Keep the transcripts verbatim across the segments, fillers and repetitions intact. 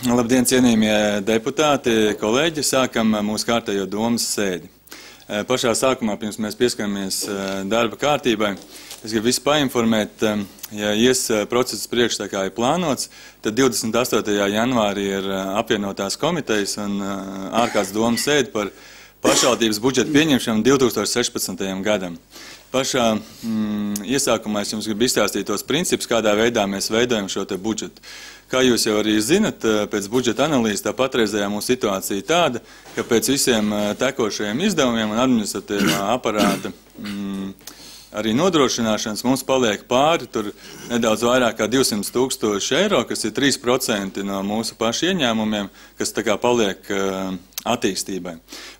Labdien, cienījamie deputāti, kolēģi! Sākam mūsu kārtējo domas sēdi. Pašā sākumā, pirms mēs pieskaramies darba kārtībai, es gribu visu painformēt, ja ies process priekš tā kā ir plānots, tad divdesmit astotajā janvārī ir apvienotās komitejas un ārkārtas domas sēdi par pašvaldības budžeta pieņemšanu divi tūkstoši sešpadsmitajam gadam. Pašā mm, iesākumā es jums gribu izstāstīt tos principus, kādā veidā mēs veidojam šo te budžetu. Kā jūs jau arī zinat, pēc budžeta analīzes tā patreizējā mūsu situācija tāda, ka pēc visiem tekošajiem izdevumiem un administratīvā aparāta mm, arī nodrošināšanas mums paliek pāri tur nedaudz vairāk kā divsimt tūkstoši eiro, kas ir trīs procenti no mūsu pašu ieņēmumiem, kas tā kā paliek uh, attīstībai.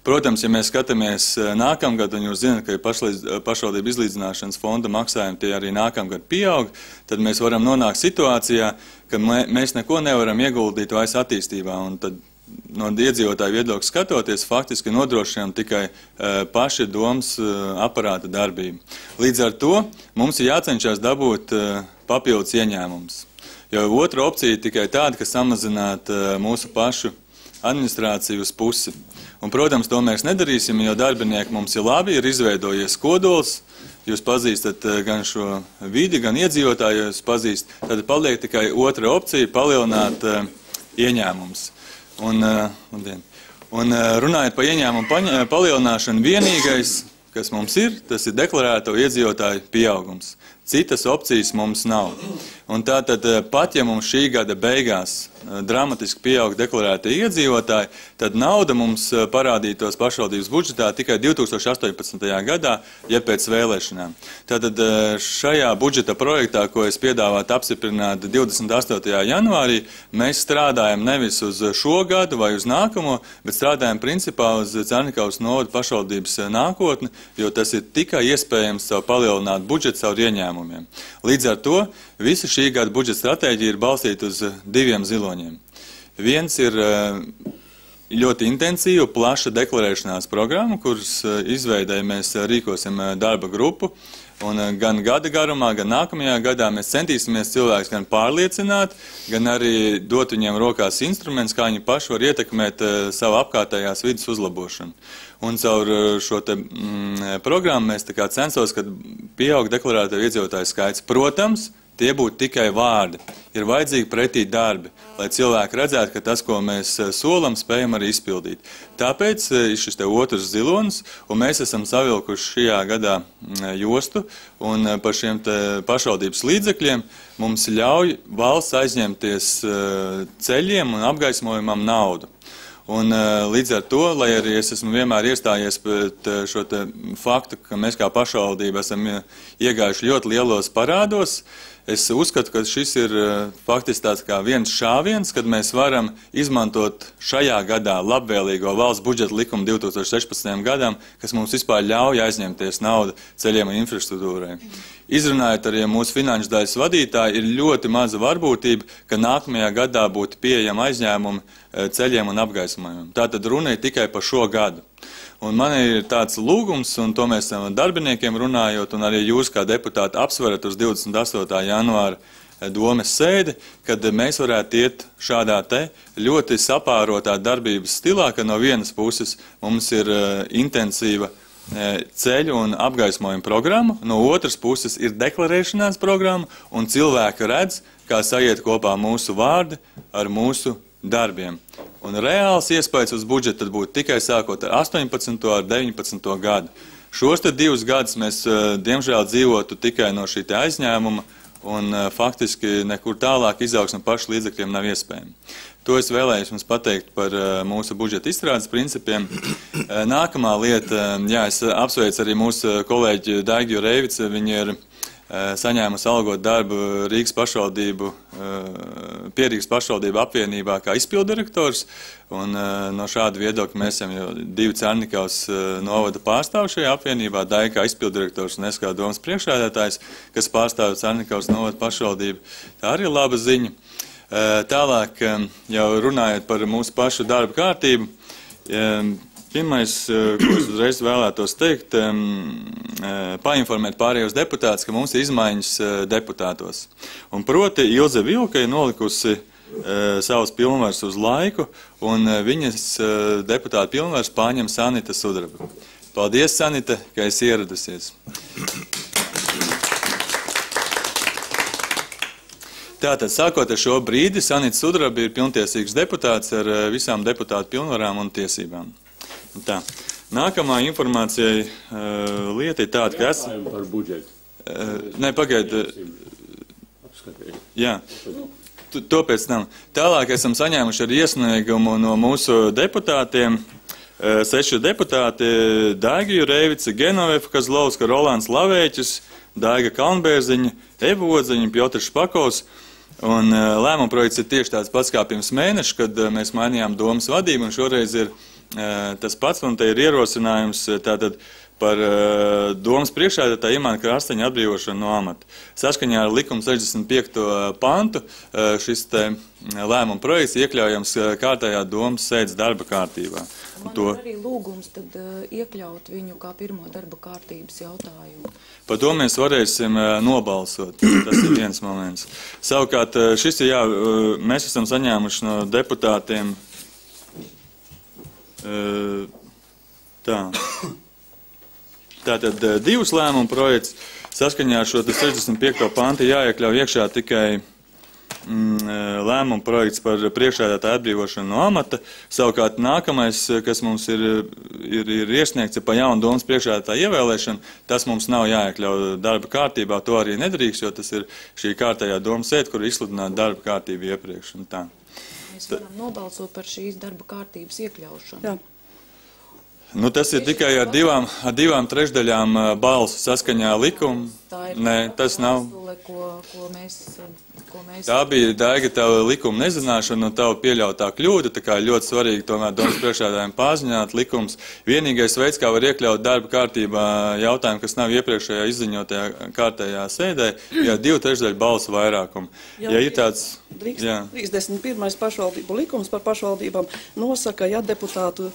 Protams, ja mēs skatāmies nākamgad, un jūs zināt, ka ir pašvaldību izlīdzināšanas fonda maksājumi tie arī nākamgad pieaug, tad mēs varam nonākt situācijā, ka mēs neko nevaram ieguldīt vairs attīstībā, un tad no iedzīvotāju viedokļa skatoties, faktiski nodrošinām tikai uh, paši domas uh, aparāta darbību. Līdz ar to mums ir jācenšas dabūt uh, papildus ieņēmumus. Jo otra opcija ir tikai tāda, ka samazināt uh, mūsu pašu administrāciju uz pusi. Un, protams, to mēs nedarīsim, jo darbinieki mums ir labi, ir izveidojies kodols, jūs pazīstat gan šo vidi, gan iedzīvotāju, jūs pazīst, tad paliek tikai otra opcija – palielināt uh, ieņēmumus. Un, uh, un uh, runājot par ieņēmumu palielināšanu, vienīgais, kas mums ir, tas ir deklarēto iedzīvotāju pieaugums. Citas opcijas mums nav. Un tātad pat, ja mums šī gada beigās dramatiski pieaug deklarētie iedzīvotāji, tad nauda mums parādītos pašvaldības budžetā tikai divi tūkstoši astoņpadsmitajā gadā, ja pēc vēlēšanām. Tātad šajā budžeta projektā, ko es piedāvātu apstiprināt divdesmit astotajā janvārī, mēs strādājam nevis uz šo gadu vai uz nākamo, bet strādājam principā uz Cernikavas novada pašvaldības nākotni, jo tas ir tikai iespējams savu palielināt budžetu savu ieņēmumiem. Līdz ar to visa šī gada budžeta stratēģija ir balstīta uz diviem ziloņiem. Viens ir ļoti intensīva, plaša deklarēšanās programma, kuras izveidēja mēs rīkosim darba grupu. Un gan gada garumā, gan nākamajā gadā mēs centīsimies cilvēkus gan pārliecināt, gan arī dot viņiem rokās instruments, kā viņi paši var ietekmēt savu apkārtējās vidas uzlabošanu. Un caur šo te, mm, programmu mēs tā kā censos, kad pieaug deklarēto iedzīvotāju skaits. Protams, tie būtu tikai vārdi. Ir vajadzīgi pretī darbi, lai cilvēki redzētu, ka tas, ko mēs solam, spējam arī izpildīt. Tāpēc ir šis te otrs zilonis, un mēs esam savilkuši šajā gadā jostu, un par šiem te pašvaldības līdzekļiem mums ļauj valsts aizņemties ceļiem un apgaismojumam naudu. Un līdz ar to, lai arī es esmu vienmēr iestājies pret šo te faktu, ka mēs kā pašvaldība esam iegājuši ļoti lielos parādos, es uzskatu, ka šis ir faktiski tāds kā viens šāviens, kad mēs varam izmantot šajā gadā labvēlīgo valsts budžeta likumu divi tūkstoši sešpadsmitajam gadam, kas mums vispār ļauj aizņemties naudu ceļiem un infrastruktūrai. Izrunājot arī mūsu finanšu daļas vadītāji, ir ļoti maza varbūtība, ka nākamajā gadā būtu pieejama aizņēmumi ceļiem un apgaismojumiem. Tātad runa ir tikai par šo gadu. Un man ir tāds lūgums, un to mēs darbiniekiem runājot, un arī jūs kā deputāti apsverat uz divdesmit astotā janvāra domes sēdi, kad mēs varētu iet šādā te ļoti sapārotā darbības stilā, ka no vienas puses mums ir uh, intensīva ceļu un apgaismojuma programma, no otras puses ir deklarēšanās programma, un cilvēki redz, kā sajiet kopā mūsu vārdi ar mūsu darbiem. Un reāls iespējas uz budžetu tad būtu tikai sākot ar astoņpadsmito ar deviņpadsmito gadu. Šos te divus gadus mēs, diemžēl, dzīvotu tikai no šī te aizņēmuma, un faktiski nekur tālāk izaugsme pašu līdzekļiem nav iespējama. To es vēlējos jums pateikt par mūsu budžeta izstrādes principiem. Nākamā lieta, jā, es apsveicu arī mūsu kolēģi Daigiju Reivicu, viņi ir saņēmusi algot darbu Rīgas pašvaldību, pie Rīgas pašvaldību apvienībā kā izpildirektors, un no šāda viedokļa mēs esam jau divi Cernikavas novada pārstāvi šajā apvienībā, Daiga kā izpildirektors un es kā domas priekšsēdētājs, kas pārstāv Cernikavas novada pašvaldību. Tā arī ir laba ziņa. Tālāk, jau runājot par mūsu pašu darba kārtību, pirmais, ko es uzreiz vēlētos teikt, painformēt pārējos deputātus, ka mums ir izmaiņas deputātos. Un proti Ilze Vilka ir nolikusi savas pilnvaras uz laiku, un viņas deputāta pilnvaras pārņem Sanita Sudraba. Paldies, Sanita, ka esi ieradusies. Tātad, sākot ar šo brīdi, Sanita Sudraba ir pilntiesīgs deputāts ar visām deputātu pilnvarām un tiesībām. Tā. Nākamā informācija uh, lieta ir tāda, ka es... Par budžetu. Uh, ne, pagaid. Jā, to, to pēc tam. Tālāk esam saņēmuši ar iesniegumu no mūsu deputātiem. Uh, seši deputāti - Daiga Jurevica, Genovefa Kazlovska, Rolands Lavēķis, Daiga Kalnbērziņa, Eva Odzeņa, Piotrs Špakovs. Un uh, lēmuma projekts ir tieši tāds pats kā pirms mēneša, kad uh, mēs mainījām domas vadību, un šoreiz ir uh, tas pats, un te ir ierosinājums uh, tātad par uh, domas priekšsēdētāja Imanta Krasteņa atbrīvošanu no amata. Saskaņā ar likuma sešdesmit piekto pantu uh, šis te lēmuma projekts iekļaujams uh, kārtējā domas sēdes darba kārtībā. Man to... ir arī lūgums tad uh, iekļaut viņu kā pirmo darba kārtības jautājumu. Par to mēs varēsim uh, nobalsot. Tas ir viens moments. Savukārt, uh, šis ir jā, uh, mēs esam saņēmuši no deputātiem uh, tā. Tātad uh, divus lēmumu projekts. Saskaņā ar šo sešdesmit piekto pantu jāiekļauj iekšā tikai lēmuma projekts par priekšsēdētāja atbrīvošanu no amata. Savukārt nākamais, kas mums ir, ir, ir iesniegts, ir par jaunu domas priekšsēdētāja ievēlēšanu. Tas mums nav jāiekļauj darba kārtībā, to arī nedrīkst, jo tas ir šī kārtējā domas sēde, kur izsludināta darba kārtība iepriekš. Un tā. Mēs varam nobalsot par šīs darba kārtības iekļaušanu. Jā. Nu, tas ir tikai ar divām, ar divām trešdaļām balsu saskaņā likumu. Nē, tas nav. Ko, ko mēs, ko mēs... Tā bija, Daiga, tava likuma nezināšana un tava pieļautā kļūda, tā kā ļoti svarīgi tomēr domas priekšsēdētājiem paziņot likums. Vienīgais veids, kā var iekļaut darba kārtībā jautājumu, kas nav iepriekšējā izziņotajā kārtējā sēdē, ja divu trešdaļu balsu vairākumu. Jā, ja ir tāds... trīsdesmit pirmais pašvaldību likums par pašvaldībām nosaka, ja deputātu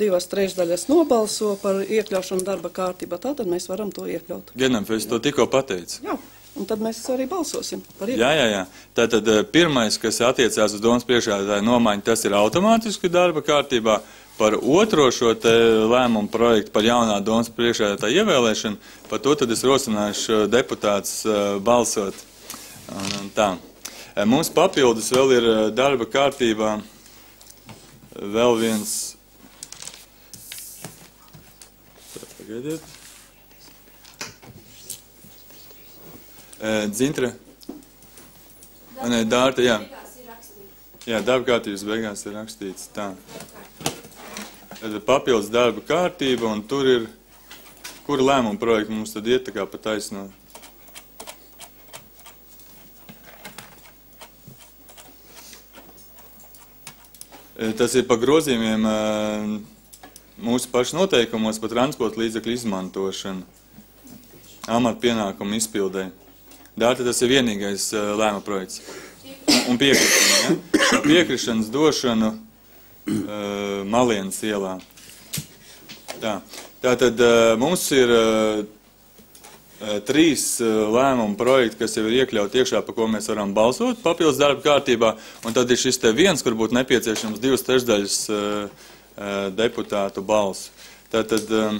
divas trešdaļas nobalso par iekļaušanu darba kārtībā, tātad mēs varam to iekļaut. Genam, es to tikko pateicu. Jā, un tad mēs arī balsosim par iekļaušanu. Jā, jā, jā. Tātad pirmais, kas attiecās uz domas priekšsēdētāju nomaiņu, tas ir automātiski darba kārtībā. Par otro šo te lēmumu projektu par jaunā domas priekšsēdētāju ievēlēšanu, par to tad es rosināšu deputātus balsot. Un, un tā. Mums papildus vēl ir darba kārtībā vēl viens. Pagaidiet. Dzintra. Nē, Dārta, jā. Jā, darba kārtības beigās ir rakstīts tā. Tad papildus darba kārtība, un tur ir, kura lēmuma projekta mums tad iet tā kā pa taisno. Tas ir par grozījumiem mūsu pašu noteikumos par transporta līdzekļu izmantošanu, amata pienākumu izpildē. Dārta, tas ir vienīgais lēma projekts. Un piekrišana, ja? Piekrišanas došanu uh, Malienas ielā. Tā. Tātad uh, mums ir uh, trīs lēmumu projekti, kas jau ir iekļauti iekšā, pa ko mēs varam balsot papildus darba kārtībā, un tad ir šis te viens, kur būtu nepieciešams divas trešdaļas uh, deputātu balsu. Tātad um,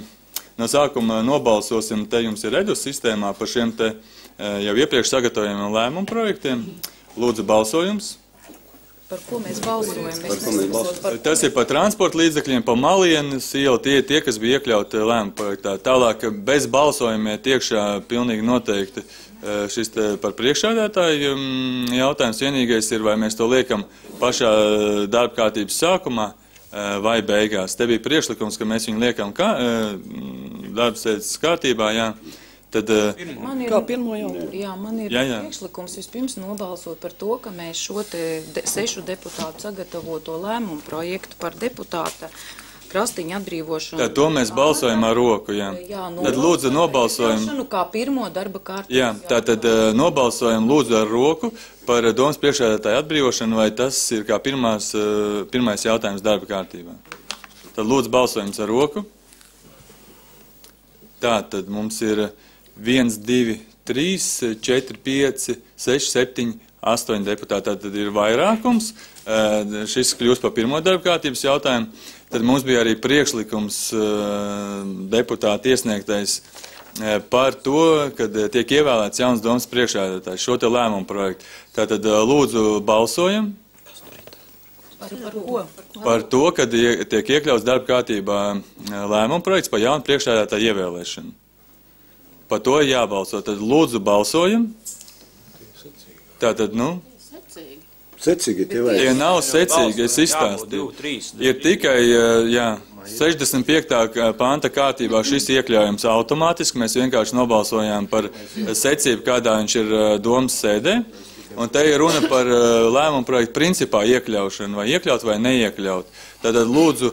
no sākuma nobalsosim, te jums ir redus sistēmā par šiem te uh, jau iepriekš sagatavojumiem lēmumu projektiem. Lūdzu balsojums. Par ko mēs balsojam? Mēs par... Tas ir par transporta līdzekļiem, par Malienas ielu, tie, tie, kas bija iekļauti lēmuma projektā. Tālāk bez balsojumiem tiekšā pilnīgi noteikti šis par priekšsēdētāju jautājums. Vienīgais ir, vai mēs to liekam pašā darba kārtības sākumā vai beigās. Te bija priekšlikums, ka mēs viņu liekam kā, darba sēdes kārtībā, jā. Tad, man ir, kā pirmo jau? Jā, man ir jā, jā. priekšlikums vispirms nobalsot par to, ka mēs šo te de, sešu deputātu sagatavoto lēmumu projektu par deputāta Krastiņa atbrīvošanu. Tā, to mēs balsojam ar roku, jā. jā tad lūdzu nobalsojam. Kā pirmo darba kārtības. Jā, tā tad nobalsojam lūdzu ar roku par domas priekšsēdētāju atbrīvošanu, vai tas ir kā pirmās, pirmais jautājums darba kārtībā. Tad lūdzu balsojums ar roku. Tā tad mums ir viens, divi, trīs, četri, pieci, seši, septiņi, astoņi deputāti, tad ir vairākums. Šis kļūst par pirmo darba kārtības jautājumu. Tad mums bija arī priekšlikums deputāti iesniegtais par to, kad tiek ievēlēts jauns domas priekšsēdētājs šo te lēmumu projektu. Tātad lūdzu balsojam. Par, par ko? Par to, kad tiek iekļauts darba kārtībā lēmumu projekts par jaunu priekšsēdētāju ievēlēšanu. Par to jābalso. Tad lūdzu balsojam. Tātad, nu... Secīgi tie vajag. Tie nav secīgi, es izstāstīju. Ir tikai, jā, sešdesmit piektā panta kārtībā šis iekļaujams automātiski. Mēs vienkārši nobalsojām par secību, kādā viņš ir domas sēdē. Un te ir runa par lēmumu projektu principā iekļaušanu, vai iekļaut vai neiekļaut. Tātad lūdzu,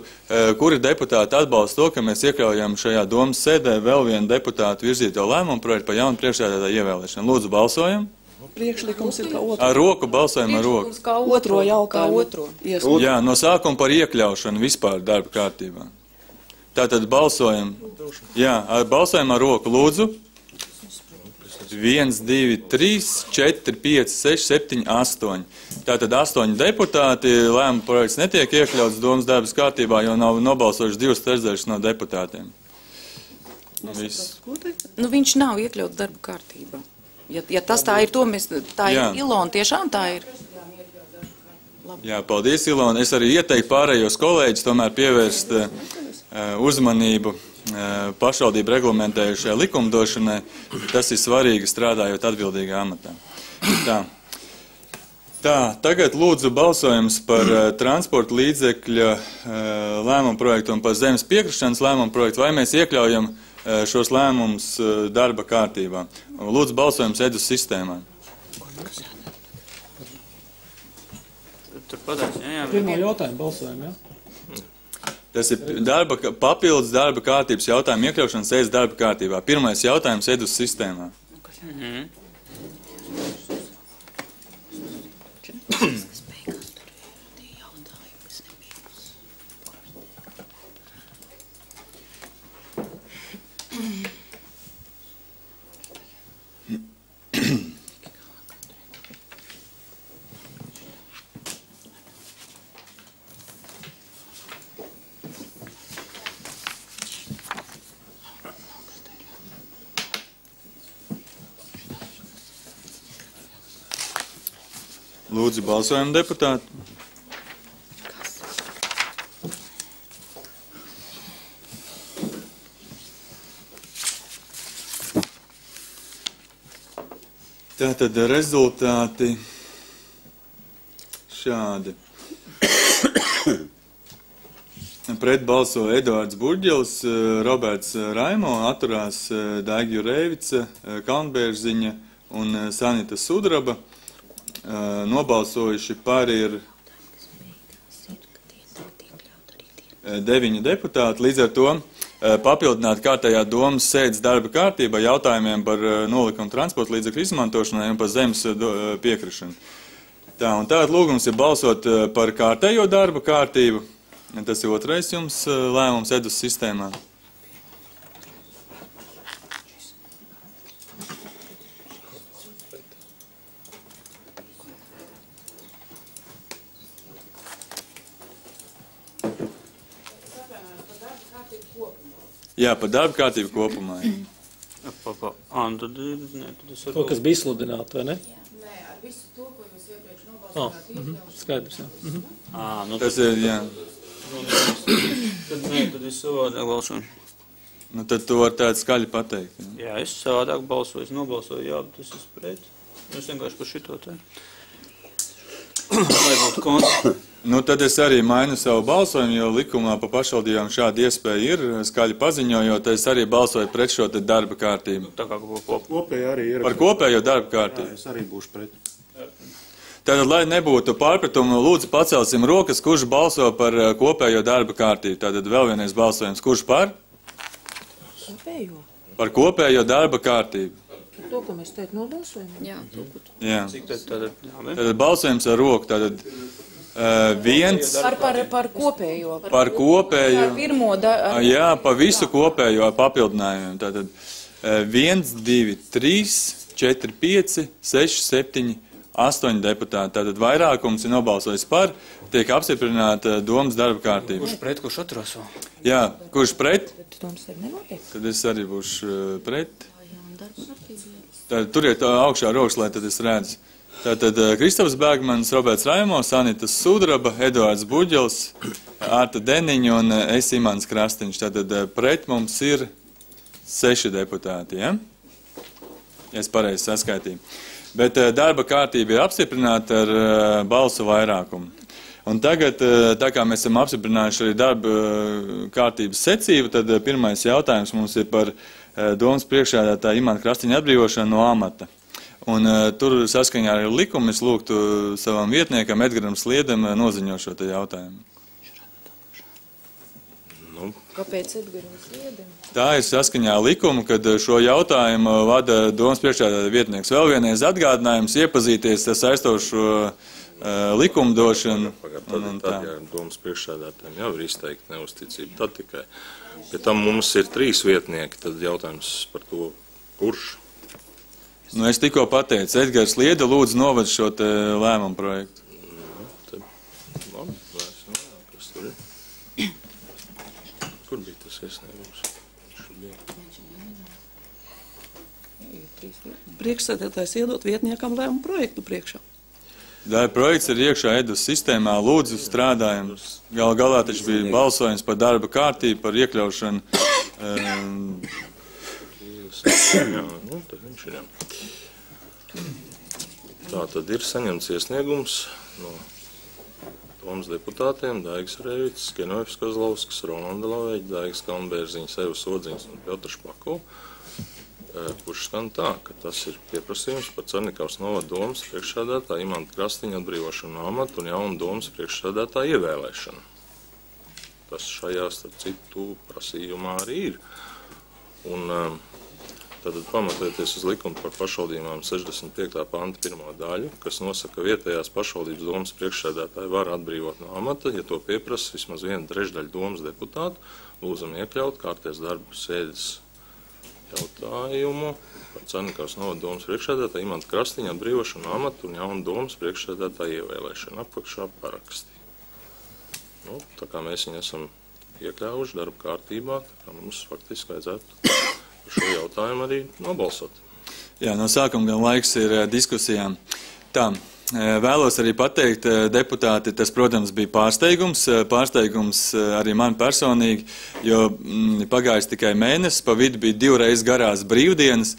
kuri deputāti atbalsta to, ka mēs iekļaujam šajā domas sēdē vēl vienu deputātu virzīto lēmumu projektu par jaunu priekšsēdētāju ievēlēšanu. Lūdzu, balsojam. Priekšlikums ir kā otro. Ar roku balsojam ar roku. Kā Otro jautājumu. Otro. Iesniegt. Jā, no sākuma par iekļaušanu vispār darba kārtībā. Tātad balsojam. Jā, ar, balsojam ar roku. Lūdzu. viens, divi, trīs, četri, pieci, seši, septiņi, astoņi. Tātad astoņi deputāti, lēmuma projekts netiek iekļauts domas darbas kārtībā, jo nav nobalsojuši divas trešdaļas no deputātiem. Viss. Nu, viņš nav iekļauts darba kārtībā. Ja, ja tas tā ir, to mēs, tā Jā. ir Ilona, tiešām tā ir. Jā, paldies, Ilona. Es arī ieteiktu pārējos kolēģis tomēr pievērst uh, uzmanību uh, pašvaldību reglamentējušajai likumdošanai. Tas ir svarīgi strādājot atbildīgā amatā. Tā. Tā, tagad lūdzu balsojums par uh, transporta līdzekļa uh, lēmumu projektu un par zemes piekrišanas lēmumu projektu, vai mēs iekļaujam uh, šos lēmumus uh, darba kārtībā. Lūdzu balsojums Edus sistēmā. Tur padās, jā, jā. Pirmo jautājumu balsojam, jā? Tas ir darba, papildus darba kārtības jautājumu iekļaušanas ēst darba kārtībā. Pirmais jautājums Edus sistēmā. Mhm. Lūdzu balsojam deputāti. Tātad rezultāti šādi. Pret balso Eduards Burģels, Roberts Raimo, atturās Daigi Jurēvica, Kalnbērziņa un Sanita Sudraba. Nobalsojuši par ir deviņi deputāti. Līdz ar to papildināt kārtējā domas sēdes darba kārtībā jautājumiem par nolikumu transporta līdzekļu izmantošanai un par zemes piekrišanu. Tā, un tātad lūgums ir balsot par kārtējo darba kārtību. Tas ir otrais jums lēmums Edus sistēmā. Jā, par darba kārtību kopumā. Pa, pa. Ā, nu tad, ne, tad es To, kas bija sludināta, vai ne? Nē, ar visu to, ko jūs iepriekš Oh, nobalsojāt, mhm, skaidrs, jā. Mhm. Ā, nu Tas ir, jā. tad, nē, tad es savādāk balsoju. Nu, tad to var tādu skaļi pateikt. Jā. Jā, es savādāk balsoju, es nobalsoju, jā, bet es esmu pret. Es vienkārši par šito te. Lai būtu konts. Nu, tad es arī mainu savu balsojumu, jo likumā pa pašvaldībām šāda iespēja ir, skaļi paziņojot, es arī balsoju pret šo te darba kārtību. Tā kā ko kopā. Kopēji arī ir. Par kopējo darba Jā, kārtību. es arī būšu pret. Tātad, lai nebūtu pārpratumu, lūdzu pacelsim rokas, kurš balso par uh, kopējo darba kārtību. Tātad vēl vienais balsojums, kurš par? Kopējo. Par kopējo darba kārtību. To, ko mēs teikt nobalsojam. Jā, to, ko tu. Jā. Cik tad, tad, jā, ne? Tātad balsojums ar roku. Tātad uh, viens Par, par, par kopējo. par kopējo. Par pirmo da, ar, Jā, pa visu kopējo ar papildinājumiem. Tātad uh, viens, divi, trīs, četri, pieci, seši, septiņi, astoņi deputāti. Tātad vairākums ir nobalsojis par, tiek apstiprināta domas darba kārtība. Kurš pret, kurš atturās vēl? Jā, kurš pret? Domas arī nenotiek. Tad es arī būšu pret. Tad turiet augšā rokas, lai tad es redzu. Tātad Kristofs Bēgmans, Roberts Raimos, Anita Sudraba, Eduards Buģels, Ārta Deniņa un es Imants Krastiņš. Tātad pret mums ir seši deputāti, ja? Ja es pareizi saskaitīju. Bet darba kārtība ir apstiprināta ar balsu vairākumu. Un tagad, tā kā mēs esam apstiprinājuši arī darba kārtības secību, tad pirmais jautājums mums ir par domas priekšsēdētāja Imanta Krastiņa atbrīvošanu no amata. Un tur saskaņā ar likumu es lūgtu savam vietniekam Edgaram Sliedam noziņot šo te jautājumu. Nu, Kāpēc Edgaram Sliedam? Tā ir saskaņā likumu, kad šo jautājumu vada domas priekšsēdētāja vietnieks. Vēl vienreiz atgādinājums iepazīties ar saistošo uh, likumdošanu. Pagad, tad, un, un tad, ja domas priekšsēdētājiem jau ir izteikti neusticība, tad tikai. Pie tam mums ir trīs vietnieki, tad jautājums par to, kurš. Nu, es tikko pateicu, Edgars Lieda lūdzu noved šo te lēmumu projektu. Nu, tad, labi, vērsim vairāk, kas tur ir. Kur bija tas iesniegums? Priekšsēdētājs iedot vietniekam lēmumu projektu priekšā. Darba projekts ir iekšā Edus sistēmā, lūdzu strādājam. Gal galā taču bija balsojums par darba kārtību, par iekļaušanu. Um, Jā, nu, tad viņš ir. Tā tad ir saņemts iesniegums no domas deputātiem Daigas Rēvits, Kenojevs Kozlovskis, Rolanda Laveģa, Daigas Kalnbērziņas, Evas Odziņas un Piotrs Pakov, kurš skan tā, ka tas ir pieprasījums par Cernikavas novada domas priekšsēdētāja Imanta Krastiņa atbrīvošanu no amata un jaunu domas priekšsēdētāja ievēlēšanu. Tas šajā, starp citu, prasījumā arī ir. Un tātad pamatojoties uz likumu par pašvaldībām sešdesmit piektā panta pirmo daļu, kas nosaka, ka vietējās pašvaldības domas priekšsēdētāji var atbrīvot no amata, ja to pieprasa vismaz viena trešdaļa domas deputātu, lūdzam iekļaut kārtēs darbu sēdes jautājumu par Cernikavas novada domas priekšsēdētāju Imanta Krastiņa atbrīvošanu no amata un jaunu domas priekšsēdētāju ievēlēšanu. Apakšā paraksti. Nu, tā kā mēs viņu esam iekļāvuši darba kārtībā, tā kā mums faktiski vajadzētu šo jautājumu arī nobalsot. Jā, no sākuma gan laiks ir diskusijām. Tā, vēlos arī pateikt, deputāti, tas, protams, bija pārsteigums, pārsteigums arī man personīgi, jo pagājis tikai mēnesis, pa vidu bija divreiz garās brīvdienas,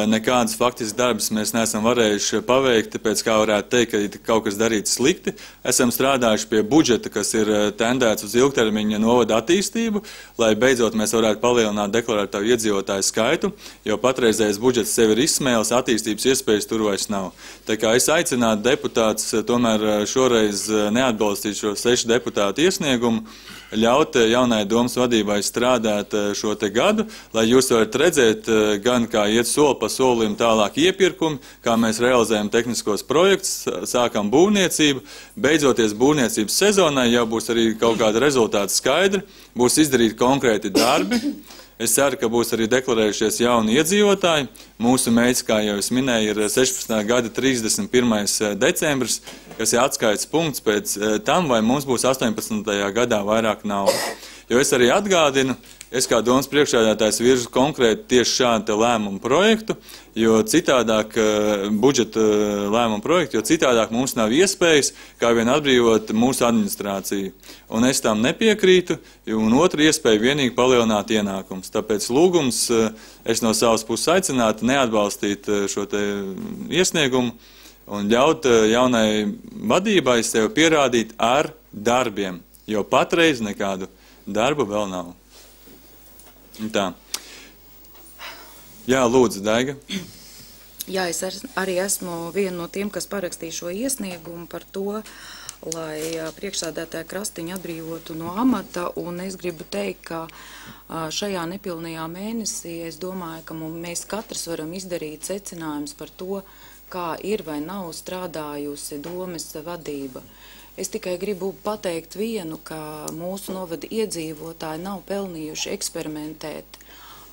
nekādas faktiskas darbas mēs neesam varējuši paveikt, tāpēc kā varētu teikt, ka kaut kas darīts slikti. Esam strādājuši pie budžeta, kas ir tendēts uz ilgtermiņa novada attīstību, lai beidzot mēs varētu palielināt deklarētāju iedzīvotāju skaitu, jo patreizējais budžets sevi ir izsmēlis, attīstības iespējas tur vairs nav. Tā kā es aicinātu deputāts tomēr šoreiz neatbalstīt šo sešu deputātu iesniegumu, ļaut jaunai domas vadībai strādāt šo te gadu, lai jūs varat redzēt gan kā iet soli pa solim tālāk iepirkumi, kā mēs realizējam tehniskos projektus, sākam būvniecību, beidzoties būvniecības sezonai jau būs arī kaut kāda rezultāta skaidra, būs izdarīti konkrēti darbi. Es ceru, ka būs arī deklarējušies jauni iedzīvotāji. Mūsu mērķis, kā jau es minēju, ir sešpadsmitā gada trīsdesmit pirmais decembris, kas ir atskaites punkts pēc tam, vai mums būs astoņpadsmitajā gadā vairāk naudas. Jo es arī atgādinu, es kā domas priekšsēdētājs virzu konkrēti tieši šādu lēmumu projektu, jo citādāk budžeta lēmumu projektu, jo citādāk mums nav iespējas kā vien atbrīvot mūsu administrāciju. Un es tam nepiekrītu, un otra iespēja vienīgi palielināt ienākums. Tāpēc lūgums es no savas puses aicinātu neatbalstīt šo te iesniegumu un ļaut jaunai vadībai sev pierādīt ar darbiem, jo patreiz nekādu darbu vēl nav. Tā. Jā, lūdzu, Daiga. Jā, es arī esmu viena no tiem, kas parakstīja šo iesniegumu par to, lai priekšsēdētāja Krastiņa atbrīvotu no amata, un es gribu teikt, ka šajā nepilnajā mēnesī es domāju, ka mēs katrs varam izdarīt secinājumus par to, kā ir vai nav strādājusi domes vadība. Es tikai gribu pateikt vienu, ka mūsu novada iedzīvotāji nav pelnījuši eksperimentēt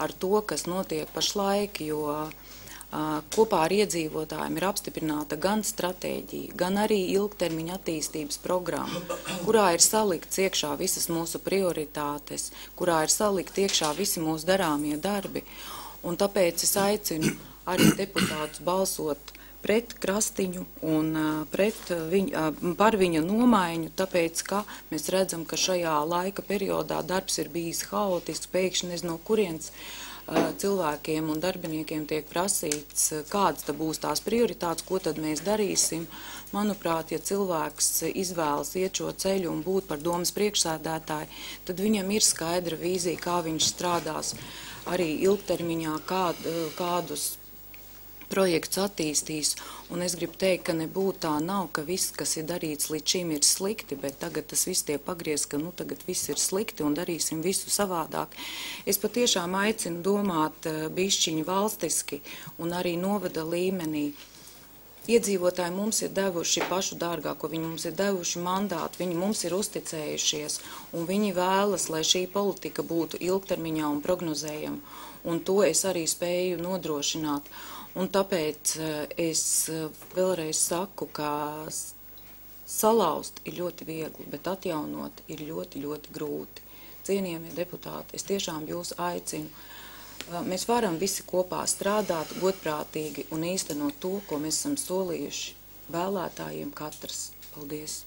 ar to, kas notiek pašlaik, jo kopā ar iedzīvotājiem ir apstiprināta gan stratēģija, gan arī ilgtermiņa attīstības programma, kurā ir salikts iekšā visas mūsu prioritātes, kurā ir salikt iekšā visi mūsu darāmie darbi. Un tāpēc es aicinu arī deputātus balsot pret Krastiņu un pret viņa, par viņa nomaiņu, tāpēc, ka mēs redzam, ka šajā laika periodā darbs ir bijis haotisks, pēkšņi nezinu, no kurienes cilvēkiem un darbiniekiem tiek prasīts, kādas tad būs tās prioritātes, ko tad mēs darīsim. Manuprāt, ja cilvēks izvēlas iet šo ceļu un būt par domas priekšsēdētāju, tad viņam ir skaidra vīzija, kā viņš strādās arī ilgtermiņā, kād, kādus projekts attīstīs, un es gribu teikt, ka nebūtu tā nav, ka viss, kas ir darīts līdz šim ir slikti, bet tagad tas viss tiek pagriezts, ka nu tagad viss ir slikti un darīsim visu savādāk. Es patiešām aicinu domāt bišķiņu valstiski un arī novada līmenī. Iedzīvotāji mums ir devuši pašu dārgāko, viņi mums ir devuši mandātu, viņi mums ir uzticējušies, un viņi vēlas, lai šī politika būtu ilgtermiņā un prognozējama, un to es arī spēju nodrošināt. Un tāpēc es vēlreiz saku, ka salauzt ir ļoti viegli, bet atjaunot ir ļoti, ļoti grūti. Cienījamie deputāti, es tiešām jūs aicinu. Mēs varam visi kopā strādāt godprātīgi un īstenot to, ko mēs esam solījuši vēlētājiem katrs. Paldies!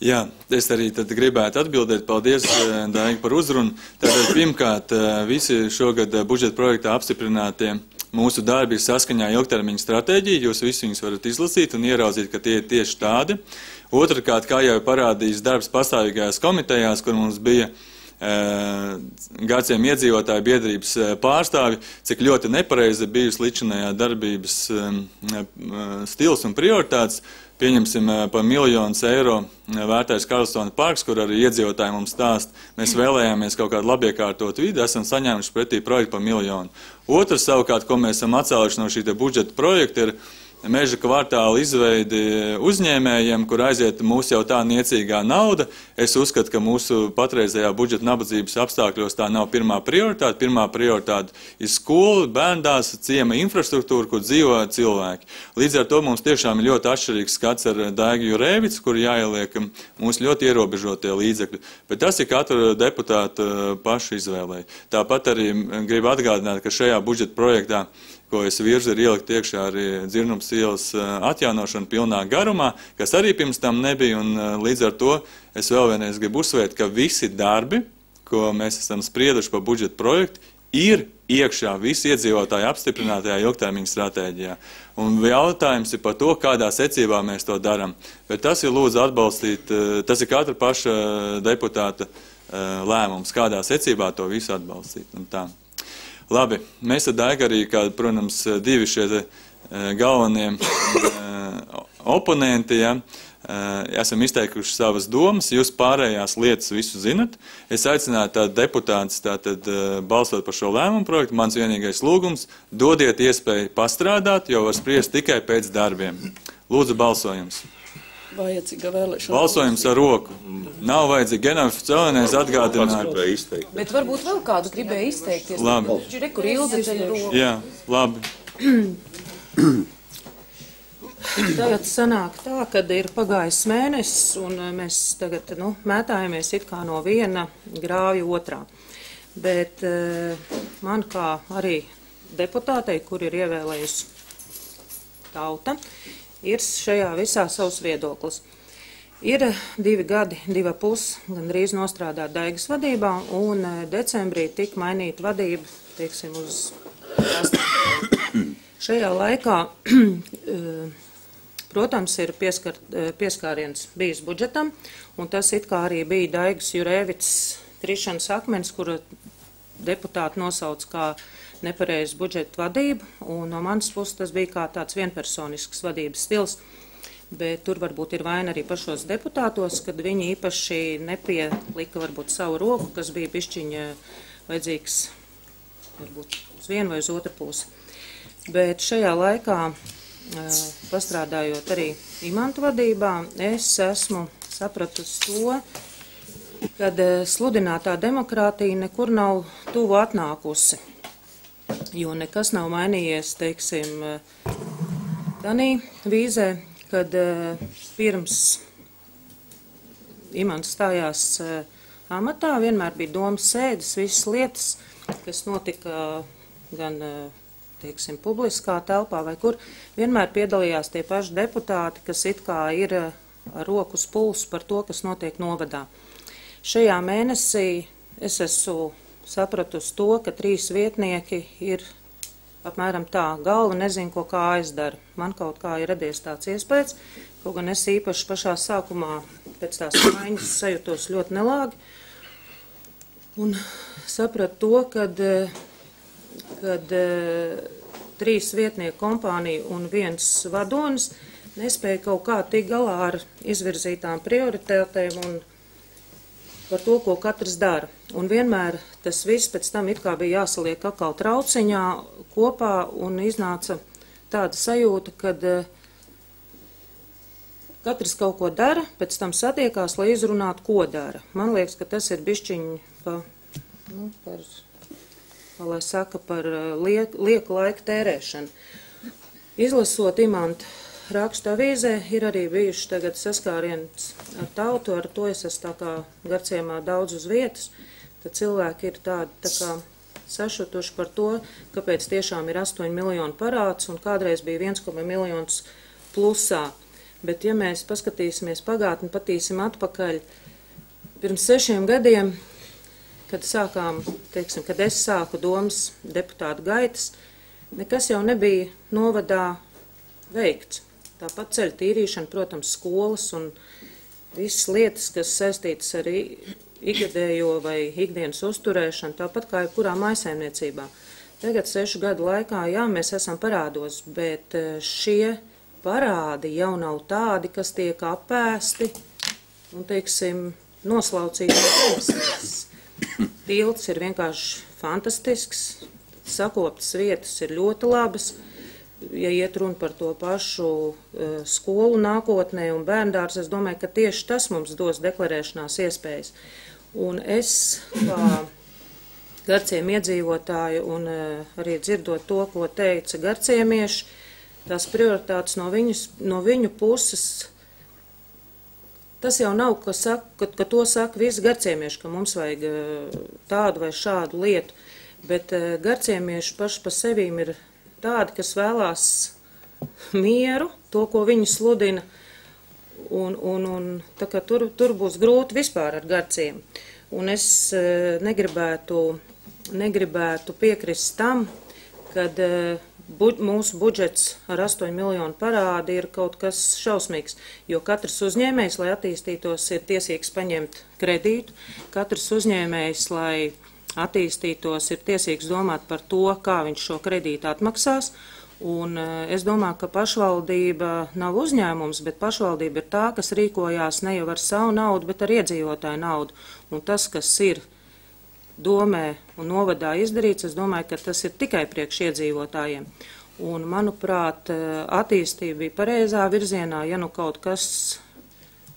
Jā, es arī tad gribētu atbildēt. Paldies, Daiga, par uzrunu. Tātad, pirmkārt, visi šogad budžeta projektā apstiprinātie mūsu darbi ir saskaņā ilgtermiņa stratēģija. Jūs visi viņus varat izlasīt un ieraudzīt, ka tie ir tieši tādi. Otrkārt, kā jau parādījis darbs pastāvīgajās komitejās, kur mums bija gadsimta iedzīvotāju biedrības pārstāvi, cik ļoti nepareizi bijusi līdzinājā darbības stils un prioritātes. Pieņemsim par miljonus eiro vērtējas Karlstona parks, kur arī iedzīvotāji mums stāst, mēs vēlējāmies kaut kādu labiekārtot vidi, esam saņēmuši pretī projektu par miljonu. Otrs savukārt, ko mēs esam atcēluši no šī budžeta projekta, ir meža kvartāla izveidi uzņēmējiem, kur aiziet mūsu jau tā niecīgā nauda. Es uzskatu, ka mūsu patreizējā budžeta nabadzības apstākļos tā nav pirmā prioritāte. Pirmā prioritāte ir skola, bērndās, ciema infrastruktūra, kur dzīvo cilvēki. Līdz ar to mums tiešām ir ļoti atšķirīgs skats ar Daigu Jurevicu, kur jāieliek mūsu ļoti ierobežotie līdzekļi. Bet tas ir katra deputāta paša izvēlē. Tāpat arī gribu atgādināt, ka šajā budžeta projektā, ko es virzu, ir ielikt iekšā arī Dzirnums ielas atjaunošana pilnā garumā, kas arī pirms tam nebija, un līdz ar to es vēl vienreiz gribu uzsvērt, ka visi darbi, ko mēs esam sprieduši par budžeta projektu, ir iekšā visi iedzīvotāji apstiprinātajā ilgtermiņa stratēģijā. Un jautājums ir par to, kādā secībā mēs to darām. Bet tas ir lūdzu atbalstīt, tas ir katra paša deputāta lēmums, kādā secībā to visu atbalstīt. Un tā. Labi, mēs ar Daigu arī, kā, protams, divi šie galvenie oponenti, ja, esam izteikuši savas domas, jūs pārējās lietas visu zinat. Es aicinātu tātad deputātus tātad balsot par šo lēmumu projektu. Mans vienīgais lūgums, dodiet iespēju pastrādāt, jo var spriest tikai pēc darbiem. Lūdzu, balsojums. Vajadzīga vēlēšana. Balsojums ar roku. Nav vajadzīgi. Genofs Celēnēs atgādināt. Bet varbūt vēl kāds gribēja izteikties. Labi. Kur Ilze ceļ roku. Jā, labi. Tagad sanāk tā, kad ir pagājis mēnesis, un mēs tagad nu, mētājamies it kā no viena grāvja otrā. Bet man kā arī deputātei, kur ir ievēlējusi tauta, ir šajā visā savs viedoklis. Ir divi gadi, diva pus, gandrīz nostrādāt Daigas vadībā, un decembrī tika mainīta vadība, teiksim, uz šajā laikā, protams, ir pieskar, pieskāriens bijis budžetam, un tas it kā arī bija Daigas Jurevicas krišanas akmens, kuru deputāti nosauc kā nepareizu budžeta vadību, un no manas puses tas bija kā tāds vienpersonisks vadības stils, bet tur varbūt ir vaina arī pašos deputātos, kad viņi īpaši nepielika varbūt savu roku, kas bija bišķiņa vajadzīgs varbūt uz vienu vai uz otru pusi. Bet šajā laikā, pastrādājot arī imantu vadībā, es esmu sapratusi to, kad sludinātā demokrātija nekur nav tuvu atnākusi. jo nekas nav mainījies, teiksim, tanī vīzē, kad pirms Imants stājās amatā, vienmēr bija domas sēdes, visas lietas, kas notika gan, teiksim, publiskā telpā vai kur, vienmēr piedalījās tie paši deputāti, kas it kā ir ar roku uz pulsu par to, kas notiek novadā. Šajā mēnesī es esmu sapratusi to, ka trīs vietnieki ir apmēram tā, galva nezinu, ko kājas dara. Man kaut kā ir radies tāds iespējas, kaut gan es īpaši pašā sākumā pēc tās maiņas sajūtos ļoti nelāgi. Un sapratu to, kad, kad trīs vietnieku kompānija un viens vadonis nespēja kaut kā tik galā ar izvirzītām prioritātēm un par to, ko katrs dara. Un vienmēr tas viss pēc tam it kā bija jāsaliek atkal trauciņā kopā un iznāca tāda sajūta, kad katrs kaut ko dara, pēc tam satiekās, lai izrunātu, ko dara. Man liekas, ka tas ir bišķiņi pa, nu, par, lai saka, par liek, lieku laiku tērēšanu. Izlasot Imanta rakstu avīzē, ir arī bijuši tagad saskāriens ar tautu, ar to es esmu tā kā Garciemā daudz uz vietas, tad cilvēki ir tādi tā kā sašutuši par to, kāpēc tiešām ir astoņi miljoni parāds un kādreiz bija viens miljons plusā. Bet ja mēs paskatīsimies pagātni, patīsim atpakaļ, pirms sešiem gadiem, kad sākām, teiksim, kad es sāku domas deputātu gaitas, nekas jau nebija novadā veikts. Tāpat ceļu tīrīšana, protams, skolas un visas lietas, kas saistītas ar ikgadējo vai ikdienas uzturēšanu, tāpat kā jebkurā mājsaimniecībā. Tagad sešu gadu laikā, jā, mēs esam parādos, bet šie parādi jau nav tādi, kas tiek apēsti un, teiksim, noslaucīti no zemes. Tilts ir vienkārši fantastisks, sakoptas vietas ir ļoti labas. Ja iet runa par to pašu uh, skolu nākotnē un bērndārs, es domāju, ka tieši tas mums dos deklarēšanās iespējas. Un es, kā garciem iedzīvotāju un uh, arī dzirdot to, ko teica garciemieši, tās prioritātes no, viņus, no viņu puses, tas jau nav, ka, saka, ka, ka to saka visi garciemieši, ka mums vajag uh, tādu vai šādu lietu, bet uh, garciemieši paši pa sevīm ir tādi, kas vēlās mieru, to, ko viņi sludina, un, un, un tā kā tur, tur būs grūti vispār ar garciem. Un es e, negribētu, negribētu piekrist tam, kad e, bu, mūsu budžets ar astoņu miljonu parādi ir kaut kas šausmīgs, jo katrs uzņēmējs, lai attīstītos, ir tiesīgs paņemt kredītu, katrs uzņēmējs, lai attīstītos, ir tiesīgs domāt par to, kā viņš šo kredītu atmaksās. Un es domāju, ka pašvaldība nav uzņēmums, bet pašvaldība ir tā, kas rīkojās ne jau ar savu naudu, bet ar iedzīvotāju naudu. Un tas, kas ir domē un novadā izdarīts, es domāju, ka tas ir tikai priekš iedzīvotājiem. Un, manuprāt, attīstība bija pareizā virzienā, ja nu kaut kas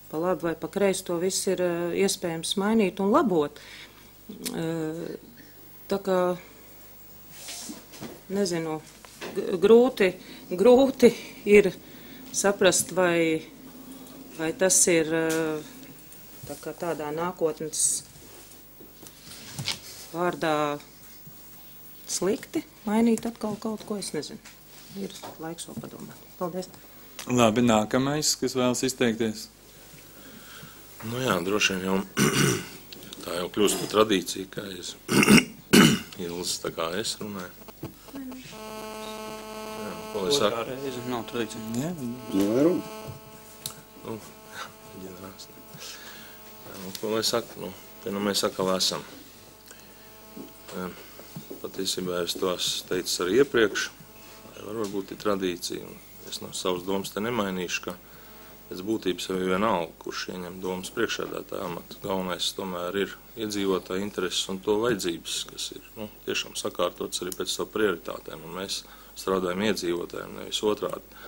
pa labi vai pa kreisi, to viss ir iespējams mainīt un labot. Tā kā, nezinu, grūti, grūti ir saprast, vai, vai tas ir tā kā tādā nākotnes vārdā slikti mainīt atkal kaut ko, es nezinu. Ir laiks vēl padomāt. Paldies. Labi, nākamais, kas vēlas izteikties? Nu jā, droši vien jau tā jau kļūst par tradīciju, ka es Ilzas tā kā es runāju. Jā, ko es saku? Otrā reize nav tradīcija. Jā, Nu, ģenerāls. Jā, nu, ko lai saku? Nu, te nu mēs atkal esam. Patiesībā es tos teicu arī iepriekš, varbūt ir tradīcija, un es no savas domas te nemainīšu, ka pēc būtības jau ir vienalga, kurš ieņem domas priekšsēdētāja amatu. Galvenais tomēr ir iedzīvotāja intereses un to vajadzības, kas ir nu, tiešām sakārtots arī pēc savu prioritātēm, un mēs strādājam iedzīvotājiem, nevis otrādi.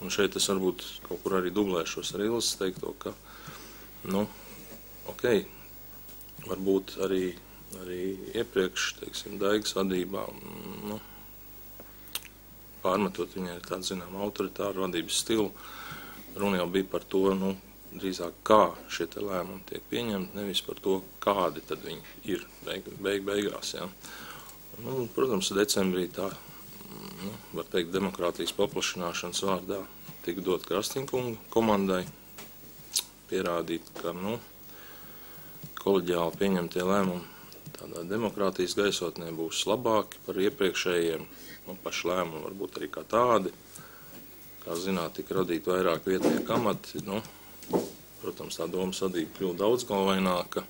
Un šeit es varbūt kaut kur arī dublēšos ar Ilzas teikto, ka, nu, ok, varbūt arī, arī iepriekš, teiksim, Daigas vadībā, nu, pārmetot viņai tādu, zinām, autoritāru vadības stilu. Runa jau bija par to, nu, drīzāk kā šie te lēmumi tiek pieņemti, nevis par to, kādi tad viņi ir beig, beig, beigās, jā. Nu, protams, decembrī tā, nu, var teikt, demokrātijas paplašināšanas vārdā tika dot Krastinkunga komandai, pierādīt, ka, nu, koleģiāli pieņemtie lēmumi tādā demokrātijas gaisotnē būs labāki par iepriekšējiem, nu, paši lēmumi varbūt arī kā tādi. Kā zināt, tika radīt vairāk vietnieku amati, nu, protams, tā domas vadība kļūst daudzgalvaināka.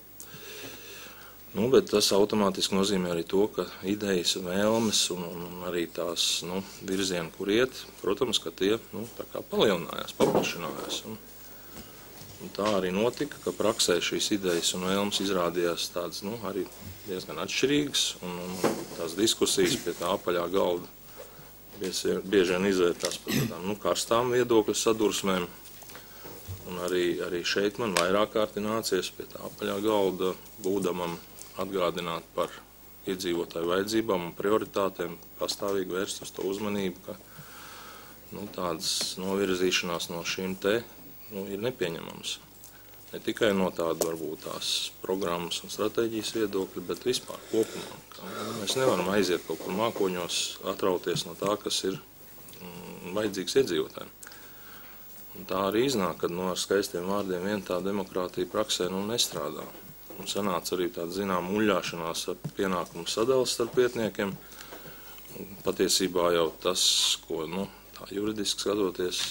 Nu, bet tas automātiski nozīmē arī to, ka idejas, vēlmes un, un arī tās, nu, virzieni, kur iet, protams, ka tie, nu, tā kā palielinājās, paplašinājās. Un, un tā arī notika, ka praksē šīs idejas un vēlmes izrādījās tādas, nu, arī diezgan atšķirīgas, un, un tās diskusijas pie tā apaļā galda bieži vien izvērtās par tādām, nu, karstām viedokļu sadursmēm. Un arī, arī šeit man vairāk kārti nācies pie tā apaļā galda būdamam atgādināt par iedzīvotāju vajadzībām un prioritātēm, pastāvīgi vērst uz to uzmanību, ka, nu, tādas novirzīšanās no šīm te, nu, ir nepieņemams. Ne tikai no tāda varbūt tās programmas un stratēģijas viedokļa, bet vispār kopumā. Mēs nevaram aiziet kaut kur mākoņos, atrauties no tā, kas ir mm, vajadzīgs iedzīvotājiem. Un tā arī iznāk, kad, nu, ar skaistiem vārdiem vien tā demokrātija praksē, nu, nestrādā. Un sanāca arī tāda, zinām, muļļāšanās ar pienākumu sadalas starp vietniekiem. Un patiesībā jau tas, ko, nu, tā juridiski skatoties,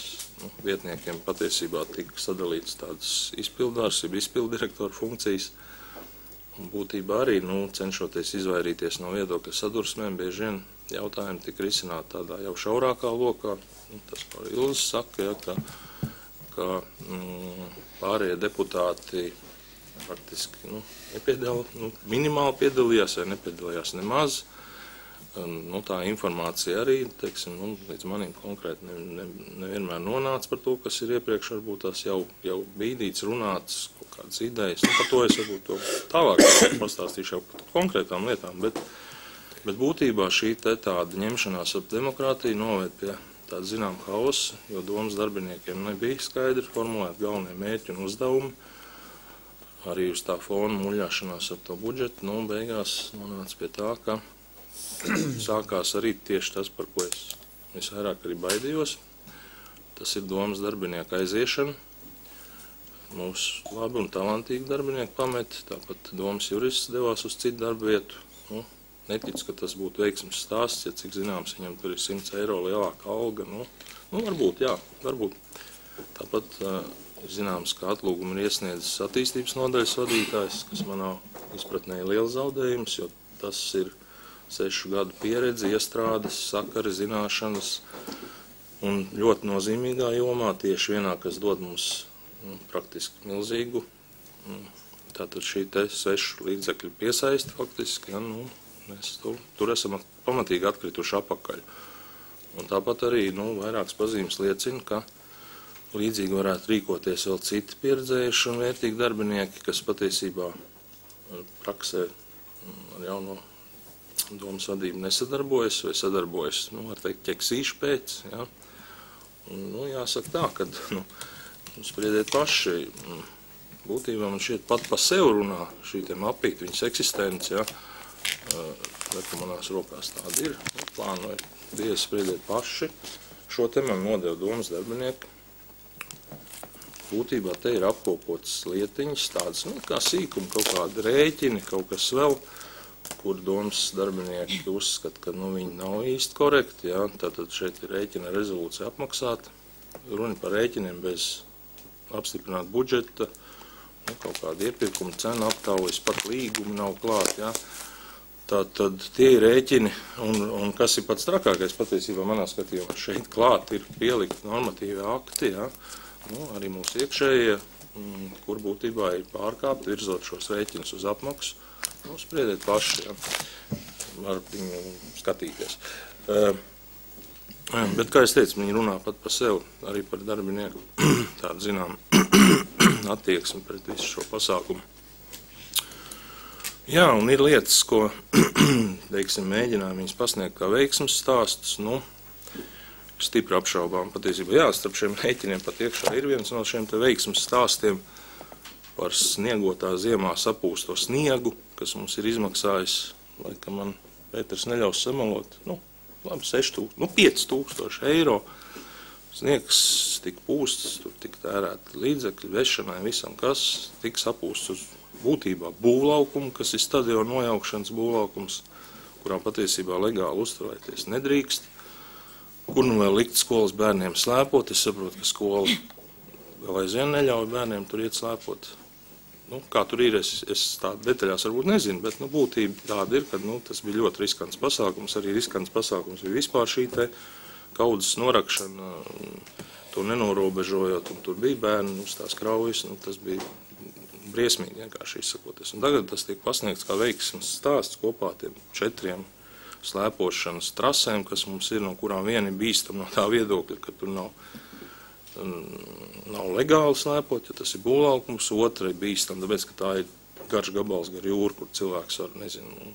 nu, vietniekiem patiesībā tika sadalīts tādas izpildārs, jeb izpildirektoru funkcijas. Un būtībā arī, nu, cenšoties izvairīties no viedokļa sadursmēm, bieži vien jautājumi tika risināti tādā jau šaurākā lokā. Nu, tas, ko Ilze saka, ja, ka, ka mm, pārējie deputāti faktiski, nu, nepiedal, nu, minimāli piedalījās vai nepiedalījās nemaz. Nu, tā informācija arī, teiksim, nu, līdz manim konkrēti ne, ne, nevienmēr nonāca par to, kas ir iepriekš varbūt tās jau, jau bīdīts, runāts, kaut kādas idejas. Nu, par to es varbūt to tālāk pastāstīšu jau par konkrētām lietām, bet, bet būtībā šī te tāda ņemšanās ap demokrātiju noved pie tāda, zinām, hausa, jo domas darbiniekiem nebija skaidri formulēt galvenie mērķi un uzdevumi. Arī uz tā fona muļļāšanās ap to budžetu, nu, beigās nonāca pie tā, ka sākās arī tieši tas, par ko es visvairāk arī baidījos. Tas ir domas darbinieku aiziešana. Mūsu labi un talantīgi darbinieki pamet, tāpat domas jurists devās uz citu darbu vietu. Nu, neticu, ka tas būtu veiksmes stāsts, ja cik zināms, viņam tur ir simts eiro lielāka alga. Nu, nu varbūt, jā, varbūt. Tāpat uh, ir zināms, ka atlūgumu ir iesniedzis attīstības nodaļas vadītājs, kas manā izpratnē ir liels zaudējums, jo tas ir sešu gadu pieredze, iestrādes, sakari, zināšanas un ļoti nozīmīgā jomā tieši vienā, kas dod mums, nu, praktiski milzīgu. Tātad šī te sešu līdzekļu piesaisti faktiski, ja, nu, mēs tur, tur esam pamatīgi atkrituši apakaļ. Un tāpat arī, nu, vairākas pazīmes liecina, ka līdzīgi varētu rīkoties vēl citi pieredzējuši un vērtīgi darbinieki, kas patiesībā praksē ar jauno domas vadību nesadarbojas vai sadarbojas, nu, var teikt, ķeksīšu pēc, ja. Un, nu, jāsaka tā, ka, nu, spriediet paši, būtībā man šķiet pat pa sev runā šī te mapīt, viņas eksistence, ja, bet manās rokās tāda ir, nu, plānoju, diezi spriediet paši, šo te man nodeva domas darbinieki. Būtībā te ir apkopotas lietiņas, tādas, nu, kā sīkumi, kaut kādi rēķini, kaut kas vēl, kur domas darbinieki uzskata, ka, nu, viņi nav īsti korekti, ja? Tātad šeit ir rēķina rezolūcija apmaksāta, runa par rēķiniem bez apstiprināt budžeta, nu, kaut kāda iepirkuma cena aptaujas, pat līgumi nav klāt, ja? Tātad tie ir rēķini, un, un kas ir pats trakākais patiesībā manā skatījumā, šeit klāt ir pielikt normatīvi akti, ja? Nu, arī mūsu iekšējie, kur būtībā ir pārkāpt, virzot šos rēķinus uz apmaksu. Nu, spriediet paši, ja, var viņu skatīties. Uh, bet, kā es teicu, viņi runā pat par sevi, arī par darbinieku tādu, zinām, attieksmi pret visu šo pasākumu. Jā, un ir lietas, ko, teiksim, mēģinām viņus pasniegt kā veiksmes stāstus, nu, stipri apšaubām. Patiesībā jā, starp šiem rēķiniem pat iekšā ir viens no šiem te veiksmes stāstiem par sniegotā ziemā sapūsto sniegu, kas mums ir izmaksājis, laikam man Pēters neļaus samalot, nu, labi, seši tūkstoši, nu, pieci tūkstoši eiro. Sniegs tika pūsts, tur tika tērēt līdzekļi, vešanai, visam, kas tika sapūsts uz būtībā būvlaukumu, kas ir stadiona nojaukšanas būvlaukums, kurā patiesībā legāli uzturēties nedrīkst, kur nu vēl likt skolas bērniem slēpot. Es saprotu, ka skola vēl aizvien neļauj bērniem tur iet slēpot. Nu, kā tur ir, es, es tādu detaļās varbūt nezinu, bet nu, būtība tāda ir, ka nu, tas bija ļoti riskants pasākums. Arī riskants pasākums bija vispār šī te kaudzes norakšana, to nenorobežojot, un tur bija bērni uz tās kraujas. Nu, tas bija briesmīgi vienkārši izsakoties. Un tagad tas tiek pasniegts kā veiksmes stāsts kopā tiem četriem slēpošanas trasēm, kas mums ir, no kurām vieni bīstam no tā viedokļa, ka tur nav nav legāli slēpot, jo tas ir būvlaukums, otra ir bīstam, tāpēc, ka tā ir garš gabals gar jūru, kur cilvēks var, nezinu,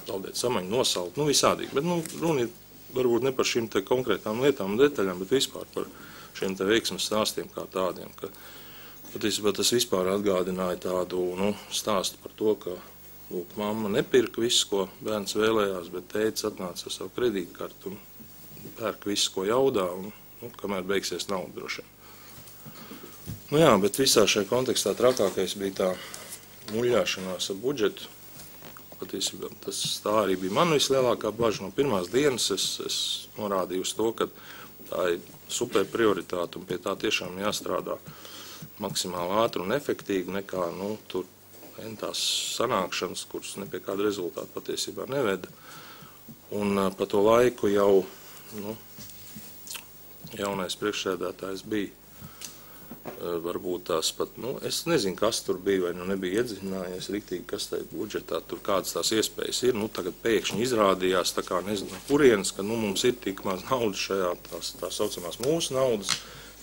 zaudēt samaņu, nosalt, nu visādīgi. Bet, nu, runa ir varbūt ne par šīm te konkrētām lietām un detaļām, bet vispār par šiem te veiksmes stāstiem kā tādiem, ka patiesībā tas vispār atgādināja tādu, nu, stāstu par to, ka, lūk, mamma nepirka visu, ko bērns vēlējās, bet tētis atnāca ar savu kredītkartu un pērk visu, ko jaudā, un Nu, kamēr beigsies nauda droši. Nu jā, bet visā šajā kontekstā trakākais bija tā muļļāšanās ar budžetu. Patiesībā tas tā arī bija man vislielākā baža. No pirmās dienas es, es norādīju uz to, ka tā ir super prioritāte un pie tā tiešām jāstrādā maksimāli ātri un efektīgi nekā, nu, tur tās sanākšanas, kuras ne pie kāda rezultāta patiesībā neveda. Un pa to laiku jau, nu, jaunais priekšsēdētājs bija, varbūt tās pat, nu, es nezinu, kas tur bija, vai nu nebija iedziļinājies riktīgi, kas tai budžetā, tur kādas tās iespējas ir, nu, tagad pēkšņi izrādījās, tā kā nezinu, kurienes, ka, nu, mums ir tik maz naudas šajā, tās, tās saucamās mūsu naudas,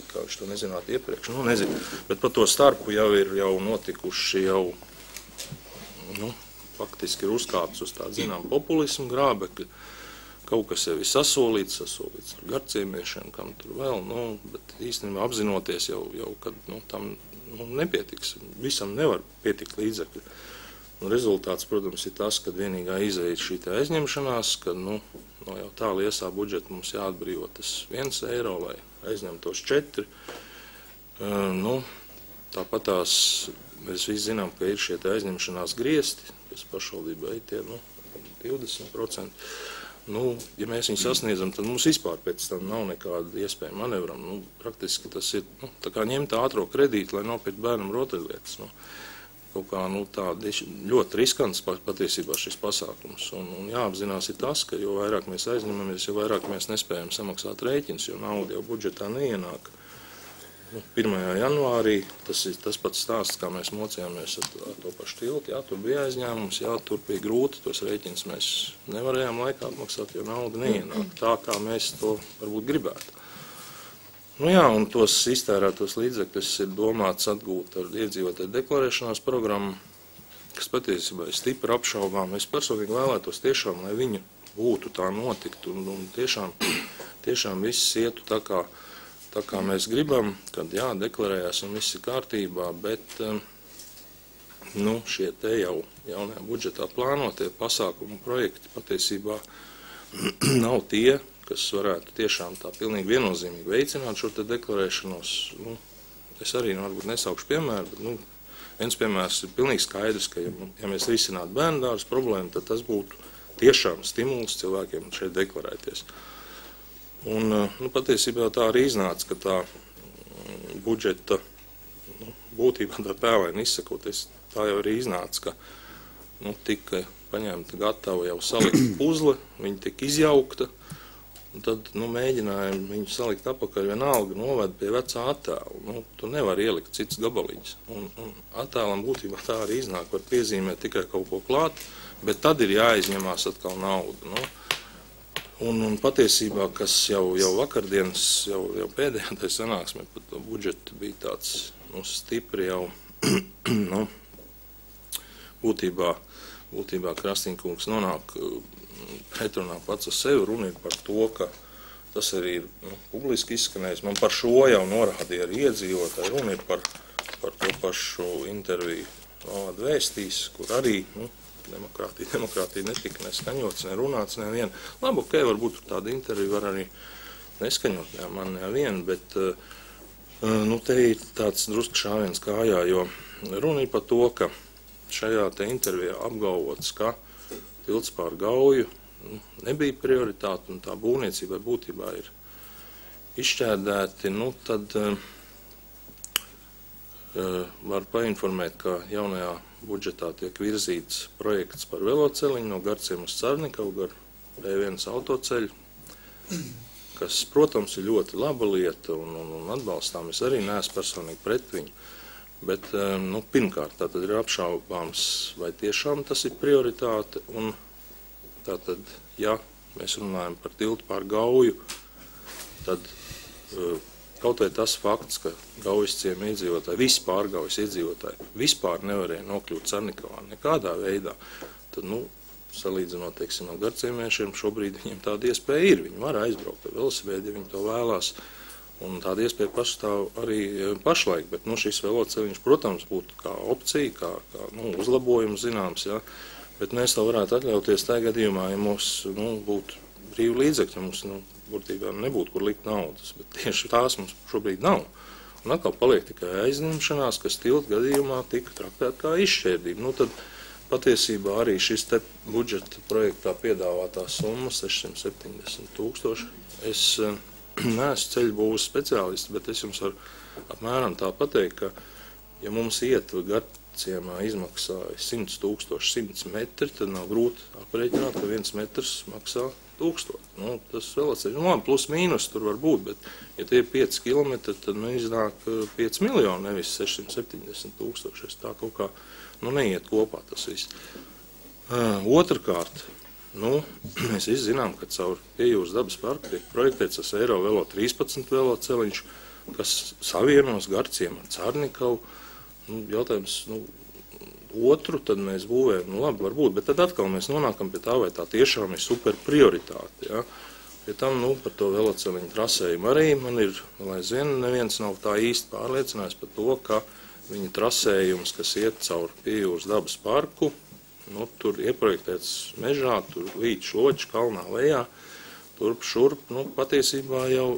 kā viņš to nezinātu iepriekš, nu, nezinu, bet par to starpu jau ir jau notikuši jau, nu, faktiski ir uzkāpts uz tādu, zinām, populismu grābekļu. Kaut kas jau ir sasolīts, sasolīts ar garciemiešiem, kam tur vēl, nu, bet īstenībā apzinoties jau, jau kad, nu, tam, nu, nepietiks, visam nevar pietikt līdzekļi. Un rezultāts, protams, ir tas, ka vienīgā izēja ir šī te aizņemšanās, ka, nu, no jau tā liesā budžeta mums jāatbrīvo tas viens eiro, lai aizņemtos četri. Uh, nu, tāpat tās, mēs visi zinām, ka ir šie te aizņemšanās griesti, kas pašvaldībā ir tie, nu, divdesmit procenti. Nu, ja mēs viņu sasniedzam, tad mums vispār pēc tam nav nekāda iespēja manevram. Nu, praktiski tas ir, nu, tā kā ņemt ātro kredītu, lai nopirkt bērnam rotaļlietas. Nu, kaut kā, nu, tāda ļoti riskants patiesībā šis pasākums. Un, un jāapzinās ir tas, ka jo vairāk mēs aizņemamies, jo vairāk mēs nespējam samaksāt rēķins, jo nauda jau budžetā neienāk. Nu, pirmajā janvārī tas ir tas pats stāsts, kā mēs mocījāmies ar, ar to pašu tiltu. Jā, tur bija aizņēmums, jā, tur bija grūti, tos rēķins mēs nevarējām laikā atmaksāt, jo nauda neienāk tā, kā mēs to varbūt gribētu. Nu jā, un tos iztērētos līdzekļus ir domāts atgūt ar iedzīvotāju deklarēšanās programmu, kas patiesībā ir stipri apšaubām. Es personīgi vēlētos tiešām, lai viņa būtu tā notiktu un, un tiešām, tiešām viss ietu tā kā Tā kā mēs gribam, kad jā, deklarējās un viss ir kārtībā, bet nu, šie te jau jaunajā budžetā plānotie pasākumu projekti patiesībā nav tie, kas varētu tiešām tā pilnīgi viennozīmīgi veicināt šo te deklarēšanos. Nu, es arī nu, varbūt nesaukšu piemēru, bet nu, viens piemērs ir pilnīgi skaidrs, ka ja, ja mēs risinātu bērndārs problēmu, tad tas būtu tiešām stimuls cilvēkiem šeit deklarēties. Un, nu, patiesībā tā arī iznāca, ka tā budžeta, nu, būtībā tā pēlēni izsakoties, tā jau arī iznāca, ka, nu, tika paņemta gatava jau salikt puzle, viņa tika izjaukta, un tad, nu, mēģinājumi viņu salikt apakaļ vienalga noved pie vecā attēla. Nu, tu nevar ielikt cits gabaliņas. Un, un attēlam būtībā tā arī iznāk, var piezīmēt tikai kaut ko klāt, bet tad ir jāizņemās atkal nauda. Nu, Un, un patiesībā, kas jau, jau vakardienas, jau, jau pēdējā tai sanāksmē par to budžetu bija tāds, nu, stipri jau, nu, būtībā, būtībā Krastīņkungs nonāk pretrunā pats ar sevi. Runa ir par to, ka tas arī ir nu, publiski izskanējis. Man par šo jau norādīja arī iedzīvotāji. Runa ir par, par to pašu interviju Valāda vēstīs, kur arī nu, demokrātija, demokrātija netika neskaņots, nerunāts nevien. Labi, ok, varbūt tāda intervija var arī neskaņot, jā, man nevien, bet nu, te ir tāds drusku šāviens kājā, jo runa ir par to, ka šajā te intervijā apgalvots, ka tilts pār Gauju nu, nebija prioritāte un tā būvniecībai būtībā ir izšķērdēti, nu tad uh, var painformēt, ka jaunajā budžetā tiek virzīts projekts par veloceliņu no Garciem uz Carnikavu gar P viens autoceļu, kas, protams, ir ļoti laba lieta un, un, un atbalstām. Es arī neesmu personīgi pret viņu. Bet, nu, pirmkārt, tātad ir apšaubāms, vai tiešām tas ir prioritāte, un tātad, ja mēs runājam par tiltu pār Gauju, tad kaut vai tas fakts, ka Gaujas ciema iedzīvotāji, vispār Gaujas iedzīvotāji, vispār nevarēja nokļūt Carnikavā nekādā veidā, tad, nu, salīdzinot, teiksim, ar garciemiešiem, šobrīd viņiem tāda iespēja ir. Viņi var aizbraukt ar velosipēdu, ja viņi to vēlās. Un tāda iespēja pastāv arī pašlaik, bet nu, šis veloceliņš, protams, būtu kā opcija, kā, kā nu, uzlabojums zināms, ja? Bet mēs to varētu atļauties tajā gadījumā, ja mums nu, būtu brīvi līdzekļi, ja mums nu, būtībā nebūtu, kur likt naudas, bet tieši tās mums šobrīd nav. Un atkal paliek tikai aizņemšanās, kas tiltu gadījumā tika traktēta kā izšķērdība. Nu, tad patiesībā arī šis te budžeta projektā piedāvātā summa sešsimt septiņdesmit tūkstoši. Es neesmu ceļbūves speciālists, bet es jums varu apmēram tā pateikt, ka, ja mums ietva Garciemā izmaksāja simt tūkstoši simts metri, tad nav grūti aprēķināt, ka viens metrs maksā tūkstot. Nu, tas veloceliņš, nu, labi, plus mīnus tur var būt, bet, ja tie ir pieci kilometri, tad nu, iznāk pieci miljoni, nevis sešsimt septiņdesmit tūkstoši. Es tā kaut kā, nu, neiet kopā tas viss. Uh, otrkārt, nu, mēs visi zinām, ka caur Piejūras dabas parku tiek projektēts tas Eiro Velo trīspadsmit veloceliņš, kas savienos Garciemu ar Carnikavu. Nu, jautājums, nu, otru tad mēs būvējam, nu labi, varbūt, bet tad atkal mēs nonākam pie tā, vai tā tiešām ir super prioritāte, ja. Pie tam, nu, par to veloceliņu trasējumu arī man ir, lai zina, neviens nav tā īsti pārliecinājis par to, ka viņa trasējums, kas iet caur Piejūras dabas parku, nu, tur ieprojektēts mežā, tur līdz šloķi kalnā lejā, turp šurp, nu, patiesībā jau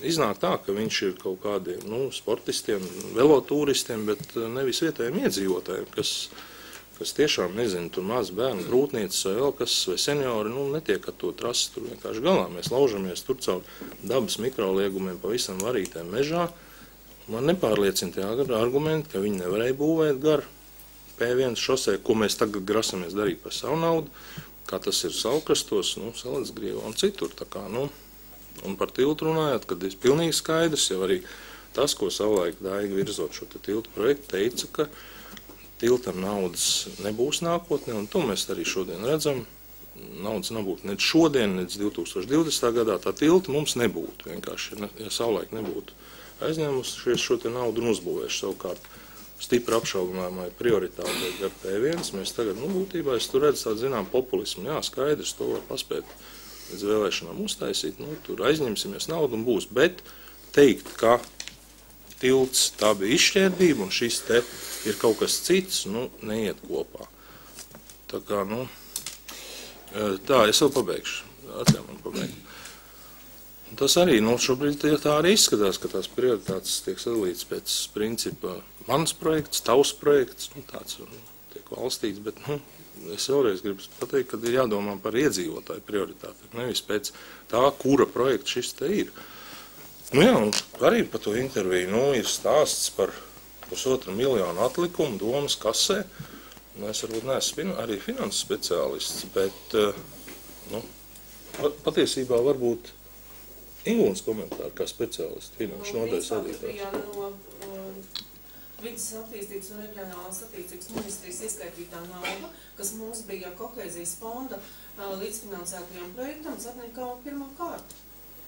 iznāk tā, ka viņš ir kaut kādiem, nu, sportistiem, velotūristiem, bet nevis vietējiem iedzīvotājiem, kas, kas tiešām, nezinu, tur maz bērnu grūtniecis vai vēl kas, vai seniori, nu, netiek ar to trasi tur vienkārši galā. Mēs laužamies tur caur dabas mikroliegumiem pavisam varītēm mežā. Man nepārliecina tie argumenti, ka viņi nevarēja būvēt gar P viens šosē, ko mēs tagad grasamies darīt par savu naudu, kā tas ir Saukrastos, nu, Salacgrievā un citur. Tā kā, nu, un par tiltu runājot, kad ir pilnīgi skaidrs, jau arī tas, ko savulaik Daiga virzot šo te tiltu projektu, teica, ka tiltam naudas nebūs nākotnē, un to mēs arī šodien redzam. Naudas nebūtu ne šodien, ne divi tūkstoši divdesmitā gadā, tā tilta mums nebūtu vienkārši, ja savulaik nebūtu aizņēmušies šo te naudu un uzbūvējuši savukārt. Stipri apšaubāmai prioritātei gar P viens, mēs tagad, nu, būtībā es tur redzu tādu, zinām, populismu. Jā, skaidrs, to var paspēt līdz vēlēšanām uztaisīt, nu, tur aizņemsimies naudu un būs, bet teikt, ka tilts tā bija izšķērdība un šis te ir kaut kas cits, nu, neiet kopā. Tā kā, nu, tā, es vēl pabeigšu, atļauj man pabeigt. Un tas arī, nu, šobrīd tā arī izskatās, ka tās prioritātes tiek sadalītas pēc principa mans projekts, tavs projekts, nu, tāds tiek valstīts, bet, nu, es vēlreiz gribu pateikt, ka ir jādomā par iedzīvotāju prioritāti, nevis pēc tā, kura projekta šis te ir. Nu jā, un arī par to interviju, nu, ir stāsts par pusotru miljonu atlikumu domas kasē. Nu, es varbūt neesmu arī finanses speciālists, bet, nu, patiesībā varbūt Ingūnas komentāri kā speciālisti finanšu nodaļas vadītājs. No Vides attīstības un reģionālās attīstības ministrijas ieskaitītā nauda, kas mums bija kohēzijas fonda līdzfinansētajām projektam, Carnikava pirmā kārta.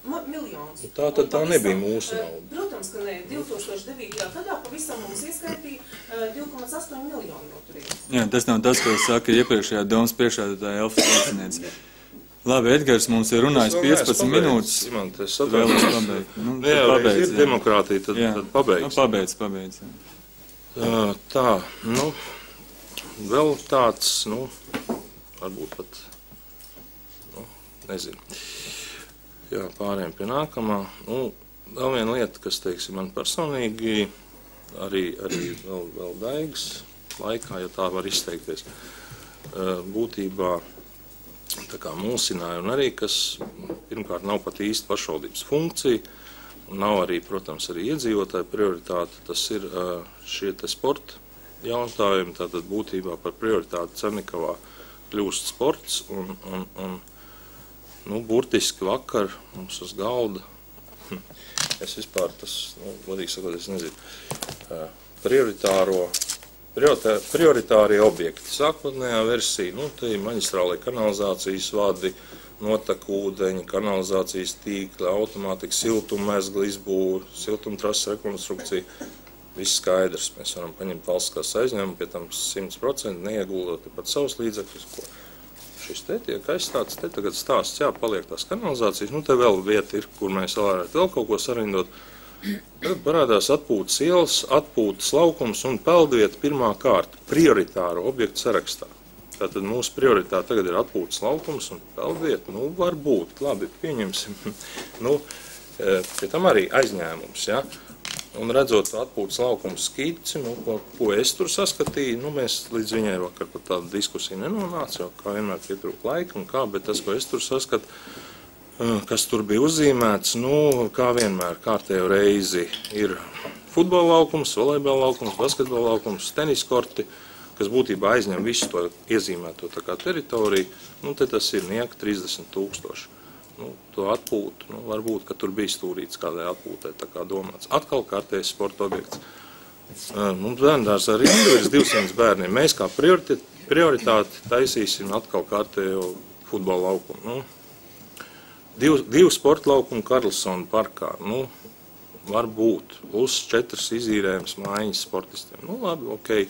Miljonus. Tā tad tā nebija mūsu nauda. Protams, ka ne. divi tūkstoši devītajā gadā pavisam mums ieskaitīja divi komats astoņi miljoni no turienes. Jā, tas nav tas, ko saka iepriekšējā domas priekšādātāja Elfa Slieciniece. Labi, Edgars mums ir runājis piecpadsmit minūtes. Imant, es Vēlos pabeigt. Nu, Nu, jā, pabeidz, ir jā. demokrātija, tad, Jā. tad pabeigsim. Nu, pabeidz, pabeidz. jā. Uh, tā, nu, vēl tāds, nu, varbūt pat, nu, nezinu. Jā, pārējiem pie nākamā. Nu, vēl viena lieta, kas, teiksim, man personīgi, arī, arī vēl, vēl Daigas laikā, ja tā var izteikties, uh, būtībā tā kā mulsināja un arī, kas pirmkārt nav pat īsti pašvaldības funkcija, un nav arī, protams, arī iedzīvotāju prioritāte, tas ir uh, šie te sporta jautājumi, tātad būtībā par prioritāti Cernikavā kļūst sports, un, un, un nu, burtiski vakar mums uz galda, es vispār tas, nu, vadīgi sakot, es nezinu, uh, prioritāro, prioritā, prioritārie objekti. Sākotnējā versija, nu, te ir maģistrālai kanalizācijas vadi, notaku ūdeņi, kanalizācijas tīkli, automātika, siltummezgla izbūve, siltumtrases rekonstrukcija. Viss skaidrs. Mēs varam paņemt valstiskās aizņēmumu, pie tam simt procenti neieguldot pat savus līdzekļus, ko šis te tiek aizstāts. Te tagad stāsts, jā, paliek tās kanalizācijas. Nu, te vēl vieta ir, kur mēs varētu vēl kaut ko sarindot. Tad parādās atpūtas ielas, atpūtas laukums un peldvieta pirmā kārta prioritāro objektu sarakstā. Tātad mūsu prioritāte tagad ir atpūtas laukums un peldvieta. Nu, varbūt, labi, pieņemsim. Nu, pie tam arī aizņēmums, ja? Un redzot atpūtas laukumu skici, nu, ko, ko es tur saskatīju, nu, mēs līdz viņai vakar pat tādu diskusiju nenonāca, jo kā vienmēr pietrūk laika un kā, bet tas, ko es tur saskatu, kas tur bija uzzīmēts, nu, kā vienmēr kārtējo reizi ir futbola laukums, volejbola laukums, basketbola laukums, teniskorti, kas būtībā aizņem visu to iezīmēto tā kā teritoriju, nu, te tas ir nieka trīsdesmit tūkstoši. Nu, to atpūtu, nu, varbūt, ka tur bija stūrīts kādai atpūtē, tā kā domāts. Atkal kārtējs sporta objekts. Mums bērndārs ar rindu ir divsimt bērniem. Mēs kā prioritāti, prioritāti taisīsim atkal kārtējo futbola laukumu. Nu, div, divu sporta laukumu Karlsona parkā. Nu, varbūt. Plus četras izīrējums mājiņas sportistiem. Nu, labi, okei.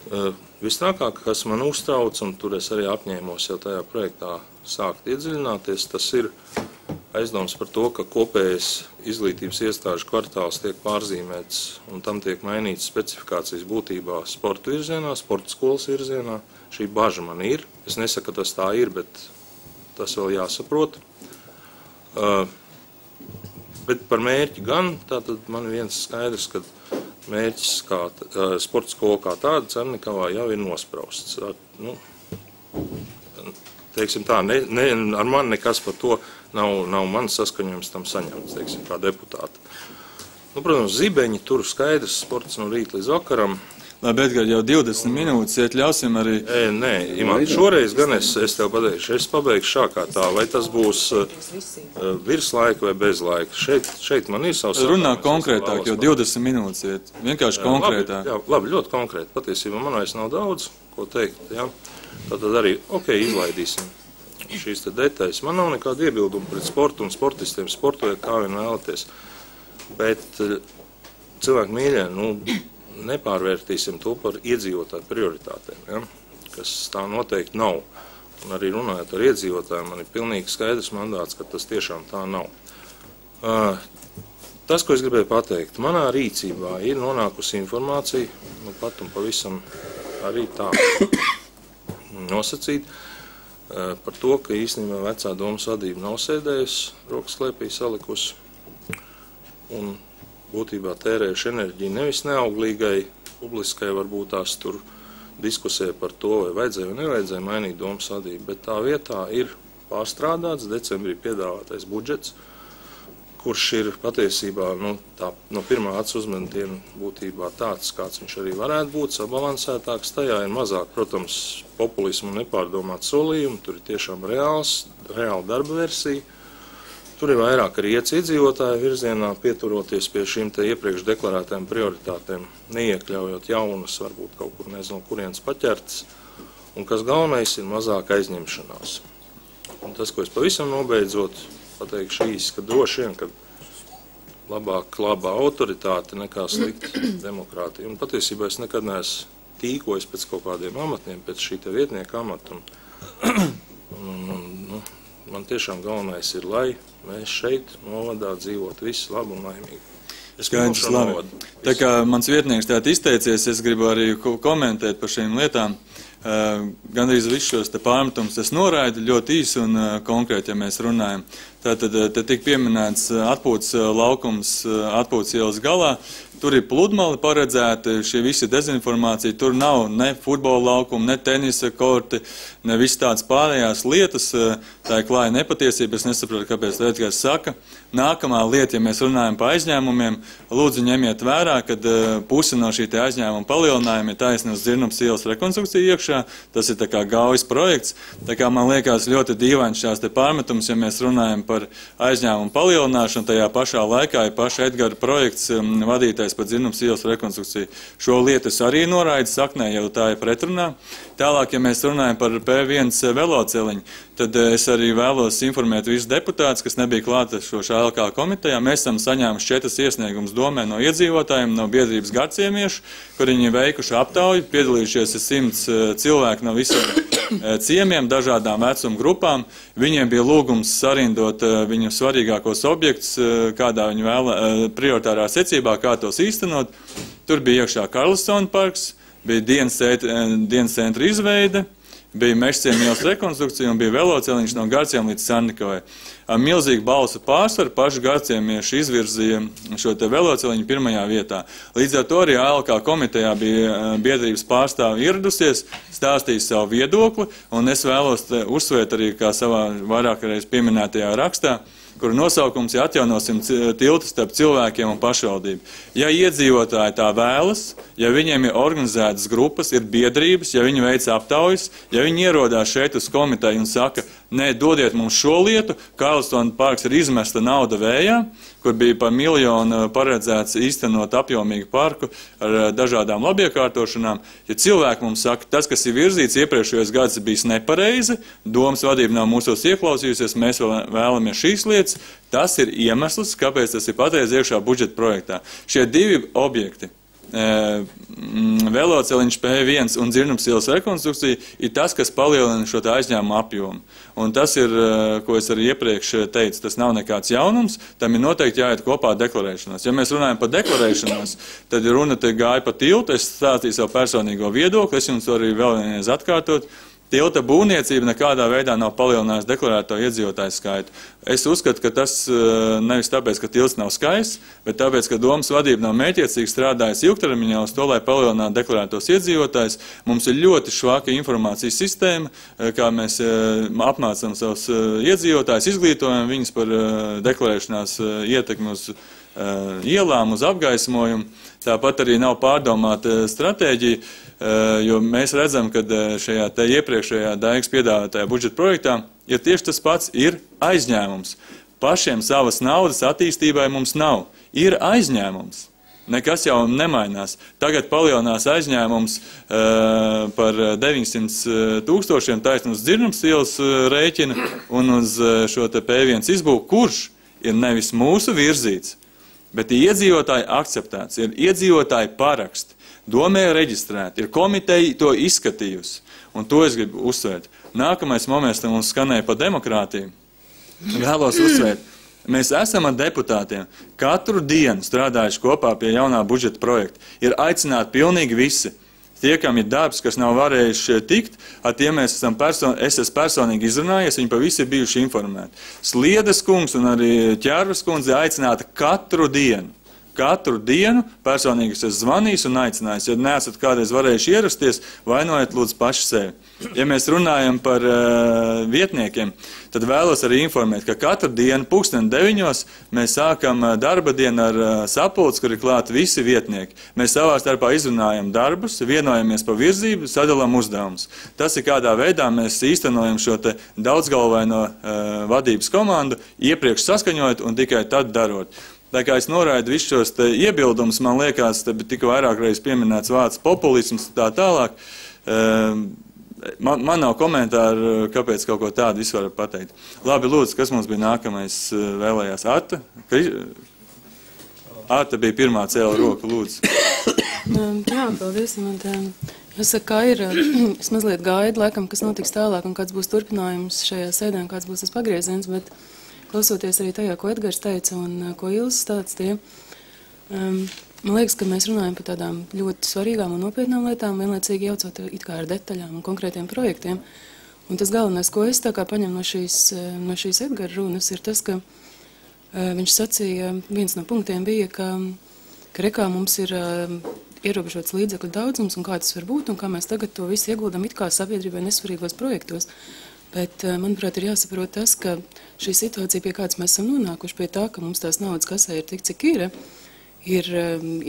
Uh, Visnākāk, kas man uztrauc, un tur es arī apņēmos jau tajā projektā sākt iedziļināties, tas ir aizdoms par to, ka kopējais izglītības iestāžu kvartāls tiek pārzīmēts un tam tiek mainīts specifikācijas būtībā sporta virzienā, sporta skolas virzienā. Šī baža man ir. Es nesaku, ka tas tā ir, bet tas vēl jāsaprot. Uh, bet par mērķi gan, tātad man viens skaidrs, ka mērķis kā uh, sporta skola kā tāda Cernikavā jau ir nosprausts. Uh, nu, teiksim tā, ne, ne, ar mani nekas par to nav, nav mans saskaņojums tam saņemts, teiksim, kā deputāti. Nu, protams, zibeņi tur skaidrs sports no rīta līdz vakaram. Labi, Edgar, jau divdesmit minūtes, iet ļausim arī... E, nē, Imant, šoreiz gan es, es tev pateikšu, es pabeigšu šā kā tā, vai tas būs uh, virs laika vai bez laika. Šeit, šeit man ir savs... Runā konkrētāk, jo divdesmit minūtes iet, vienkārši konkrētāk. Labi, jā, labi, ļoti konkrēti. Patiesībā man vairs nav daudz, ko teikt, jā. Tātad arī, ok, izlaidīsim šīs te detaļas. Man nav nekāda iebilduma pret sportu un sportistiem, sportojiet kā vien vēlaties. Bet cilvēki mīļie, nu... nepārvērtīsim to par iedzīvotāju prioritātēm, ja? Kas tā noteikti nav. Un arī runājot ar iedzīvotājiem, man ir pilnīgi skaidrs mandāts, ka tas tiešām tā nav. Uh, tas, ko es gribēju pateikt, manā rīcībā ir nonākusi informācija, nu pat un pavisam arī tā nosacīt, uh, par to, ka īstenībā vecā domas vadība nav sēdējusi, rokas klēpī salikusi, un būtībā tērējuši enerģiju nevis neauglīgai, publiskai varbūt tās tur diskusija par to, vai vajadzēja vai nevajadzēja mainīt domas vadību, bet tā vietā ir pārstrādāts decembrī piedāvātais budžets, kurš ir patiesībā nu, tā, no pirmā acu uzmetiena būtībā tāds, kāds viņš arī varētu būt, sabalansētāks. Tajā ir mazāk, protams, populismu un nepārdomāt solījumu, tur ir tiešām reāls, reāla darba versija. Tur ir vairāk arī iets iedzīvotāju virzienā, pieturoties pie šīm te iepriekš deklarētām prioritātēm, neiekļaujot jaunas, varbūt kaut kur nezinu, kurienes paķertas, un kas galvenais ir mazāk aizņemšanās. Un tas, ko es pavisam nobeidzot, pateikšu īsi, ka droši vien, ka labāk laba autoritāte nekā slikta demokrātija. Un patiesībā es nekad neesmu tīkojis pēc kaut kādiem amatiem, pēc šī te vietnieka amata. Un, un, un, nu, man tiešām galvenais ir, lai mēs šeit novadā dzīvot visi labi un laimīgi. Skaidrs, labi. Tā kā mans vietnieks tātad izteicies, es gribu arī komentēt par šīm lietām. Uh, gandrīz visus šos te pārmetumus es noraidu ļoti īsi un uh, konkrēti, ja mēs runājam. Tātad te tik pieminēts atpūtas laukums atpūtas ielas galā. Tur ir pludmali paredzēti, šie visi dezinformācija, tur nav ne futbola laukuma, ne tenisa korti, ne viss tāds pārējās lietas. Tā ir klāja nepatiesība, es nesaprotu, kāpēc Vētgars saka. Nākamā lieta, ja mēs runājam par aizņēmumiem, lūdzu ņemiet vērā, kad pusi no šī te aizņēmuma palielinājuma ir taisni uz Dzirnavas ielas rekonstrukciju iekšā. Tas ir tā kā gaujas projekts. Tā kā man liekas ļoti dīvains šās te pārmetums, ja mēs runājam par aizņēmumu palielināšanu, tajā pašā laikā ir paša Edgara projekts um, vadītais par Dzirnavas ielas rekonstrukciju. Šo lietu es arī noraidu saknē, jau tā ir pretrunā. Tālāk, ja mēs runājam par P viens veloceliņu, tad es arī vēlos informēt visus deputātus, kas nebija klāta šo šā L K komitejā. Mēs esam saņēmuši četras iesniegumus domē no iedzīvotājiem, no biedrības Garciemiešu, kur viņi veikuši aptauju, piedalījušies simts cilvēki no visiem ciemiem, dažādām vecuma grupām. Viņiem bija lūgums sarindot viņu svarīgākos objektus, kādā viņi vēla, prioritārā secībā, kā tos īstenot. Tur bija iekšā Karlsona parks, bija dienas centra izveide, bija Mežciema ielas rekonstrukcija un bija veloceliņš no Garciem līdz Sarnikovai. Ar milzīgu balsu pārsvaru paši garciemieši izvirzīja šo te veloceliņu pirmajā vietā. Līdz ar to arī A L K komitejā bija biedrības pārstāvi ieradusies, stāstīja savu viedokli, un es vēlos uzsvērt arī, kā savā vairākreiz pieminētajā rakstā, kuru nosaukums ir atjaunosim tiltu starp cilvēkiem un pašvaldību. Ja iedzīvotāji tā vēlas, ja viņiem ir organizētas grupas, ir biedrības, ja viņi veic aptaujas, ja viņi ierodās šeit uz komiteju un saka, nē, dodiet mums šo lietu, Karlsona parks ir izmesta nauda vējā, kur bija par miljonu paredzēts īstenot apjomīgu parku ar dažādām labiekārtošanām. Ja cilvēki mums saka, tas, kas ir virzīts iepriekšējos gads, ir bijis nepareizi, domas vadība nav mūsos ieklausījusies, mēs vēlamies šīs lietas, tas ir iemesls, kāpēc tas ir patreiz iekšā budžeta projektā. Šie divi objekti, veloceliņš P viens un Dzirnavas ielas rekonstrukcija, ir tas, kas palielina šo aizņēmumu apjomu. Un tas ir, ko es arī iepriekš teicu, tas nav nekāds jaunums, tam ir noteikti jāiet kopā deklarēšanās. Ja mēs runājam par deklarēšanos, tad runa te gāja pa tiltu, es stāstīju savu personīgo viedokli, es jums arī vēl vienreiz atkārtot. Tilta būvniecība nekādā veidā nav palielinājusi deklarēto iedzīvotāju skaitu. Es uzskatu, ka tas nevis tāpēc, ka tilts nav skaists, bet tāpēc, ka domas vadība nav mērķiecīgi strādājusi ilgtermiņā uz to, lai palielinātu deklarētos iedzīvotājus. Mums ir ļoti švaka informācijas sistēma, kā mēs apmācam savus iedzīvotājus, izglītojam viņus par deklarēšanās ietekmi uz ielām, uz apgaismojumu. Tāpat arī nav pārdomāta stratēģija, jo mēs redzam, ka šajā te iepriekšējā Daigas piedāvātajā budžeta projektā ir tieši tas pats, ir aizņēmums. Pašiem savas naudas attīstībai mums nav. Ir aizņēmums. Nekas jau nemainās. Tagad palielinās aizņēmums uh, par deviņsimt tūkstošiem taisni uz Dzirnavas ielas rēķina un uz šo te P viens izbūvu, kurš ir nevis mūsu virzīts, bet iedzīvotāji akceptēts, ir iedzīvotāji paraksti, domē reģistrēti, ir komiteja to izskatījusi, un to es gribu uzsvērt. Nākamais moments mums skanēja par demokrātiju. Vēlos uzsvērt, mēs esam ar deputātiem katru dienu strādājuši kopā pie jaunā budžeta projekta. Ir aicināti pilnīgi visi. Tie, kam ir darbs, kas nav varējuši tikt, ar tiem mēs esam person, es esmu personīgi izrunājies, viņi pa visi ir bijuši informēti. Sliedes kungs un arī Ķērvas kundze aicināta katru dienu. Katru dienu personīgi es esmu zvanījis un aicinājis. Ja neesat kādreiz varējuši ierasties, vainojiet lūdzu paši sevi. Ja mēs runājam par uh, vietniekiem, tad vēlos arī informēt, ka katru dienu pulksten deviņos mēs sākam darba dienu ar uh, sapulci, kur ir klāti visi vietnieki. Mēs savā starpā izrunājam darbus, vienojamies par virzību, sadalām uzdevumus. Tas ir kādā veidā mēs īstenojam šo te daudzgalvaino uh, vadības komandu, iepriekš saskaņojot un tikai tad darot. Tā kā es noraidu visus šos te iebildumus, man liekas, te tika vairāk reiz pieminēts vārds populisms tā tālāk. Man, man nav komentāru, kāpēc kaut ko tādu visu var pateikt. Labi, lūdzu, kas mums bija nākamais vēlējās? Arta? Arta bija pirmā cēla roku, lūdzu. Jā, paldies. Man tā Es saku, kā ir, es mazliet gaidu, laikam, kas notiks tālāk un kāds būs turpinājums šajā sēdē un kāds būs tas pagrieziens, bet klausoties arī tajā, ko Edgars teica un ko Ilses stāstīja, um, man liekas, ka mēs runājam par tādām ļoti svarīgām un nopietnām lietām, vienlaicīgi jaucot it kā ar detaļām un konkrētiem projektiem. Un tas galvenais, ko es tā kā paņem no šīs, no šīs Edgara runas, ir tas, ka uh, viņš sacīja, viens no punktiem bija, ka, ka rekā mums ir uh, ierobežots līdzekļu daudzums un kā tas var būt un kā mēs tagad to visu ieguldam it kā sabiedrībai nesvarīgos projektos. Bet, manuprāt, ir jāsaprot tas, ka šī situācija, pie kādas mēs esam nonākuši, pie tā, ka mums tās naudas kasē ir tik, cik ir, ir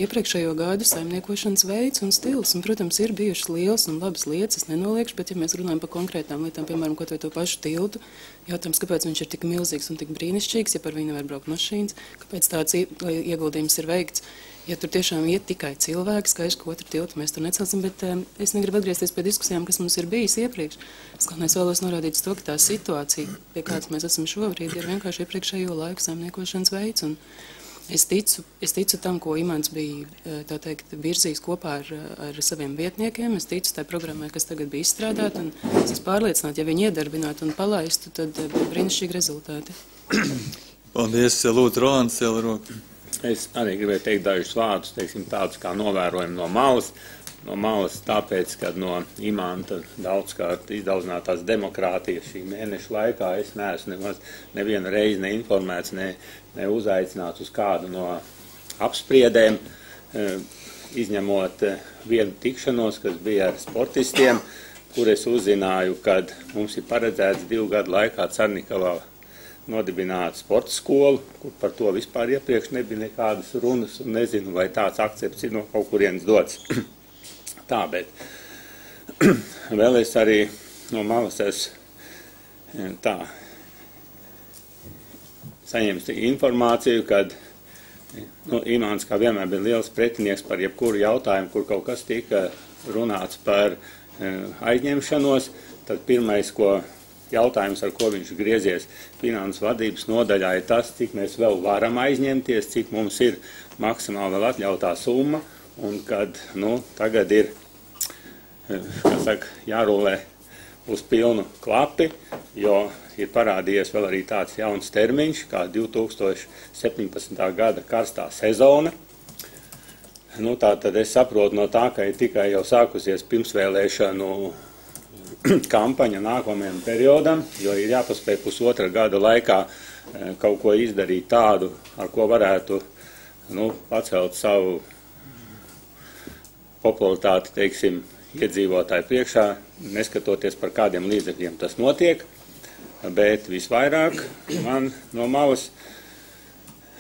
iepriekšējo gadu saimniekošanas veids un stils. Un, protams, ir bijušas lielas un labas lietas, es nenoliekšu, bet ja mēs runājam par konkrētām lietām, piemēram, kaut vai to pašu tiltu, jautājums, kāpēc viņš ir tik milzīgs un tik brīnišķīgs, ja par viņu nevar braukt mašīnas, kāpēc tāds ieguldījums ir veikts. Ja tur tiešām iet tikai cilvēki, skaidrs, ka otru tiltu mēs tur necelsim, bet um, es negribu atgriezties pie diskusijām, kas mums ir bijis iepriekš. Es galvenais vēlos norādīt to, ka tā situācija, pie kādas mēs esam šobrīd, ir vienkārši iepriekšējo laiku saimniekošanas veids. Un es ticu, es ticu tam, ko Imants bija, tā teikt, virzījis kopā ar, ar saviem vietniekiem. Es ticu tai programmai, kas tagad bija izstrādāta, un es esmu pārliecināta, ja viņi iedarbinātu un palaistu, tad būtu brīnišķīgi rezultāti. Paldies, Lūdzu, Rolands, cēla roku. Es arī gribēju teikt dažus vārdus, teiksim, tādus kā novērojumu no malas. No malas tāpēc, kad no Imanta daudzkārt izdaudzinātās demokrātijas šī mēneša laikā es neesmu nemaz nevienu reizi neinformēts, ne, ne uzaicināts uz kādu no apspriedēm, izņemot vienu tikšanos, kas bija ar sportistiem, kur es uzzināju, kad mums ir paredzēts divu gadu laikā Carnikavā nodibināt sporta skolu, kur par to vispār iepriekš nebija nekādas runas, un nezinu, vai tāds akcepts ir no kaut kurienes dots. Tā, bet vēl es arī no malas esmu tā saņems informāciju, kad nu, Imants kā vienmēr bija liels pretinieks par jebkuru jautājumu, kur kaut kas tika runāts par aizņemšanos, tad pirmais, ko jautājums, ar ko viņš griezies finanses vadības nodaļā, ir tas, cik mēs vēl varam aizņemties, cik mums ir maksimāli vēl atļautā summa, un kad, nu, tagad ir, kā saka, jārulē uz pilnu klapi, jo ir parādījies vēl arī tāds jauns termiņš, kā divi tūkstoši septiņpadsmitā gada karstā sezona. Nu, tā tad es saprotu no tā, ka ir tikai jau sākusies pirmsvēlēšanu kampaņa nākamajam periodam, jo ir jāpaspēj pusotra gada laikā kaut ko izdarīt tādu, ar ko varētu nu, pacelt savu popularitāti, teiksim, iedzīvotāju priekšā, neskatoties par kādiem līdzekļiem tas notiek, bet visvairāk man no malas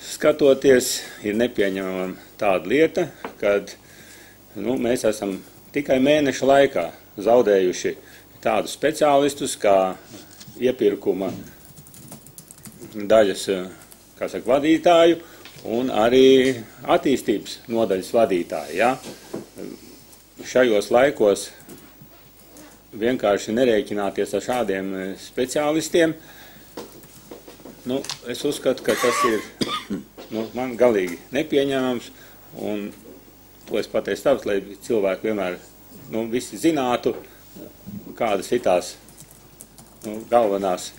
skatoties ir nepieņemama tāda lieta, kad nu, mēs esam tikai mēneša laikā zaudējuši tādus speciālistus, kā iepirkuma daļas, kā saka, vadītāju un arī attīstības nodaļas vadītāju. Ja? Šajos laikos vienkārši nerēķināties ar šādiem speciālistiem, nu, es uzskatu, ka tas ir nu, man galīgi nepieņemams, un to es pateicu tāpēc, lai cilvēki vienmēr nu, visi zinātu, kādas ir tās nu, galvenās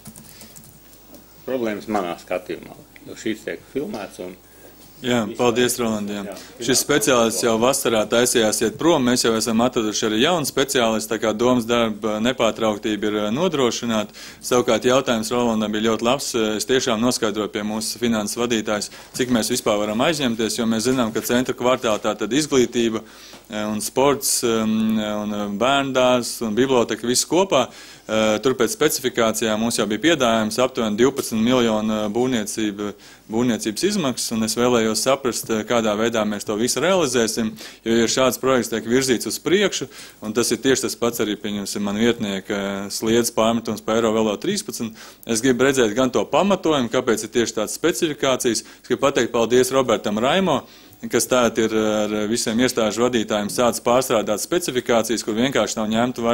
problēmas manā skatījumā. Jo šīs tiek filmēts un Jā, paldies, Rolandiem. Šis speciālists jau vasarā taisījās iet prom, mēs jau esam atraduši arī jaunu speciālistu, tā kā domas darba nepārtrauktība ir nodrošināta. Savukārt jautājums Rolandam bija ļoti labs. Es tiešām noskaidroju pie mūsu finanses vadītājs, cik mēs vispār varam aizņemties, jo mēs zinām, ka centra kvartālā tātad izglītība un sports un bērndārs un biblioteka visu kopā. Tur pēc specifikācijām mums jau bija piedāvājums aptuveni divpadsmit miljonu būvniecība, būvniecības izmaksas, un es vēlējos saprast, kādā veidā mēs to visu realizēsim, jo ja šāds projekts tiek virzīts uz priekšu, un tas ir tieši tas pats arī, pieņemsim, man vietnieka sliedz pārmetums pa eiro vēl trīspadsmit. Es gribu redzēt gan to pamatojumu, kāpēc ir tieši tādas specifikācijas. Es gribu pateikt paldies Robertam Raimo, kas tātad ir ar visiem iestāžu vadītājiem sācis pārstrādāt specifikācijas, kur vienkārši nav ņemtu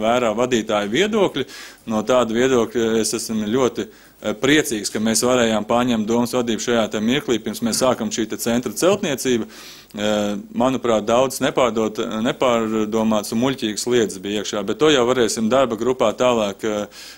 vērā vadītāju viedokļi. No tāda viedokļa es esmu ļoti priecīgs, ka mēs varējām paņemt domas vadību šajā te mirklī, pirms mēs sākam šī te centra celtniecību. Manuprāt, daudz nepārdot, nepārdomāts un muļķīgas lietas bija iekšā, bet to jau varēsim darba grupā tālāk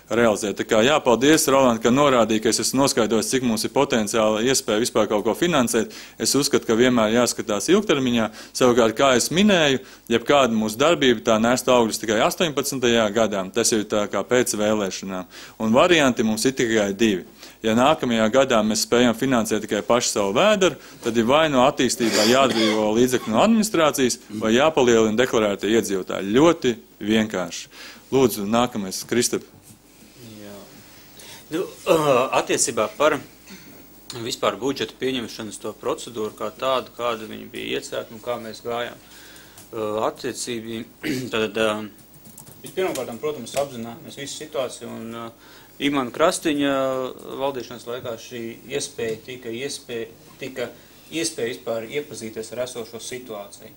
realizēt. Tā kā jā, paldies, Roland, ka norādīja, ka es esmu noskaidrojis, cik mums ir potenciāla iespēja vispār kaut ko finansēt. Es uzskatu, ka vienmēr jāskatās ilgtermiņā. Savukārt, kā es minēju, jebkāda mūsu darbība tā nēst augļus tikai astoņpadsmitajā gadā. Tas ir tā kā pēc vēlēšanām. Un varianti mums ir tikai divi. Ja nākamajā gadā mēs spējam finansēt tikai pašu savu vēderu, tad ir vai no attīstībā jāatbrīvo līdzekļu no administrācijas, vai jāpalielina deklarētie iedzīvotāji. Ļoti vienkārši. Lūdzu, nākamais, Kristap. Jā. Nu, attiecībā par vispār budžeta pieņemšanas to procedūru kā tādu, kāda viņa bija iecerēta un kā mēs gājām. Attiecībā, tad vispirmkārt, protams, apzinājāmies visu situāciju un Imanta Krastiņa valdīšanas laikā šī iespēja tika iespēja, tika iespēja vispār iepazīties ar esošo situāciju.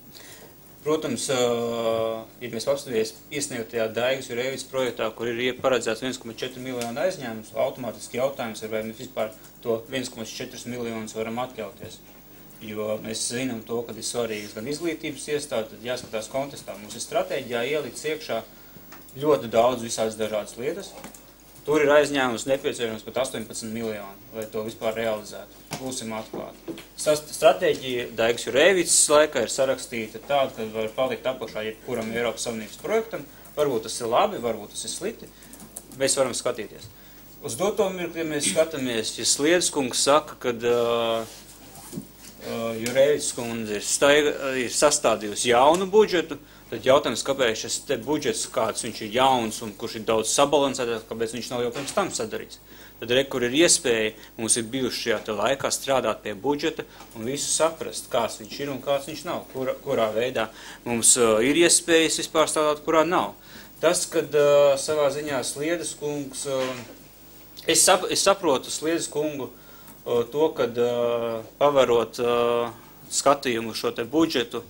Protams, ja mēs apskatīsimies iesniegtajā Daigas Jurēvics projektā, kur ir paredzēts viens komats četri miljonu aizņēmums, automātiski jautājums ir, vai mēs vispār to viens komats četri miljonus varam atļauties. Jo mēs zinām to, ka ir svarīgas gan izglītības iestāde, tad jāskatās kontestā. Mums ir stratēģijā ielicis iekšā ļoti daudz visādas dažādas lietas. Tur ir aizņēmums nepieciešams pat astoņpadsmit miljoni, lai to vispār realizētu. Būsim atklāti. Stratēģija Daigas Jurēvics laikā ir sarakstīta tāda, ka var palikt apakšā jebkuram Eiropas Savienības projektam. Varbūt tas ir labi, varbūt tas ir slikti. Mēs varam skatīties. Uz doto mirkli, ja mēs skatāmies, ja Sliedes kungs saka, ka uh, uh, Jurēvics kundze ir, staiga, ir sastādījusi jaunu budžetu, tad jautājums, kāpēc šis te budžets, kāds viņš ir jauns un kurš ir daudz sabalansētāks, kāpēc viņš nav jau pirms tam sadarīts. Tad, re, kur ir iespēja, mums ir bijuši šajā te laikā strādāt pie budžeta un visu saprast, kāds viņš ir un kāds viņš nav, kurā, kurā veidā mums uh, ir iespējas vispār strādāt, kurā nav. Tas, kad uh, savā ziņā Sliedes kungs, uh, es, sap, es saprotu Sliedes kungu uh, to, kad uh, pavarot uh, skatījumu šo te budžetu,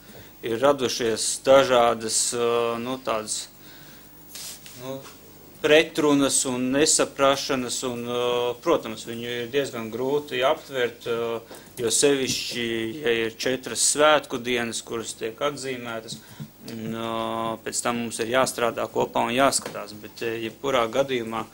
ir radušies dažādas nu, tādas, nu, pretrunas un nesaprašanas, un, protams, viņu ir diezgan grūti aptvert, jo sevišķi, ja ir četras svētku dienas, kuras tiek atzīmētas, un, pēc tam mums ir jāstrādā kopā un jāskatās, bet jebkurā gadījumā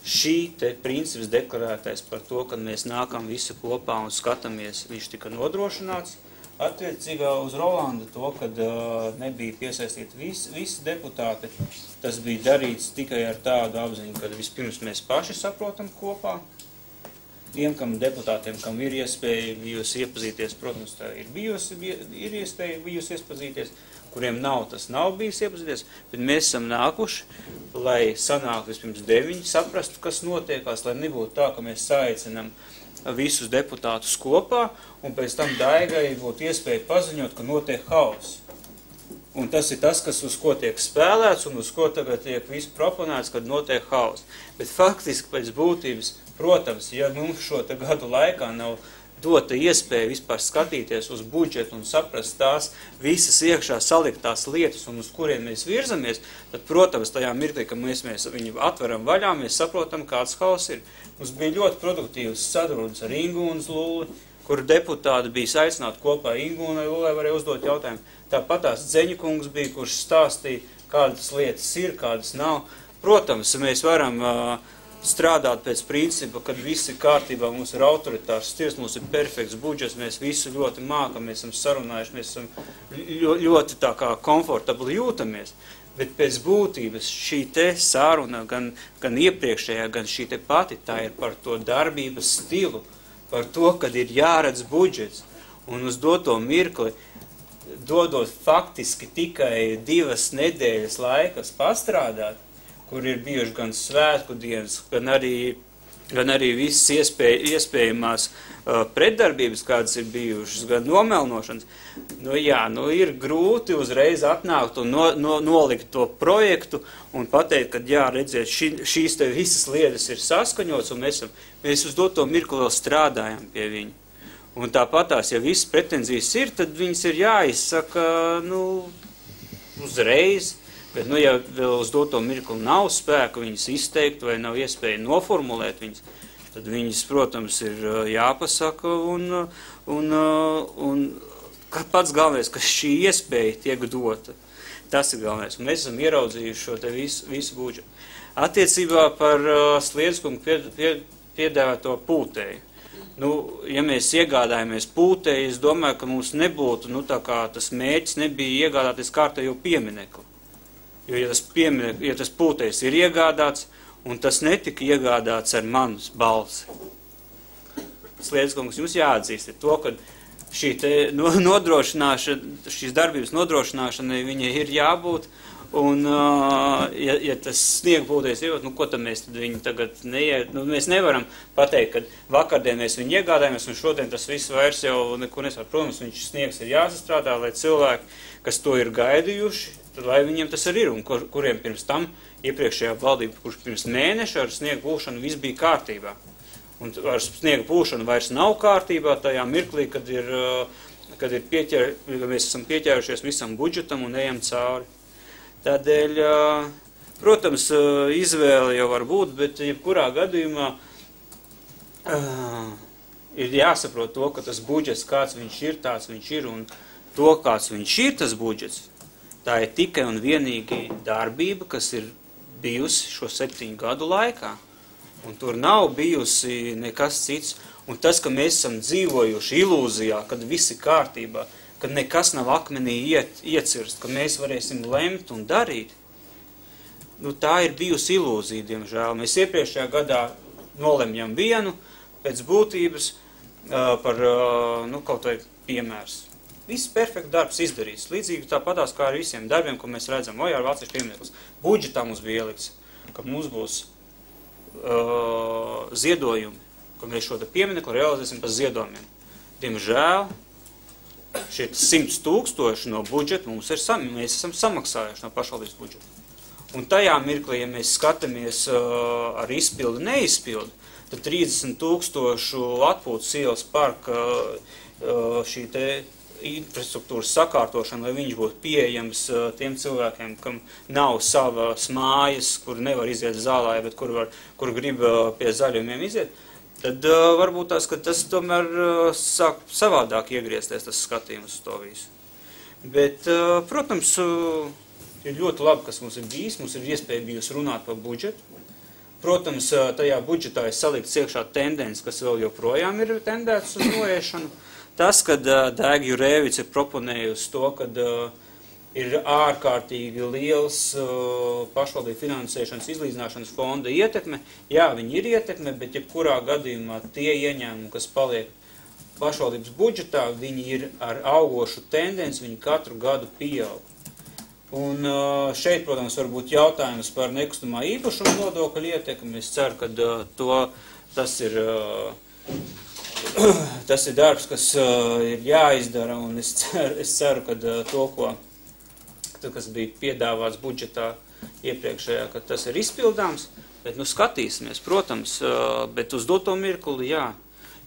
šī te princips deklarētais par to, ka mēs nākam visi kopā un skatāmies, viņš tika nodrošināts. Attiecībā uz Rolandu to, kad uh, nebija piesaistīti visi, visi deputāti, tas bija darīts tikai ar tādu apziņu, kad vispirms mēs paši saprotam kopā. Tiem, kam deputātiem, kam ir iespēja bijusi iepazīties, protams, tā ir bijusi, ir iespēja bijusi iepazīties, kuriem nav, tas nav bijis iepazīties, bet mēs esam nākuši, lai sanāktu vispirms deviņi, saprastu, kas notiekās, lai nebūtu tā, ka mēs saaicinam visus deputātus kopā, un pēc tam Daigai būtu iespēja paziņot, ka notiek hauss. Un tas ir tas, kas uz ko tiek spēlēts, un uz ko tagad tiek visu proponēts, kad notiek hauss. Bet faktiski pēc būtības, protams, ja mums šo te gadu laikā nav dota iespēja vispār skatīties uz budžetu un saprast tās visas iekšā saliktās lietas un uz kuriem mēs virzamies, tad, protams, tajā mirklī, ka mēs, mēs viņu atveram vaļā, mēs saprotam, kāds hauss ir. Mums bija ļoti produktīvs sarunas ar Ingūnas Luli, kur deputāti bija aicināti kopā Ingūnai Lulai, varēja uzdot jautājumu. Tāpat tās Dzeņakungs bija, kurš stāstīja, kādas lietas ir, kādas nav. Protams, mēs varam uh, strādāt pēc principa, kad viss ir kārtībā, mums ir autoritārs stirs, mums ir perfekts budžets, mēs visu ļoti mākam, mēs esam sarunājuši, mēs esam ļoti tā kā komfortabli jūtamies. Bet pēc būtības šī te sāruna, gan, gan iepriekšējā, gan šī te pati, tā ir par to darbības stilu, par to, kad ir jāredz budžets. Un uz doto mirkli, dodot faktiski tikai divas nedēļas laikas pastrādāt, kur ir bijuši gan svētku dienas, gan arī, gan arī visas iespēj, iespējamās uh, pretdarbības, kādas ir bijušas, gan nomelnošanas. Nu jā, nu ir grūti uzreiz atnākt un no, no, nolikt to projektu un pateikt, ka jā, redziet, ši, šīs te visas lietas ir saskaņots un mēs, mēs uz doto mirkli vēl strādājam pie viņa. Un tāpatās, ja visas pretenzijas ir, tad viņas ir jāizsaka, nu, uzreiz. Bet, nu, ja vēl uz doto mirkli nav spēku viņas izteikt vai nav iespēja noformulēt viņas, tad viņas, protams, ir jāpasaka un, un, un pats galvenais, ka šī iespēja tiek dota. Tas ir galvenais. Un mēs esam ieraudzījuši šo te visu, visu budžetu. Attiecībā par uh, Sliedzkungu pie, pie, piedāvāto pūtēju. Nu, ja mēs iegādājamies pūtēju, es domāju, ka mums nebūtu, nu, tā kā tas mērķis nebija iegādāties kārtējo pieminekli. Jo, ja tas, pieminekli, ja tas pūtējs ir iegādāts, un tas netika iegādāts ar manas balsi. Sliedzkungs, jums jāatzīst to, ka šī te nodrošināšana, šīs darbības nodrošināšanai viņai ir jābūt, un, ja, ja tas sniega pūtējs ir, nu, ko tad mēs tad viņu tagad neie, nu, mēs nevaram pateikt, ka vakardien mēs viņu iegādājamies, un šodien tas viss vairs jau neko nesvar. Protams, viņš sniegs ir jāsastrādā, lai cilvēki, kas to ir gaidījuši, tad lai viņiem tas arī ir, un kur, kuriem pirms tam iepriekšējā valdība, kurš pirms mēneša ar sniega pūšanu viss bija kārtībā. Un ar sniega pūšanu vairs nav kārtībā tajā mirklī, kad, ir, kad ir pieķer, mēs esam pieķērušies visam budžetam un ejam cauri. Tādēļ, protams, izvēle jau var būt, bet jebkurā gadījumā ir jāsaprot to, ka tas budžets, kāds viņš ir, tāds viņš ir, un to, kāds viņš ir, tas budžets, tā ir tikai un vienīgi darbība, kas ir bijusi šo septiņu gadu laikā. Un tur nav bijusi nekas cits. Un tas, ka mēs esam dzīvojuši ilūzijā, kad viss ir kārtībā, kad nekas nav akmenī iet, iecirst, ka mēs varēsim lemt un darīt, nu, tā ir bijusi ilūzija, diemžēl. Mēs iepriekšējā gadā nolemjam vienu pēc būtības uh, par uh, nu, kaut vai piemērs. Viss perfekts darbs izdarīts. Līdzīgi tāpatās kā ar visiem darbiem, ko mēs redzam. Vai ar vāciešu piemineklis. Budžetā mums bija ielikts, ka mums būs Uh, ziedojumi, ka mēs šo pieminekli realizēsim par ziedojumiem. Diemžēl šie simts tūkstoši no budžeta mums ir, sam, mēs esam samaksājuši no pašvaldības budžeta. Un tajā mirklī, ja mēs skatāmies uh, ar izpildu, neizpildu, tad trīsdesmit tūkstošu atpūtas ielas parka uh, šī te infrastruktūras sakārtošana, lai viņš būtu pieejams uh, tiem cilvēkiem, kam nav savas mājas, kur nevar iziet zālē, bet kur, var, kur grib uh, pie zaļumiem iziet, tad uh, varbūt tās, ka tas tomēr uh, sāk savādāk iegriezties tas skatījums uz to visu. Bet, uh, protams, uh, ir ļoti labi, kas mums ir bijis, mums ir iespēja bijusi runāt par budžetu. Protams, uh, tajā budžetā ir salikts iekšā tendences, kas vēl joprojām ir tendētas uz noiešanu. Tas, kad uh, Daiga Jurēvics ir proponējusi to, kad uh, ir ārkārtīgi liels uh, pašvaldību finansēšanas izlīdzināšanas fonda ietekme, jā, viņi ir ietekme, bet jebkurā gadījumā tie ieņēmumi, kas paliek pašvaldības budžetā, viņi ir ar augošu tendenci, viņi katru gadu pieaug. Un uh, šeit, protams, var būt jautājums par nekustamā īpašuma nodokļu ietekmi. Es ceru, ka uh, to, tas ir... Uh, Tas ir darbs, kas uh, ir jāizdara, un es ceru, es ceru ka uh, to, ko, kas bija piedāvāts budžetā iepriekšējā, ka tas ir izpildāms, bet nu skatīsimies, protams, uh, bet uz doto mirkli, jā,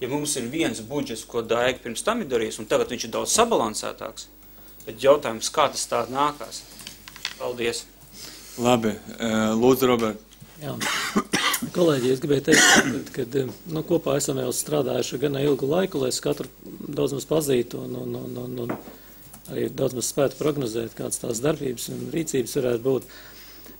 ja mums ir viens budžets, ko Daiga pirms tam ir darījis, un tagad viņš ir daudz sabalansētāks, bet jautājums, kā tas tā nākās. Paldies. Labi, uh, lūdzu, Robert. Jā. Kolēģi, es gribēju teikt, ka nu, kopā esam jau strādājuši gan ilgu laiku, lai es katru daudz maz pazītu un, un, un, un, un arī daudz maz spētu prognozēt, kādas tās darbības un rīcības varētu būt.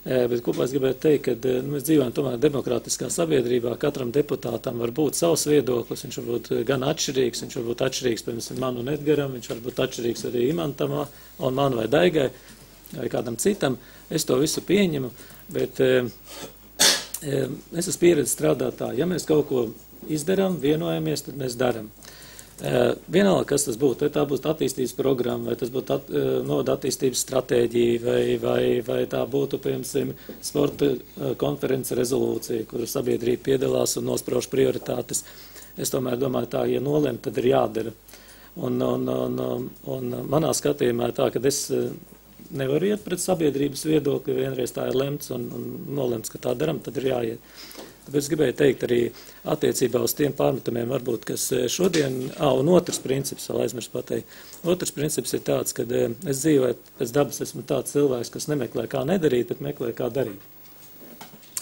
Bet kopā es gribētu teikt, ka nu, mēs dzīvojam tomēr demokrātiskā sabiedrībā, katram deputātam var būt savs viedoklis, viņš var būt gan atšķirīgs, viņš var būt atšķirīgs, piemēram, man un Edgaram, viņš var būt atšķirīgs arī Imantam un man vai Daigai vai kādam citam. Es to visu pieņemu, bet es esmu pieredzi strādāt tā, ja mēs kaut ko izdarām, vienojamies, tad mēs daram. Vienalga, kas tas būtu, vai tā būtu attīstības programma, vai tas būtu at, novada attīstības stratēģija, vai, vai, vai tā būtu, piemēram, sporta konferences rezolūcija, kur sabiedrība piedalās un nosprauž prioritātes. Es tomēr domāju tā, ja nolem, tad ir jādara. Un, un, un, un manā skatījumā tā, ka es nevar iet pret sabiedrības viedokli, vienreiz tā ir lemts un, un nolemts, ka tā daram, tad ir jāiet. Tāpēc gribēju teikt arī attiecībā uz tiem pārmetumiem, varbūt, kas šodien, ā, un otrs princips, vēl aizmirst pateikt. Otrs princips ir tāds, ka es dzīvoju, pēc dabas esmu tāds cilvēks, kas nemeklē kā nedarīt, bet meklē kā darīt.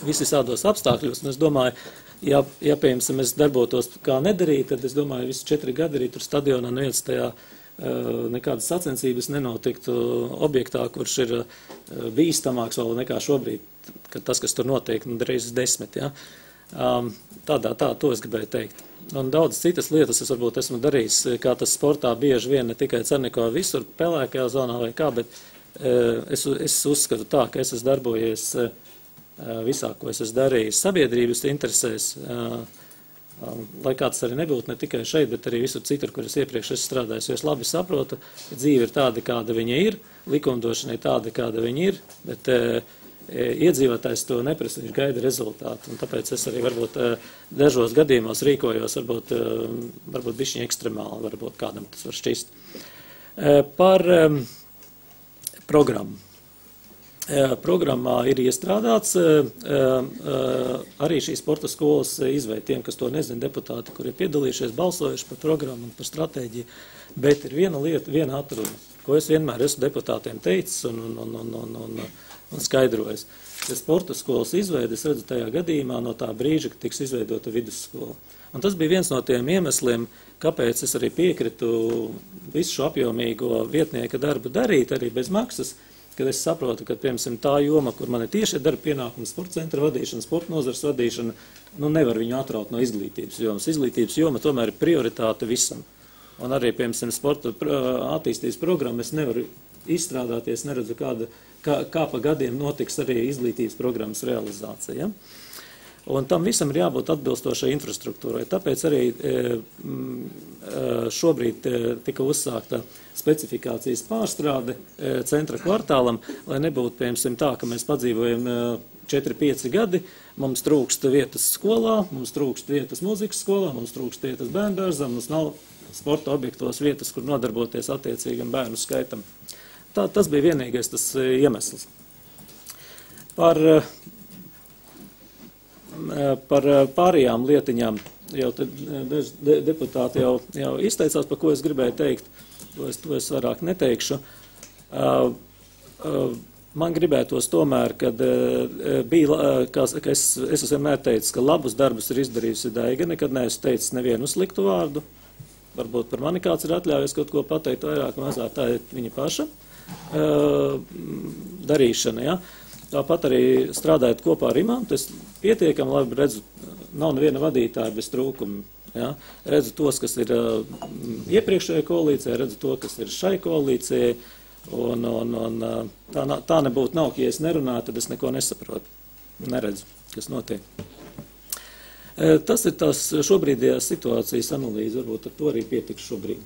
Visi visādos apstākļos, un es domāju, ja, ja piemēram, es darbotos kā nedarīt, tad es domāju, visi četri gadi arī tur stadionā neviens tajā nekādas sacensības nenotiktu objektā, kurš ir bīstamāks vēl nekā šobrīd, kad tas, kas tur notiek, nu, reizes desmit, ja. Tādā, tā, to es gribēju teikt. Un daudz citas lietas es varbūt esmu darījis, kā tas sportā bieži vien, ne tikai Cernikavā, visur pelēkajā zonā vai kā, bet es, es uzskatu tā, ka es esmu darbojies visā, ko es esmu darījis sabiedrības interesēs, lai kāds arī nebūtu ne tikai šeit, bet arī visur citur, kur es iepriekš esmu strādājis, jo es labi saprotu, ka dzīve ir tāda, kāda viņa ir, likumdošana ir tāda, kāda viņa ir, bet e, iedzīvotājs to neprasa, viņš gaida rezultātu, un tāpēc es arī varbūt e, dažos gadījumos rīkojos, varbūt, e, varbūt bišķiņ ekstremāli, varbūt kādam tas var šķist. E, par e, programmu. Programmā ir iestrādāts arī šīs sporta skolas izveid tiem, kas to nezina, deputāti, kuri ir piedalījušies, balsojuši par programmu un par stratēģiju, bet ir viena lieta, viena atruna, ko es vienmēr esmu deputātiem teicis un, un, un, un, un, un, un skaidrojis. Ja sporta skolas izveidi es redzu tajā gadījumā no tā brīža, ka tiks izveidota vidusskola. Un tas bija viens no tiem iemesliem, kāpēc es arī piekritu visu šo apjomīgo vietnieka darbu darīt arī bez maksas, kad es saprotu, ka, piemēram, tā joma, kur man ir tieši darba pienākums, sporta centra vadīšana, sporta nozars vadīšana, nu nevar viņu atraut no izglītības jomas. Izglītības joma tomēr ir prioritāte visam. Un arī, piemēram, sporta attīstības programma es nevaru izstrādāties, neredzu, kāda, kā, kā pa gadiem notiks arī izglītības programmas realizācija. Ja? Un tam visam ir jābūt atbilstošai infrastruktūrai. Tāpēc arī e, šobrīd e, tika uzsākta specifikācijas pārstrāde e, centra kvartālam, lai nebūtu, piemēram, tā, ka mēs padzīvojam četri pieci gadi, mums trūkst vietas skolā, mums trūkst vietas mūzikas skolā, mums trūkst vietas bērndārzā, mums nav sporta objektos vietas, kur nodarboties attiecīgam bērnu skaitam. Tā, tas bija vienīgais tas iemesls. Par Par pārējām lietiņām jau te de, deputāti jau, jau izteicās, par ko es gribēju teikt, to es, to es vairāk neteikšu. Uh, uh, man gribētos tomēr, kad uh, bija, kā, ka es, es esmu vienmēr teicis, ka labus darbus ir izdarījusi Daiga, nekad neesmu teicis nevienu sliktu vārdu. Varbūt par mani kāds ir atļāvies kaut ko pateikt vairāk, mazāk tā ir viņa paša uh, darīšana, ja. Tāpat arī strādājot kopā ar imantu, es pietiekami labi redzu, nav neviena vadītāja bez trūkumu. Ja? Redzu tos, kas ir uh, iepriekšējā koalīcijā, redzu to, kas ir šai koalīcijai, un, un, un tā, tā nebūtu nav, ka ja es nerunāju, tad es neko nesaprotu. Neredzu, kas notiek. E, tas ir tās šobrīdējās situācijas analīze, varbūt ar to arī pietiks šobrīd.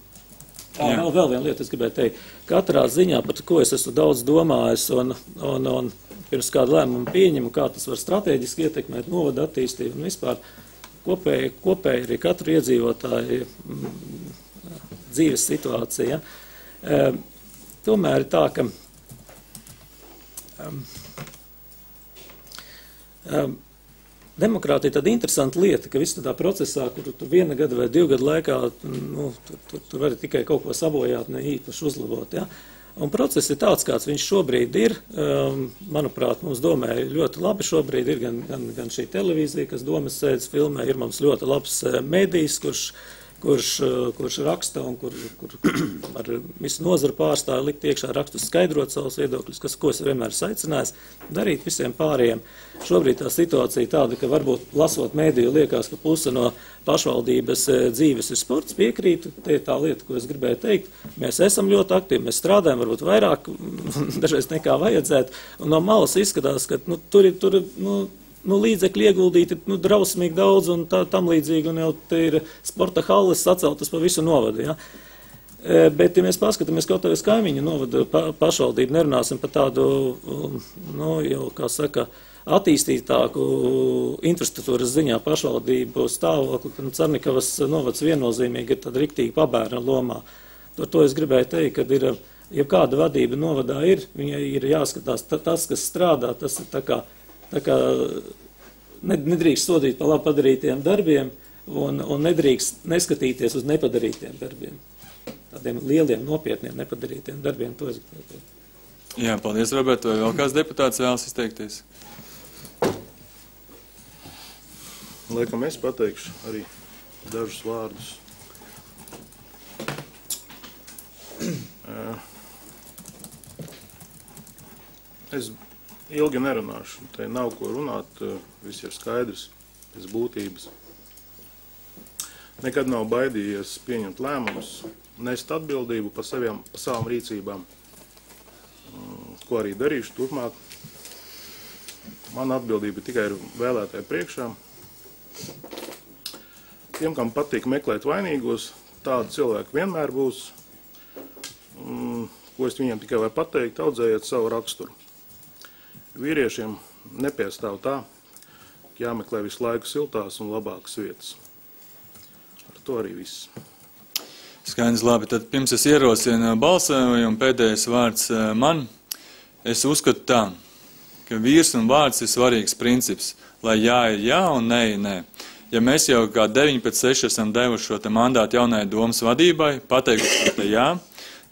Tā, vēl, vēl viena lieta, es gribēju teikt, katrā ziņā, par ko es esmu daudz domājis un, un, un pirms kādu lēmumu pieņemu, kā tas var strateģiski ietekmēt novada attīstību un vispār kopēji, kopēji arī katru iedzīvotāju mm, dzīves situācija. E, tomēr ir tā, ka um, um, demokrātija ir tāda interesanta lieta, ka viss tādā procesā, kur tu viena gada vai divu gadu laikā, nu, tur, tur, tur vari tikai kaut ko sabojāt, ne īpaši uzlabot. Ja? Un process ir tāds, kāds viņš šobrīd ir. Um, manuprāt, mums domē ļoti labi šobrīd ir gan, gan, gan šī televīzija, kas domas sēdes filmē, ir mums ļoti labs medijs, kurš, kurš, kurš raksta un kur, kur, kur ar visu nozaru pārstāju likt iekšā rakstus, skaidrot savus viedokļus, kas, ko es vienmēr aicinājis darīt visiem pārējiem. Šobrīd tā situācija tāda, ka varbūt lasot mēdīju liekas, ka puse no pašvaldības dzīves ir sports, piekrītu, te ir tā lieta, ko es gribēju teikt. Mēs esam ļoti aktīvi, mēs strādājam varbūt vairāk dažreiz nekā vajadzētu, un no malas izskatās, ka nu, tur ir, tur ir nu, nu, līdzekļi ieguldīti nu, drausmīgi daudz un tā, tam līdzīgi, un jau te ir sporta halles saceltas pa visu novadu, ja. Bet, ja mēs paskatāmies kaut vai uz kaimiņu novadu pa, pašvaldību, nerunāsim par tādu, nu, jau, kā saka, attīstītāku infrastruktūras ziņā pašvaldību stāvokli, ka Cernikavas novads viennozīmīgi ir tāda riktīgi pabērna lomā. Par to es gribēju teikt, ka ir, ja kāda vadība novadā ir, viņai ir jāskatās tas, kas strādā, tas ir tā kā, tā kā nedrīkst sodīt par labi padarītiem darbiem un, un nedrīkst neskatīties uz nepadarītiem darbiem. Tādiem lieliem, nopietniem nepadarītiem darbiem. To es gribētu. Jā, paldies, Robert. Vai vēl kāds deputāts vēlas izteikties? Laikam es pateikšu arī dažus vārdus. Es ilgi nerunāšu. Te nav ko runāt, viss ir skaidrs, pēc būtības. Nekad nav baidījies pieņemt lēmumus, nest atbildību par, saviem, par savām rīcībām, ko arī darīšu turpmāk. Man atbildība tikai ir vēlētāju priekšā. Tiem, kam patīk meklēt vainīgos, tādi cilvēki vienmēr būs. Un, ko es viņiem tikai varu pateikt, audzējiet savu raksturu. Vīriešiem nepiestāv tā, ka jāmeklē visu laiku siltās un labākas vietas. Ar to arī viss. Skaidrs, labi. Tad pirms es ierosinu balsojumu, pēdējais vārds man. Es uzskatu tā, ka vīrs un vārds ir svarīgs princips, lai jā ir jā un nē ir nē. Ja mēs jau kā deviņi pēc seši esam devuši šo te mandātu jaunai domas vadībai, pateikuši, ka te jā,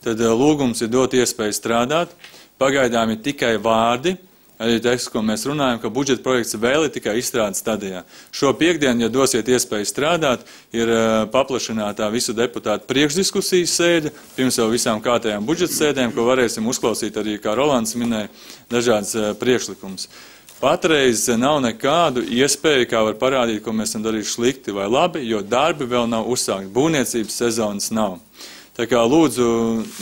tad lūgums ir dot iespēju strādāt. Pagaidām ir tikai vārdi, arī teksts, ko mēs runājam, ka budžeta projekts vēl ir tikai izstrādes stadijā. Šo piekdienu, ja dosiet iespēju strādāt, ir paplašinātā visu deputātu priekšdiskusijas sēde, pirms jau visām kārtējām budžeta sēdēm, ko varēsim uzklausīt arī, kā Rolands minēja, dažādas priekšlikumus. Patreiz nav nekādu iespēju, kā var parādīt, ko mēs esam darījuši slikti vai labi, jo darbi vēl nav uzsākti, būvniecības sezonas nav. Tā kā lūdzu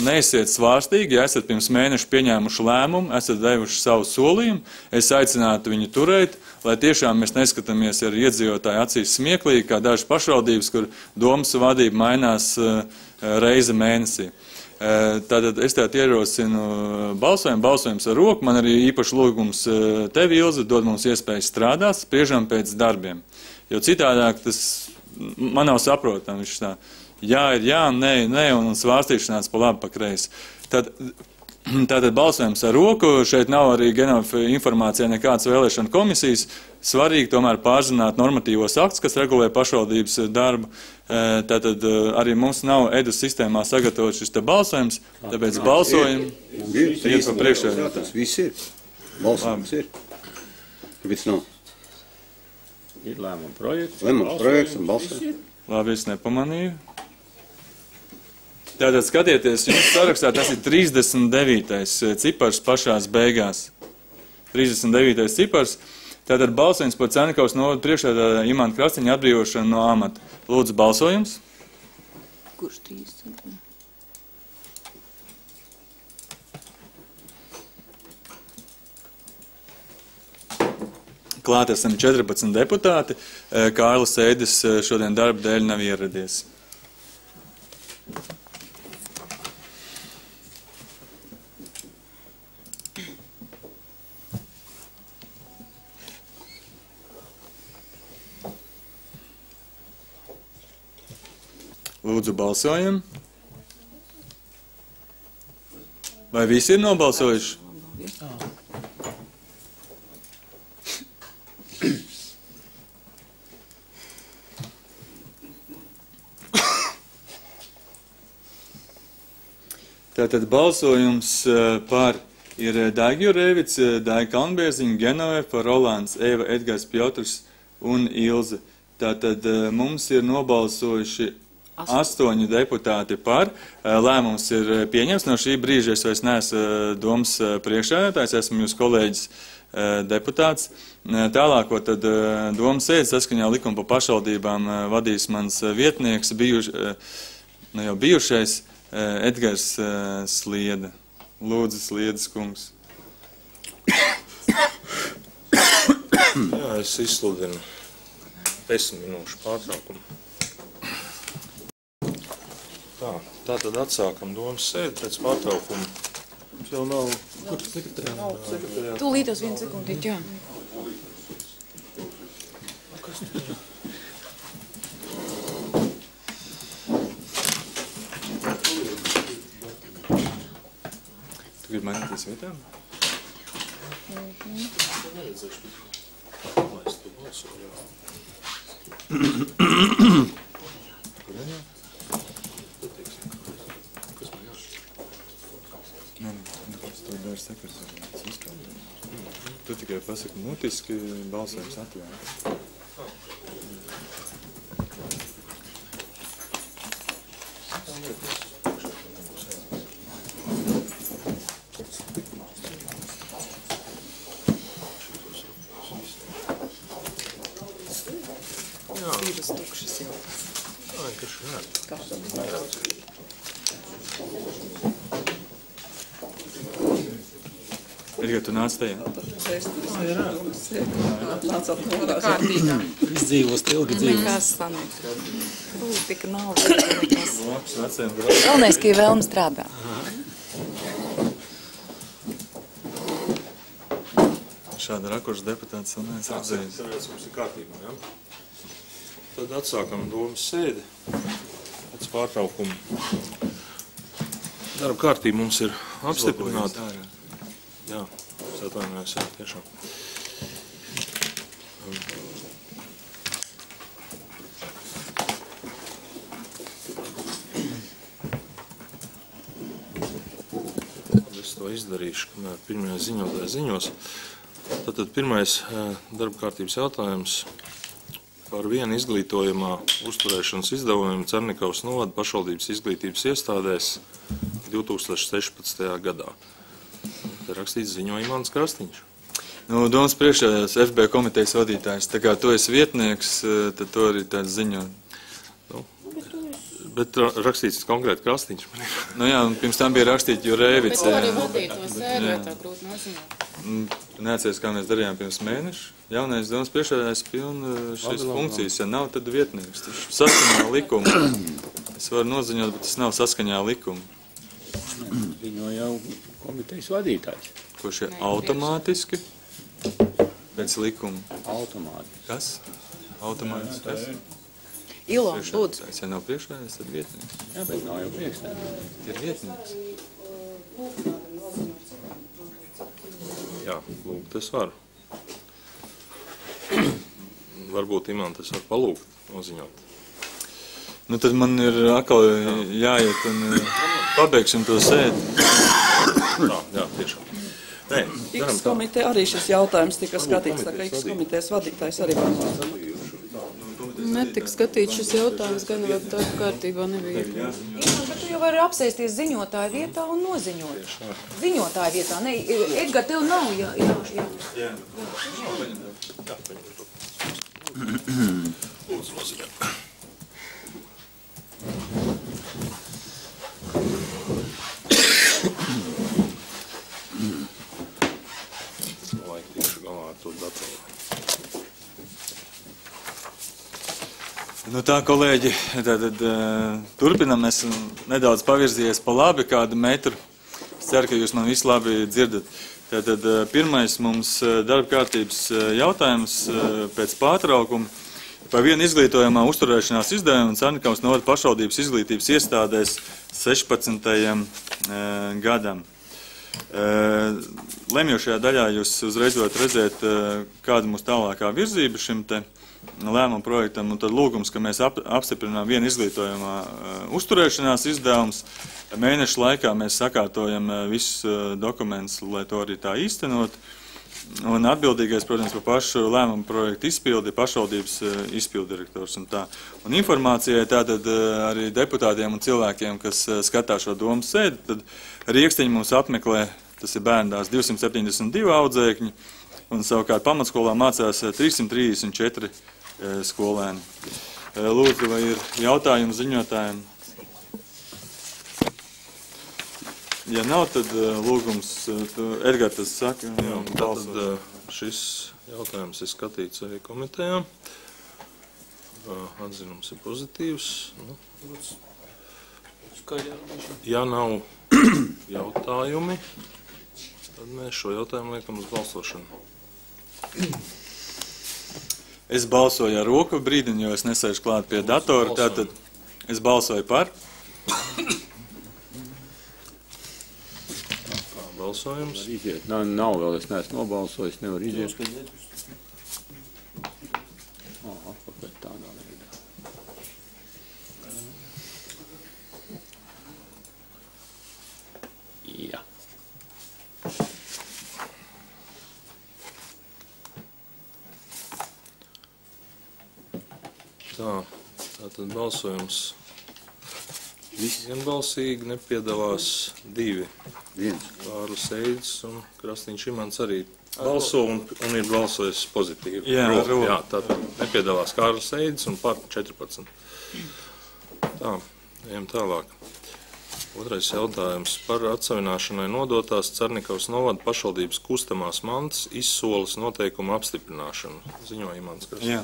neesiet svārstīgi, ja esat pirms mēneša pieņēmuši lēmumu, esat devuši savu solījumu, es aicinātu viņu turēt, lai tiešām mēs neskatāmies ar iedzīvotāju acīs smieklīgi, kā dažas pašvaldības, kur domas vadība mainās reize mēnesī. Tātad es tātad ierosinu balsojumu, balsojums ar roku, man arī īpaši lūgums tev, Ilze, dod mums iespēju strādāt, spriežam pēc darbiem. Jo citādāk tas man nav saprotam, viņš tā, jā ir jā, nē, nē, un svārstīšanās pa labi, pa kreisi. Tad, tātad balsojums ar roku, šeit nav arī Genova informācija nekādas vēlēšana komisijas, svarīgi tomēr pārzināt normatīvos aktus, kas regulē pašvaldības darbu. Tātad arī mums nav E D U S sistēmā sagatavot šis te balsojums, tāpēc balsojam iet pa priekšēju. Tas viss ir. Balsojums ir. Kāpēc nav? Ir lēmuma projekts. Lēmuma projekts un balsojums. Labi, es nepamanīju. Tātad skatieties, jums sarakstā tas ir trīsdesmit devītais cipars pašās beigās. trīsdesmit devītais cipars. Tātad balsojums par Cēnikavas novada priekšsēdētāja Imanta Krastiņa atbrīvošanu no amata. Lūdzu, balsojums. Kurš trīsdesmit? Klāt esam četrpadsmit deputāti. Kārlis Ēdis šodien darba dēļ nav ieradies. Lūdzu, balsojam. Vai visi ir nobalsojuši? Tātad balsojums par ir Daiga Jurēvics, Daiga Kalnbērziņa, Genovefa, Rolands, Eva, Edgars Piotrs un Ilze. Tātad mums ir nobalsojuši astoņi deputāti par. Lēmums ir pieņems. No šī brīža es vairs neesmu domas priekšsēdētājs, esmu jūs kolēģis deputāts. Tālāko tad domas sēdi saskaņā likuma par pašvaldībām vadīs mans vietnieks, bijuš, nu jau bijušais Edgars Slieda. Lūdzu, Sliedas kungs. Jā, es izsludinu desmit minūšu pārtraukumu. Tā, tā tad atsākam domas sēdi pēc pārtraukuma. Mums jau nav... Kur sekretariāts? Tūlītos vienu sekundīt, jā. Kas tu tur? Tu gribi mainīties vietām? Mhm. Tu tikai pasaki mutiski balsojums atvērt. Divas tukšas jau. Ai, kas šādi? Edgar, tu nāc tajā? Nācāt norā. Kārtīgā. Izdzīvos ilgi dzīvos. Nekas sanāk. Politika nav nekas. Labs, veciem brāļiem. Galvenais, ka ir vēlme strādāt. Šāda rakursa deputāts vēl neesmu redzējis. Tāpēc mums ir kārtībā, ja? Tad atsākam domas sēdi pēc pārtraukuma. Darba kārtība mums ir apstiprināta. Jā, es atvainojos, jā, tiešām. Es to izdarīšu, kamēr pirmajā ziņotāja ziņos. Tātad pirmais darba kārtības jautājums par vienu izglītojumā uzturēšanas izdevumiem Cernikavas novada pašvaldības izglītības iestādēs divi tūkstoši sešpadsmitajā gadā. Te rakstīts ziņo Imants Krastīņš. Nu, domas priekšējās F B komitejas vadītājs. Tā kā tu esi vietnieks, tad to arī tāds ziņo. Nu, bet rakstīts konkrēti Krastīņš. Nu jā, un pirms tam bija rakstīt Jurēvics. Bet to arī vadīt to sēdi, vai tā grūti noziņot? Neatceries, kā mēs darījām pirms mēneša. Jaunais domas priekšējās pilna šīs funkcijas. Ja nav, tad vietnieks. Tas saskaņā likumu. Es varu noziņot, bet tas nav saskaņā likumu. Ziņo jau komitejas vadītājs. Kurš ir automātiski pēc likuma. Automātiski. Kas? Automātiski. Kas? Ilo, lūdzu. Ja nav priekšējās, tad vietnieks. Jā, bet nav jau priekšējās. Ir vietnieks. Jā, lūgt es varu. Varbūt Imants es varu palūgt noziņot. Nu tad man ir atkal jāiet un pabeigsim to sēdi. Tā, jā, tiešām. Nē, X komiteja arī šis jautājums tika skatīts, tā kā X komitejas vadītājs arī var. Netika skatīts šis jautājums, gan vēl darba kārtībā nebija. Bet tu jau vari apsēsties ziņotāja vietā un noziņot. Ziņotāja vietā. Ne, Edgar, tev nav jā, jā, jā. Jā. Lūdzu, noziņot. Laik tikšu galā ar to datoru. Nu tā, kolēģi, tad, tad turpinam. Es nedaudz pavirzījies pa labi kādu metru. Es ceru, ka jūs man visu labi dzirdat. Tātad pirmais mums darba kārtības jautājums pēc pārtraukuma par vienu izglītojumā uzturēšanās izdevumu Cernikavas novada pašvaldības izglītības iestādēs sešpadsmitajam gadam. Lemjošajā daļā jūs uzreiz varat redzēt, kāda mūsu tālākā virzība šim te lēmumu projektam, un tad lūgums, ka mēs ap, apstiprinām vienu izglītojumā uh, uzturēšanās izdevums. Mēnešu laikā mēs sakārtojam uh, visus uh, dokumentus, lai to arī tā īstenot. Un atbildīgais, protams, par pašu lēmumu projektu izpildi, pašvaldības uh, izpildirektors un tā. Un informācijai tātad uh, arī deputātiem un cilvēkiem, kas uh, skatā šo domas sēdi, tad Rieksteņi mums apmeklē, tas ir bērndārs divsimt septiņdesmit divi audzēkņi, un savukārt pamatskolā mācās trīssimt trīsdesmit četri skolēni. Lūdzu, vai ir jautājumi ziņotājiem? Ja nav, tad lūgums, Edgar, tas saka. Jā, tātad šis jautājums ir skatīts arī komitejā. Atzinums ir pozitīvs. Nu, ja nav jautājumi, tad mēs šo jautājumu liekam uz balsošanu. Es balsoju ar roku brīdiņu, jo es nesēžu klāt pie datora, tātad es balsoju par. Balsojums. Iziet. Nav, nav vēl, es neesmu nobalsojis, nevar iziet. bet tādā veidā. Jā. Tā, tātad balsojums vienbalsīgi, nepiedalās divi. Viens. Kārlis Eidis un Krastīņš Imants arī balso un, un ir balsojis pozitīvi. Jā, Ro, ro. jā, tātad nepiedalās Kārlis Eidis un par četrpadsmit. Tā, ejam tālāk. Otrais jautājums par atsavināšanai nodotās Cernikavas novada pašvaldības kustamās mantas izsoles noteikumu apstiprināšanu. Ziņo Imants Krastīņš. Jā.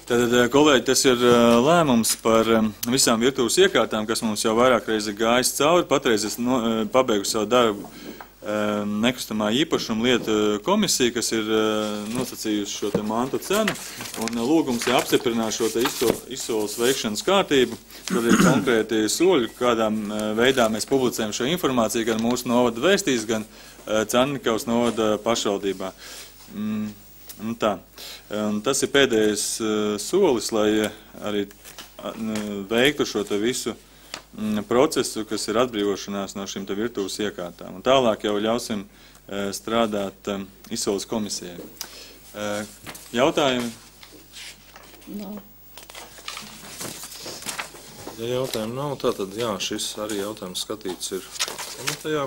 Tātad, kolēģi, tas ir lēmums par visām virtuves iekārtām, kas mums jau vairāk reizi gājis cauri. Patreiz es no, pabeigusi savu darbu nekustamā īpašuma lietu komisija, kas ir nosacījusi šo te mantu cenu, un lūgums ir apstiprināt šo te izsoles veikšanas kārtību. Tur ir konkrēti soļi, kādām veidā mēs publicējam šo informāciju, gan mūsu novada vēstīs, gan Cernikavas novada pašvaldībā. Mm. Nu tā. Un tas ir pēdējais uh, solis, lai arī uh, veiktu šo te visu mm, procesu, kas ir atbrīvošanās no šīm te virtuves iekārtām. Un tālāk jau ļausim uh, strādāt um, izsoles komisijai. Uh, jautājumi? Nav. Ja jautājumu nav, tātad jā, šis arī jautājums skatīts ir komitejā.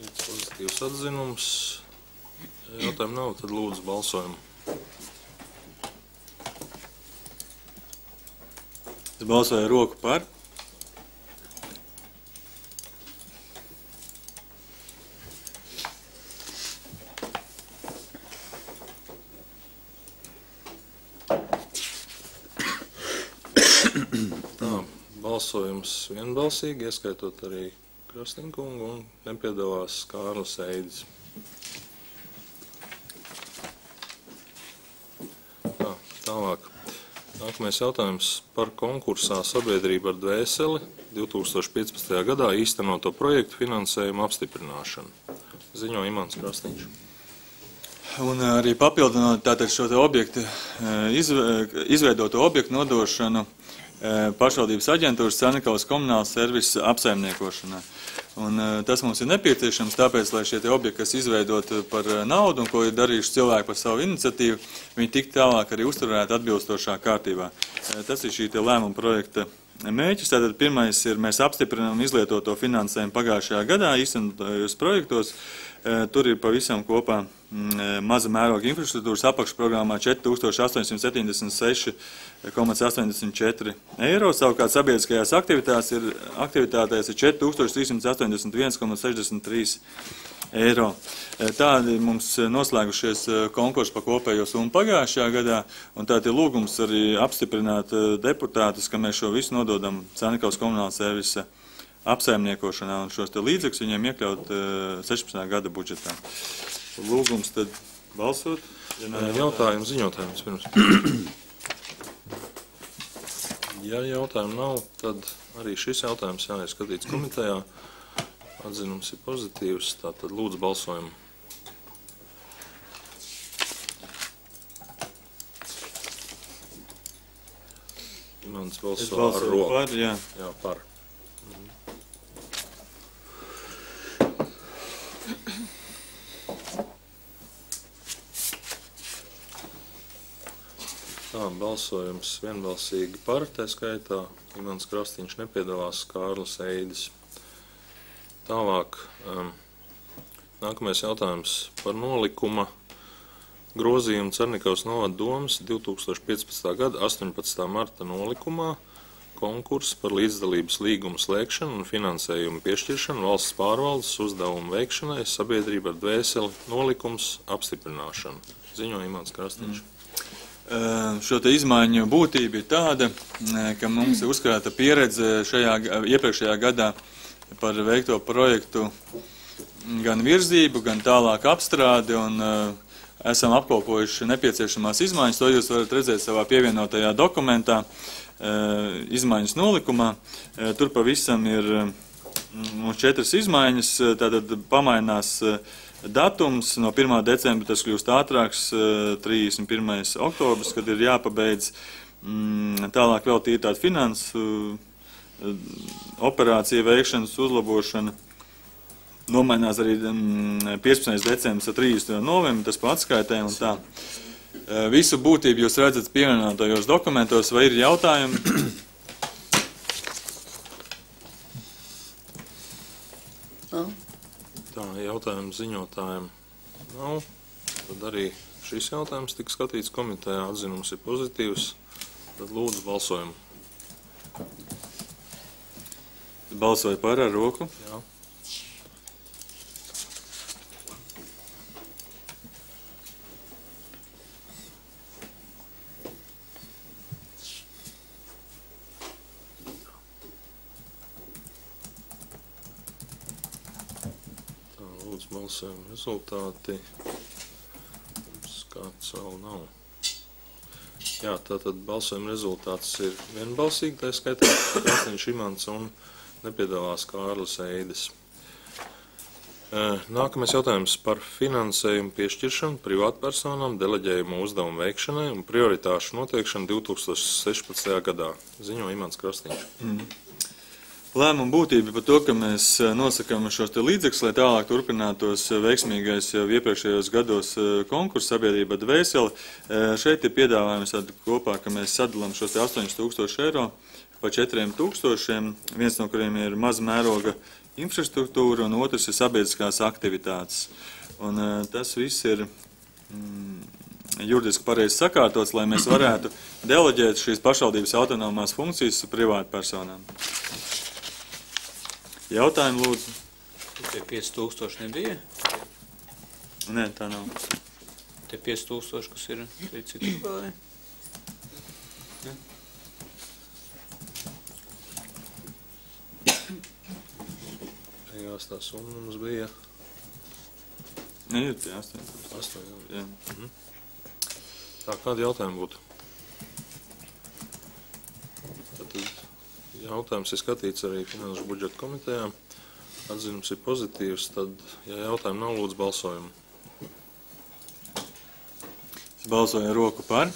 Ir pozitīvs atzinums. Jautājumu nav, tad lūdzu balsojumu. Es balsoju roku par. Tā, balsojums vienbalsīgi, ieskaitot arī Krastīņkungu un nepiedalās Kārlis Eidis. Tālāk. Nākamais jautājums par konkursā sabiedrība ar dvēseli divi tūkstoši piecpadsmitajā gadā īstenoto projektu finansējumu apstiprināšanu. Ziņo Imants Krastīņš. Un arī papildinot tātad šo te objektu, izveidoto objektu nodošanu pašvaldības aģentūras Cernikavas komunālas servisa apsaimniekošanai. Un tas mums ir nepieciešams, tāpēc, lai šie te objekti, kas izveidoti par naudu un ko ir darījuši cilvēki par savu iniciatīvu, viņi tik tālāk arī uzturētu atbilstošā kārtībā. Tas ir šī te lēmuma projekta mērķis. Tātad pirmais ir, mēs apstiprinām izlietoto finansējumu pagājušajā gadā īstenotajos projektos. Tur ir pavisam kopā maza mēroga infrastruktūras apakšprogrammā četri tūkstoši astoņsimt septiņdesmit seši komats astoņdesmit četri eiro. Savukārt sabiedriskajās aktivitātēs ir, aktivitātēs ir četri tūkstoši trīs simti astoņdesmit viens komats sešdesmit trīs eiro. Tādi mums noslēgušies konkursi pa kopējo summu pagājušajā gadā, un tādi lūgums arī apstiprināt deputātus, ka mēs šo visu nododam Cernikavas komunālas servisa apsaimniekošanā un šos te līdzekļus viņiem iekļaut sešpadsmitā gada budžetā. Lūgums tad balsot. Ja jautājums, ziņotājums pirms. Ja jautājumu nav, tad arī šis jautājums jāiet skatīts komitejā. Atzinums ir pozitīvs, tātad lūdzu balsojumu. Imants balso ar roku. Par, jā. Jā, par. Tā, balsojums vienbalsīgi par, tā skaitā Imants Krastīņš nepiedalās, Kārlis Eidis. Tālāk, um, nākamais jautājums par nolikuma grozījumu Cernikavas novada domas divi tūkstoši piecpadsmitā gada astoņpadsmitā marta nolikumā, konkurss par līdzdalības līgumu slēgšanu un finansējumu piešķiršanu valsts pārvaldes uzdevumu veikšanai sabiedrība ar dvēseli nolikums apstiprināšanu. Ziņo Imants Krastīņš. Mm. Šo te izmaiņu būtība ir tāda, ka mums ir uzkrāta pieredze šajā iepriekšējā gadā par veikto projektu gan virzību, gan tālāk apstrādi, un uh, esam apkopojuši nepieciešamās izmaiņas. To jūs varat redzēt savā pievienotajā dokumentā, uh, izmaiņas nolikumā. Uh, tur pavisam ir uh, četras izmaiņas, tātad pamainās uh, datums. No pirmā decembra tas kļūst ātrāks, trīsdesmit pirmais oktobris, kad ir jāpabeidz. Tālāk vēl tīri tāda finansu operācija veikšanas uzlabošana. Nomainās arī piecpadsmitais decembris ar trīsdesmito novembri, tas pa atskaitē un tā. Visu būtību jūs redzat pievienotajos dokumentos, vai ir jautājumi? Nav. Tā, jautājumu ziņotājiem nav. Tad arī šis jautājums tika skatīts komitejā, atzinums ir pozitīvs. Tad lūdzu balsojumu. Balsoja par ar roku? Jā. Tā, lūdzu balsojumu rezultāti. Kāds vēl nav. Jā, tātad balsojuma rezultāts ir vienbalsīgi, tā skaitā Krasniņš Imants un nepiedalās Kārlis Eidis. Nākamais jautājums par finansējumu piešķiršanu privātpersonām, deleģējumu uzdevumu veikšanai un prioritāšu noteikšanu divi tūkstoši sešpadsmitajā gadā. Ziņo Imants Krasniņš. Mm. Lēmuma būtība par to, ka mēs nosakām šos te līdzekļus, lai tālāk turpinātos veiksmīgais jau iepriekšējos gados konkursu sabiedrība Dvēseli. Šeit ir piedāvājums kopā, ka mēs sadalām šos te astoņus tūkstošus eiro pa četriem tūkstošiem, viens no kuriem ir maza mēroga infrastruktūra un otrs ir sabiedriskās aktivitātes. Un tas viss ir mm, juridiski pareizi sakārtots, lai mēs varētu deleģēt šīs pašvaldības autonomās funkcijas privātpersonām. Jautājumu lūdzu. Tie pieci tūkstoši nebija? Nē, tā nav. Tie pieci tūkstoši, kas ir, tie cik vēl? Beigās tā summa mums bija. Nē, ir tie astoņi tūkstoši. Astoņi, jā. Mhm. Tā, kādi jautājumi būtu? Tātad jautājums ir skatīts arī Finanšu budžeta komitejā. Atzinums ir pozitīvs, tad, ja jautājumi nav, lūdzu balsojumu. Es balsoju ar roku par.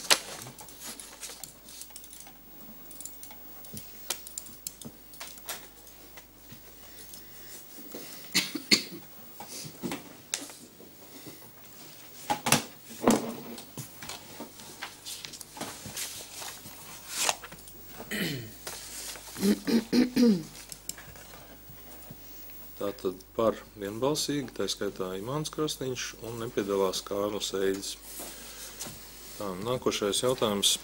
Tātad par vienbalsīgi, tā skaitā Imants Krasniņš un nepiedalās Kārlis Eidis. Tā, nākošais jautājums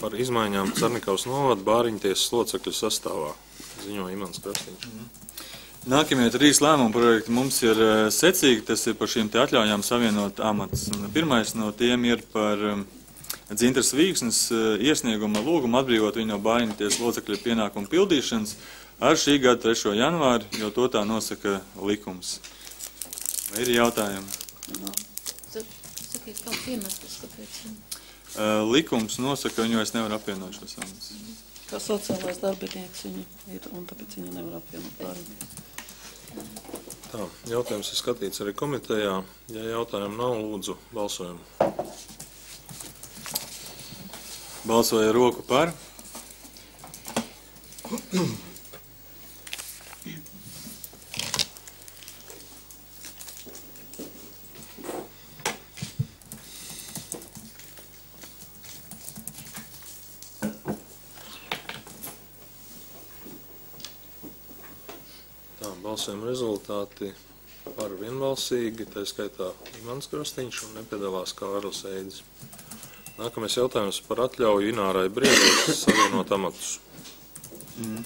par izmaiņām Carnikavas novada Bāriņtiesas locekļu sastāvā. Ziņo Imants Krasniņš. Nākamie trīs lēmumu projekti mums ir secīgi, tas ir par šīm te atļaujām savienot amats. Pirmais no tiem ir par Dzintras Vīksnes iesnieguma lūgumu atbrīvot viņu no Bāriņtiesas locekļu pienākumu pildīšanas ar šī gada trešo janvāri, jo to tā nosaka likums. Vai ir jautājumi? Sakiet, kāds iemesls, kāpēc? Likums nosaka, viņu es nevaru apvienot šos amatus. Kā sociālais darbinieks viņa ir, un tāpēc viņa nevar apvienot Bāriņtiesas. Tā, jautājums ir skatīts arī komitejā. Ja jautājumu nav, lūdzu balsojumu. Balsoja roku par. Tā, balsojuma rezultāti par vienbalsīgi, tā skaitā Imants Krasniņš un nepiedalās Kārlis Eidis. Nākamais jautājums par atļauju Inārai Briedei savienot amatus. Mm.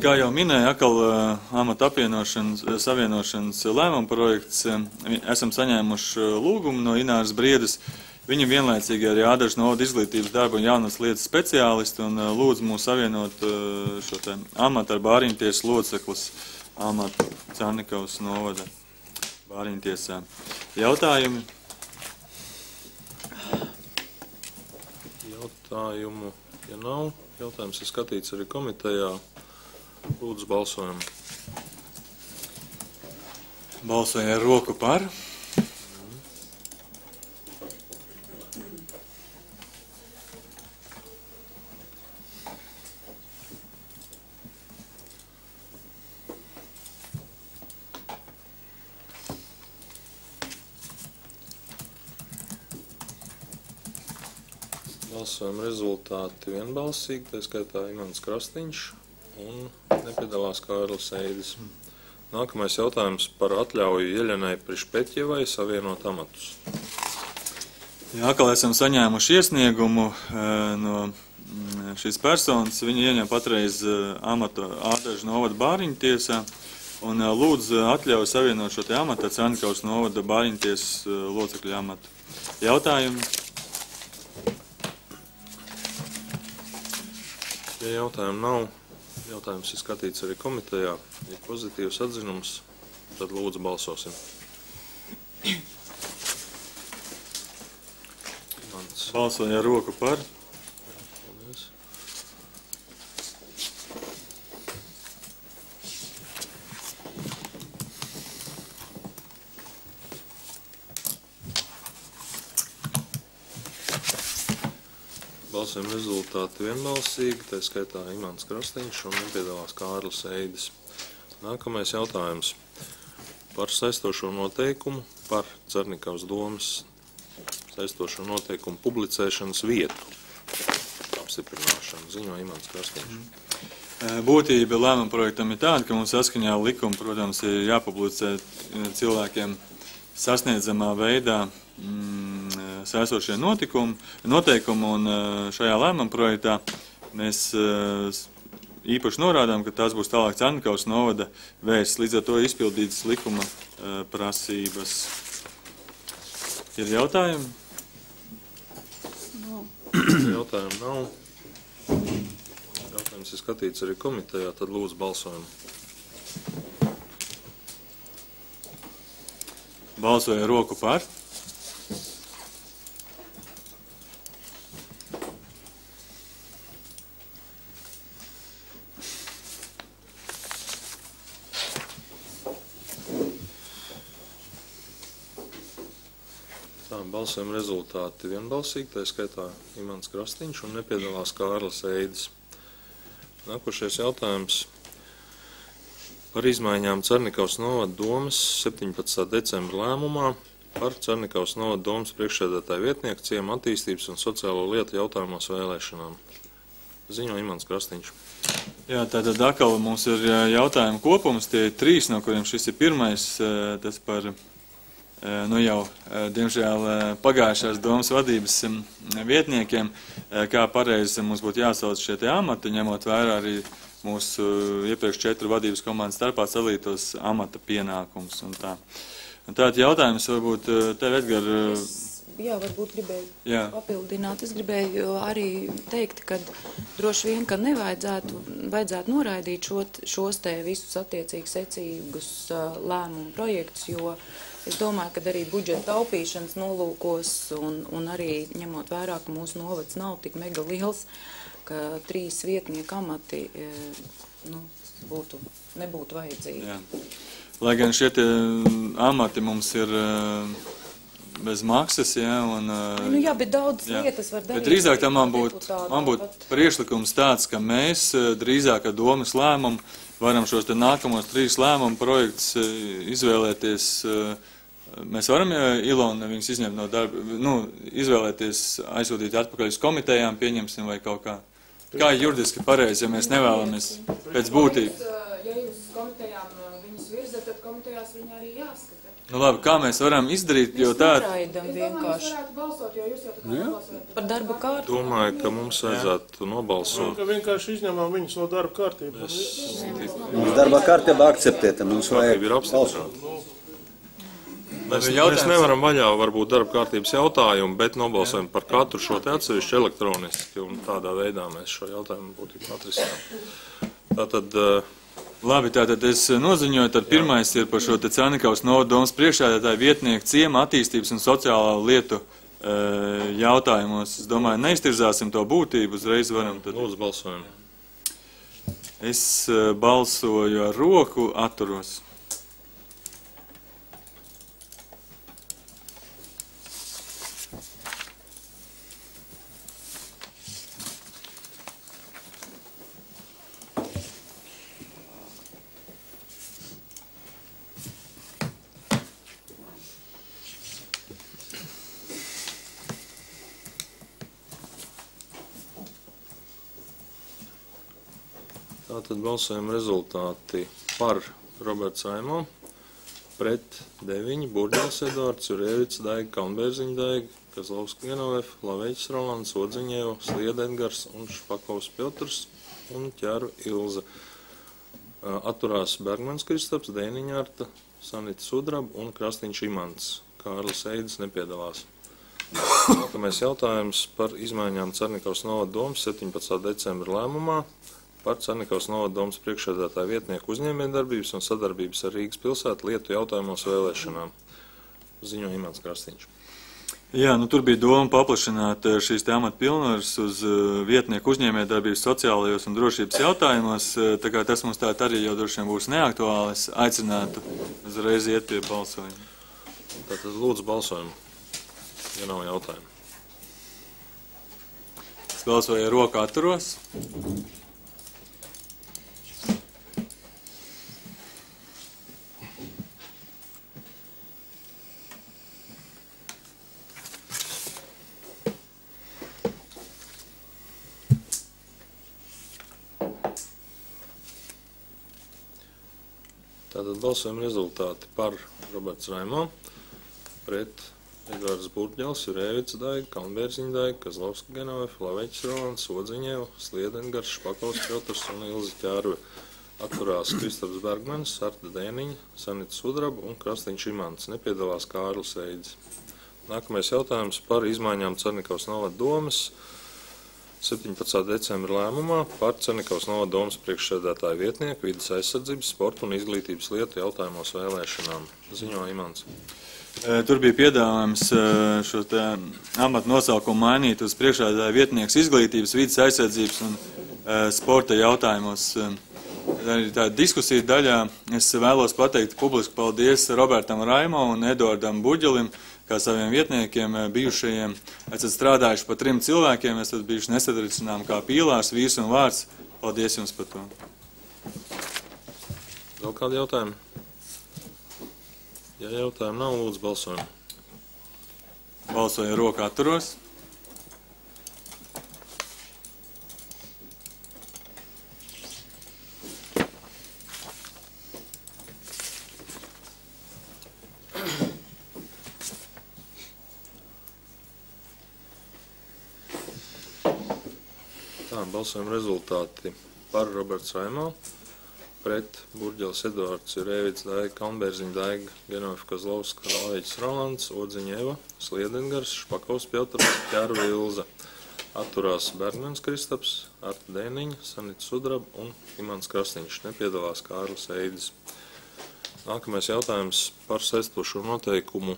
Kā jau minēja, atkal amata apvienošanas, savienošanas lēmuma projekts, esam saņēmuši lūgumu no Ināras Briedes. Viņa vienlaicīgi arī Ādažu novada izglītības darba un jaunas lietas speciālisti un lūdz mūs savienot šo te amatu ar Bāriņtiesas loceklis amatu Carnikavas novada Bāriņtiesā. Jautājumi? Jautājumu, ja nav, jautājums ir skatīts arī komitejā. Lūdzu balsojumu. Balsoja ar roku par. Balsojuma rezultāti vienbalsīgi, tā skaitā Imants Krastiņš un nepiedalās Kārlis Eidis. Nākamais jautājums par atļauju Jeļenai Prišpetjevai savienot amatus. Jā, atkal esam saņēmuši iesniegumu no šīs personas. Viņa ieņem patreiz amatu Ādažu novada bāriņu tiesā un lūdz atļauju savienot šo te amatu ar Cernikaus novada bāriņu tiesas locekļu amatu. Jautājumi? Ja jautājumu nav, jautājums ir skatīts arī komitejā. Ja pozitīvs atzinums, tad lūdzu balsosim. Balsoja ar roku par. Paldies. Balsojuma rezultāti vienbalsīgi, tā skaitā Imants Krastiņš un nepiedalās Kārlis Eidis. Nākamais jautājums par saistošo noteikumu par Cernikaus domas saistošo noteikumu publicēšanas vietu apstiprināšanu. Ziņo Imants Krastiņš. Būtība lēmuma projektam ir tāda, ka mums saskaņā likuma, protams, ir jāpublicē cilvēkiem sasniedzamā veidā mm, saistošie notikumi, noteikumi, un šajā lēmuma projektā mēs īpaši norādām, ka tās būs tālāk Cernikaus novada vēsts, līdz ar to izpildītas likuma prasības. Ir jautājumi? Jautājumu nav. Jautājums ir skatīts arī komitejā, tad lūdzu balsojumu. Balsoja roku par. Balsojuma rezultāti vienbalsīgi, tā skaitā Imants Krastiņš un nepiedalās Kārlis Eidis. Nākošais jautājums par izmaiņām Cernikaus novada domas septiņpadsmitā decembra lēmumā par Cernikaus novada domas priekšsēdētāju vietnieku ciema attīstības un sociālo lietu jautājumos vēlēšanām. Ziņo Imants Krastiņš. Jā, tātad atkal mums ir jautājumu kopums, tie ir trīs, no kuriem šis ir pirmais, tas par nu jau, diemžēl, pagājušās domas vadības vietniekiem, kā pareizi mums būtu jāsauc šie te amati, ņemot vērā arī mūsu iepriekš četru vadības komandas starpā salītos amata pienākums un tā. Un tātad jautājums varbūt tev, Edgar. Es, jā, varbūt gribēju jā. papildināt. Es gribēju arī teikt, ka droši vien, ka nevajadzētu vajadzētu noraidīt šo, šos te visus attiecīgi secīgus lēmumu projektus, jo es domāju, ka arī budžeta taupīšanas nolūkos un, un arī ņemot vērā, ka mūsu novads nav tik mega liels, ka trīs vietnieku amati nu, būtu, nebūtu vajadzīgi. Jā. Lai gan šie te amati mums ir bez maksas, jā, un... Nu jā, bet daudz jā. lietas var darīt. Bet drīzāk tam man būtu būt priekšlikums tāds, ka mēs drīzāk ar domas lēmumu varam šos te nākamos trīs lēmumu projektus izvēlēties. Mēs varam, ja Ilona viņus izņemt no darba, nu, izvēlēties aizsūtīt atpakaļ uz komitejām, pieņemsim vai kaut kā. Kā juridiski pareizi, ja mēs nevēlamies pēc būtības? Ja jūs komitejām viņus virzat, tad komitejās viņi arī jāskata. Nu labi, kā mēs varam izdarīt, jo tā... Mēs noraidam vienkārši. Es domāju, jūs varētu balsot, jo jūs jau tā kā nobalsojat. Par darba kārtību. Domāju, ka mums vajadzētu nobalsot. Ka vienkārši izņemam viņus no darba kārtības. Mums darba kārtība akceptēta, mums vajag balsot. Mēs, mēs nevaram vaļā varbūt darba kārtības jautājumu, bet nobalsojam par katru šo te atsevišķu elektroniski, un tādā veidā mēs šo jautājumu būtībā atrisinām. Tātad... Labi, tātad es noziņoju, tad pirmais ir par šo te Cernikaus novada domas priekšsēdētāju vietnieku ciema attīstības un sociālā lietu e, jautājumos. Es domāju, neiztirzāsim to būtību, uzreiz varam tad... Lūdzu, balsojam. Es balsoju ar roku, atturos. Tātad balsojuma rezultāti par Roberts Raimo, pret deviņi, Burģels Eduards, Jurēvits Daiga, Kalnbērziņa Daiga, Kazlovska Genovefa, Laveģis Rolands, Odziņēva, Slieda Edgars un Špakovs Piotrs un Ķēru Ilze. Atturās Bergmans Kristaps, Dēniņa Arta, Sanita Sudraba un Krastiņš Imants. Kārlis Eidis nepiedalās. Nākamais jautājums par izmaiņām Cernikavas novada domas septiņpadsmitā decembra lēmumā par Cernikavas novada domas priekšsēdētāja vietnieku uzņēmējdarbības un sadarbības ar Rīgas pilsētu lietu jautājumos vēlēšanām. Ziņo Imants Krastiņš. Jā, nu tur bija doma paplašināt šīs te amata pilnvaras uz vietnieku uzņēmējdarbības sociālajos un drošības jautājumos, tā kā tas mums tā arī jau droši vien būs neaktuāli, es aicinātu uzreiz iet pie balsojuma. Tātad lūdzu balsojumu, ja nav jautājumu. Es balsoju ar roku atturos. Tātad balsojuma rezultāti par Roberts Raimo, pret Edvards Burģels, Jurēvits Daiga, Kalnbērziņa Daiga, Kazlovska Genovefa, Laveģis Rolands, Odziņēva, Slieda Edgars, Špakovs Piotrs un Ilze Ķērve. Atturās Kristaps Bergmanis, Arta Dēniņa, Sanita Sudraba un Krastiņš Imants. Nepiedalās Kārlis Eidis. Nākamais jautājums par izmaiņām Cernikavas novada domas septiņpadsmitā decembra lēmumā par Cernikavas novada domas priekšsēdētāju vietnieku vides aizsardzības, sporta un izglītības lietu jautājumos vēlēšanām. Ziņo Imants. Tur bija piedāvājums šo te amatu nosaukumu mainīt uz priekšsēdētāju vietnieks izglītības, vides aizsardzības un sporta jautājumos. Arī tā diskusija daļā es vēlos pateikt publiski paldies Robertam Raimo un Eduardam Burģelim, kā saviem vietniekiem, bijušajiem. Esat strādājuši pa trim cilvēkiem, esat bijuši nesatricinām kā pīlārs, vīrs un vārds. Paldies jums par to. Vēl kādi jautājumi? Ja jautājumi nav, lūdzu balsojumu. Balsoju roku atturos. Balsojuma rezultāti par Roberts Raimo, pret Burģels Eduards, Jurēvits Daiga, Kalnbērziņa Daiga, Genovefa Kazlovska, Laveģis Rolands, Odziņēva, Slieda Edgars, Špakovs Piotrs, Ķērve Ilze. Atturās Bergmans Kristaps, Arta Dēniņa, Sanita Sudraba un Imants Krastiņš. Nepiedalās Kārlis Eidis. Nākamais jautājums par saistošo noteikumu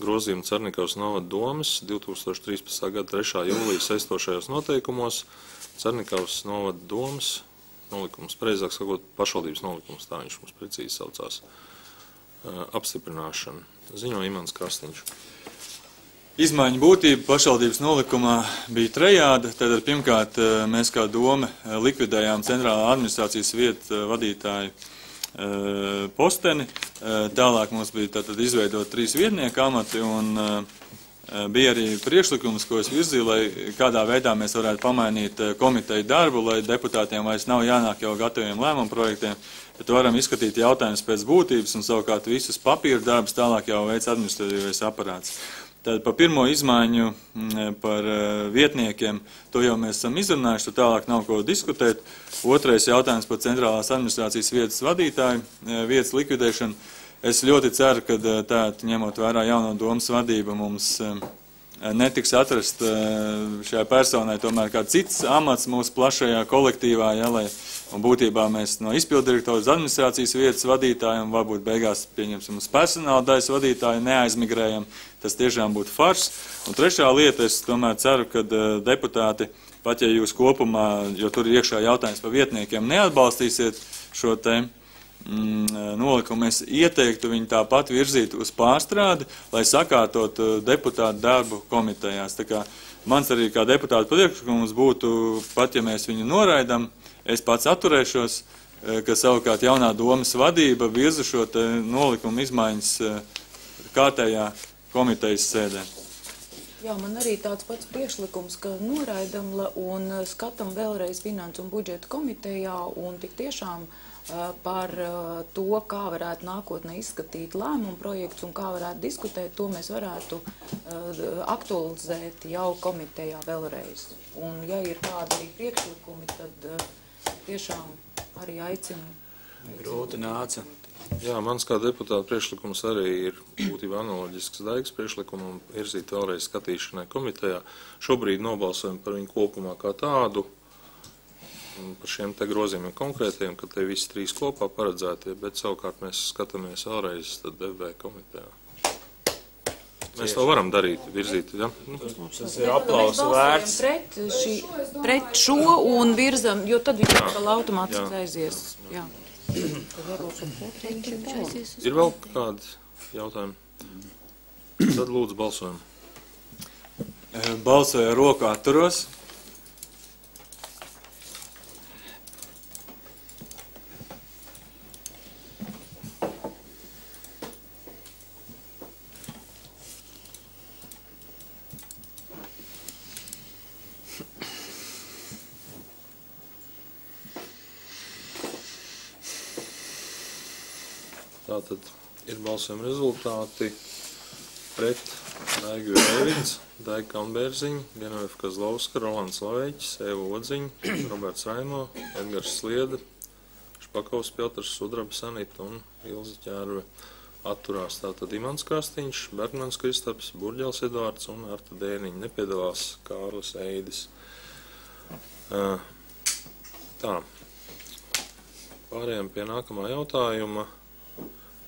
grozījumu Cernikavas novada domas divi tūkstoši trīspadsmitā gada trešā jūlija saistošajos noteikumos Cernikavas novada domas nolikums, pareizāk sakot, pašvaldības nolikums, tā viņš mums precīzi saucās, apstiprināšana. Ziņo Imants Krastiņš. Izmaiņu būtība pašvaldības nolikumā bija trejāda. Tad pirmkārt mēs kā doma likvidējām centrālā administrācijas vietu vadītāju posteni. Tālāk mums bija tātad izveidot trīs vietnieku amati un bija arī priekšlikums, ko es virzīju, lai kādā veidā mēs varētu pamainīt komiteju darbu, lai deputātiem vairs nav jānāk jau gataviem lēmumu projektiem, bet varam izskatīt jautājumus pēc būtības un savukārt visus papīra darbus tālāk jau veids administratīvais aparāts. Tad par pirmo izmaiņu par vietniekiem, to jau mēs esam izrunājuši, tur tālāk nav ko diskutēt. Otrais jautājums par centrālās administrācijas vietas vadītāju vietas likvidēšanu. Es ļoti ceru, ka tā, ņemot vērā jauno domas vadību, mums netiks atrast šajā personai tomēr kā cits amats mūsu plašajā kolektīvā, ja, lai un būtībā mēs no izpildirektoras administrācijas vietas vadītājiem, varbūt beigās pieņemsim uz personāla daļas vadītāju, neaizmigrējam, tas tiešām būtu fars. Un trešā lieta, es tomēr ceru, ka deputāti, pat ja jūs kopumā, jo tur ir iekšā jautājums par vietniekiem, neatbalstīsiet šo te mm, nolikumu, es ieteiktu viņu tāpat virzīt uz pārstrādi, lai sakārtot deputātu darbu komitejās. Tā kā mans arī kā deputāta priekšlikums būtu, pat ja mēs viņu noraidam, es pats atturēšos, ka savukārt jaunā domas vadība virza šo te nolikumu izmaiņas kārtējā komitejas sēdē. Jā, man arī tāds pats priekšlikums, ka noraidam la- un uh, skatam vēlreiz Finansu un budžeta komitejā un tik tiešām uh, par uh, to, kā varētu nākotnē izskatīt lēmumu projekts un kā varētu diskutēt, to mēs varētu uh, aktualizēt jau komitejā vēlreiz. Un ja ir kādi arī priekšlikumi, tad uh, tiešām arī aicinu. Grūti nāca. Jā, mans kā deputāta priekšlikums arī ir būtībā analoģisks Daigas priekšlikumam virzīt vēlreiz skatīšanai komitejā. Šobrīd nobalsojam par viņu kopumā kā tādu, par šiem te grozījumiem konkrētiem, ka te visi trīs kopā paredzētie, bet savukārt mēs skatāmies vēlreiz tad D V komitejā. Mēs to varam darīt, virzīt, ja? Tas ir aplausu vērts. Pret, šī, pret šo un virzam, jo tad viņi vēl automātiski aizies. Jā. Ir vēl kādi jautājumi? Tad lūdzu balsojam. Balsoja roku atturos. Tātad ir balsojuma rezultāti pret Daigu Rēvids, Daiga Kambērziņa, Genovefa Kazlauska, Rolands Laveķis, Eva Odziņa, Roberts Raimo, Edgars Slieda, Špakovs Piotrs, Sudraba Sanita un Ilza Ķērve. Atturās tātad Imants Kastiņš, Bergmans Kristaps, Burģels Edvards un Arta Dēniņa. Nepiedalās Kārlis Eidis. Tā. Pārējām pie nākamā jautājuma.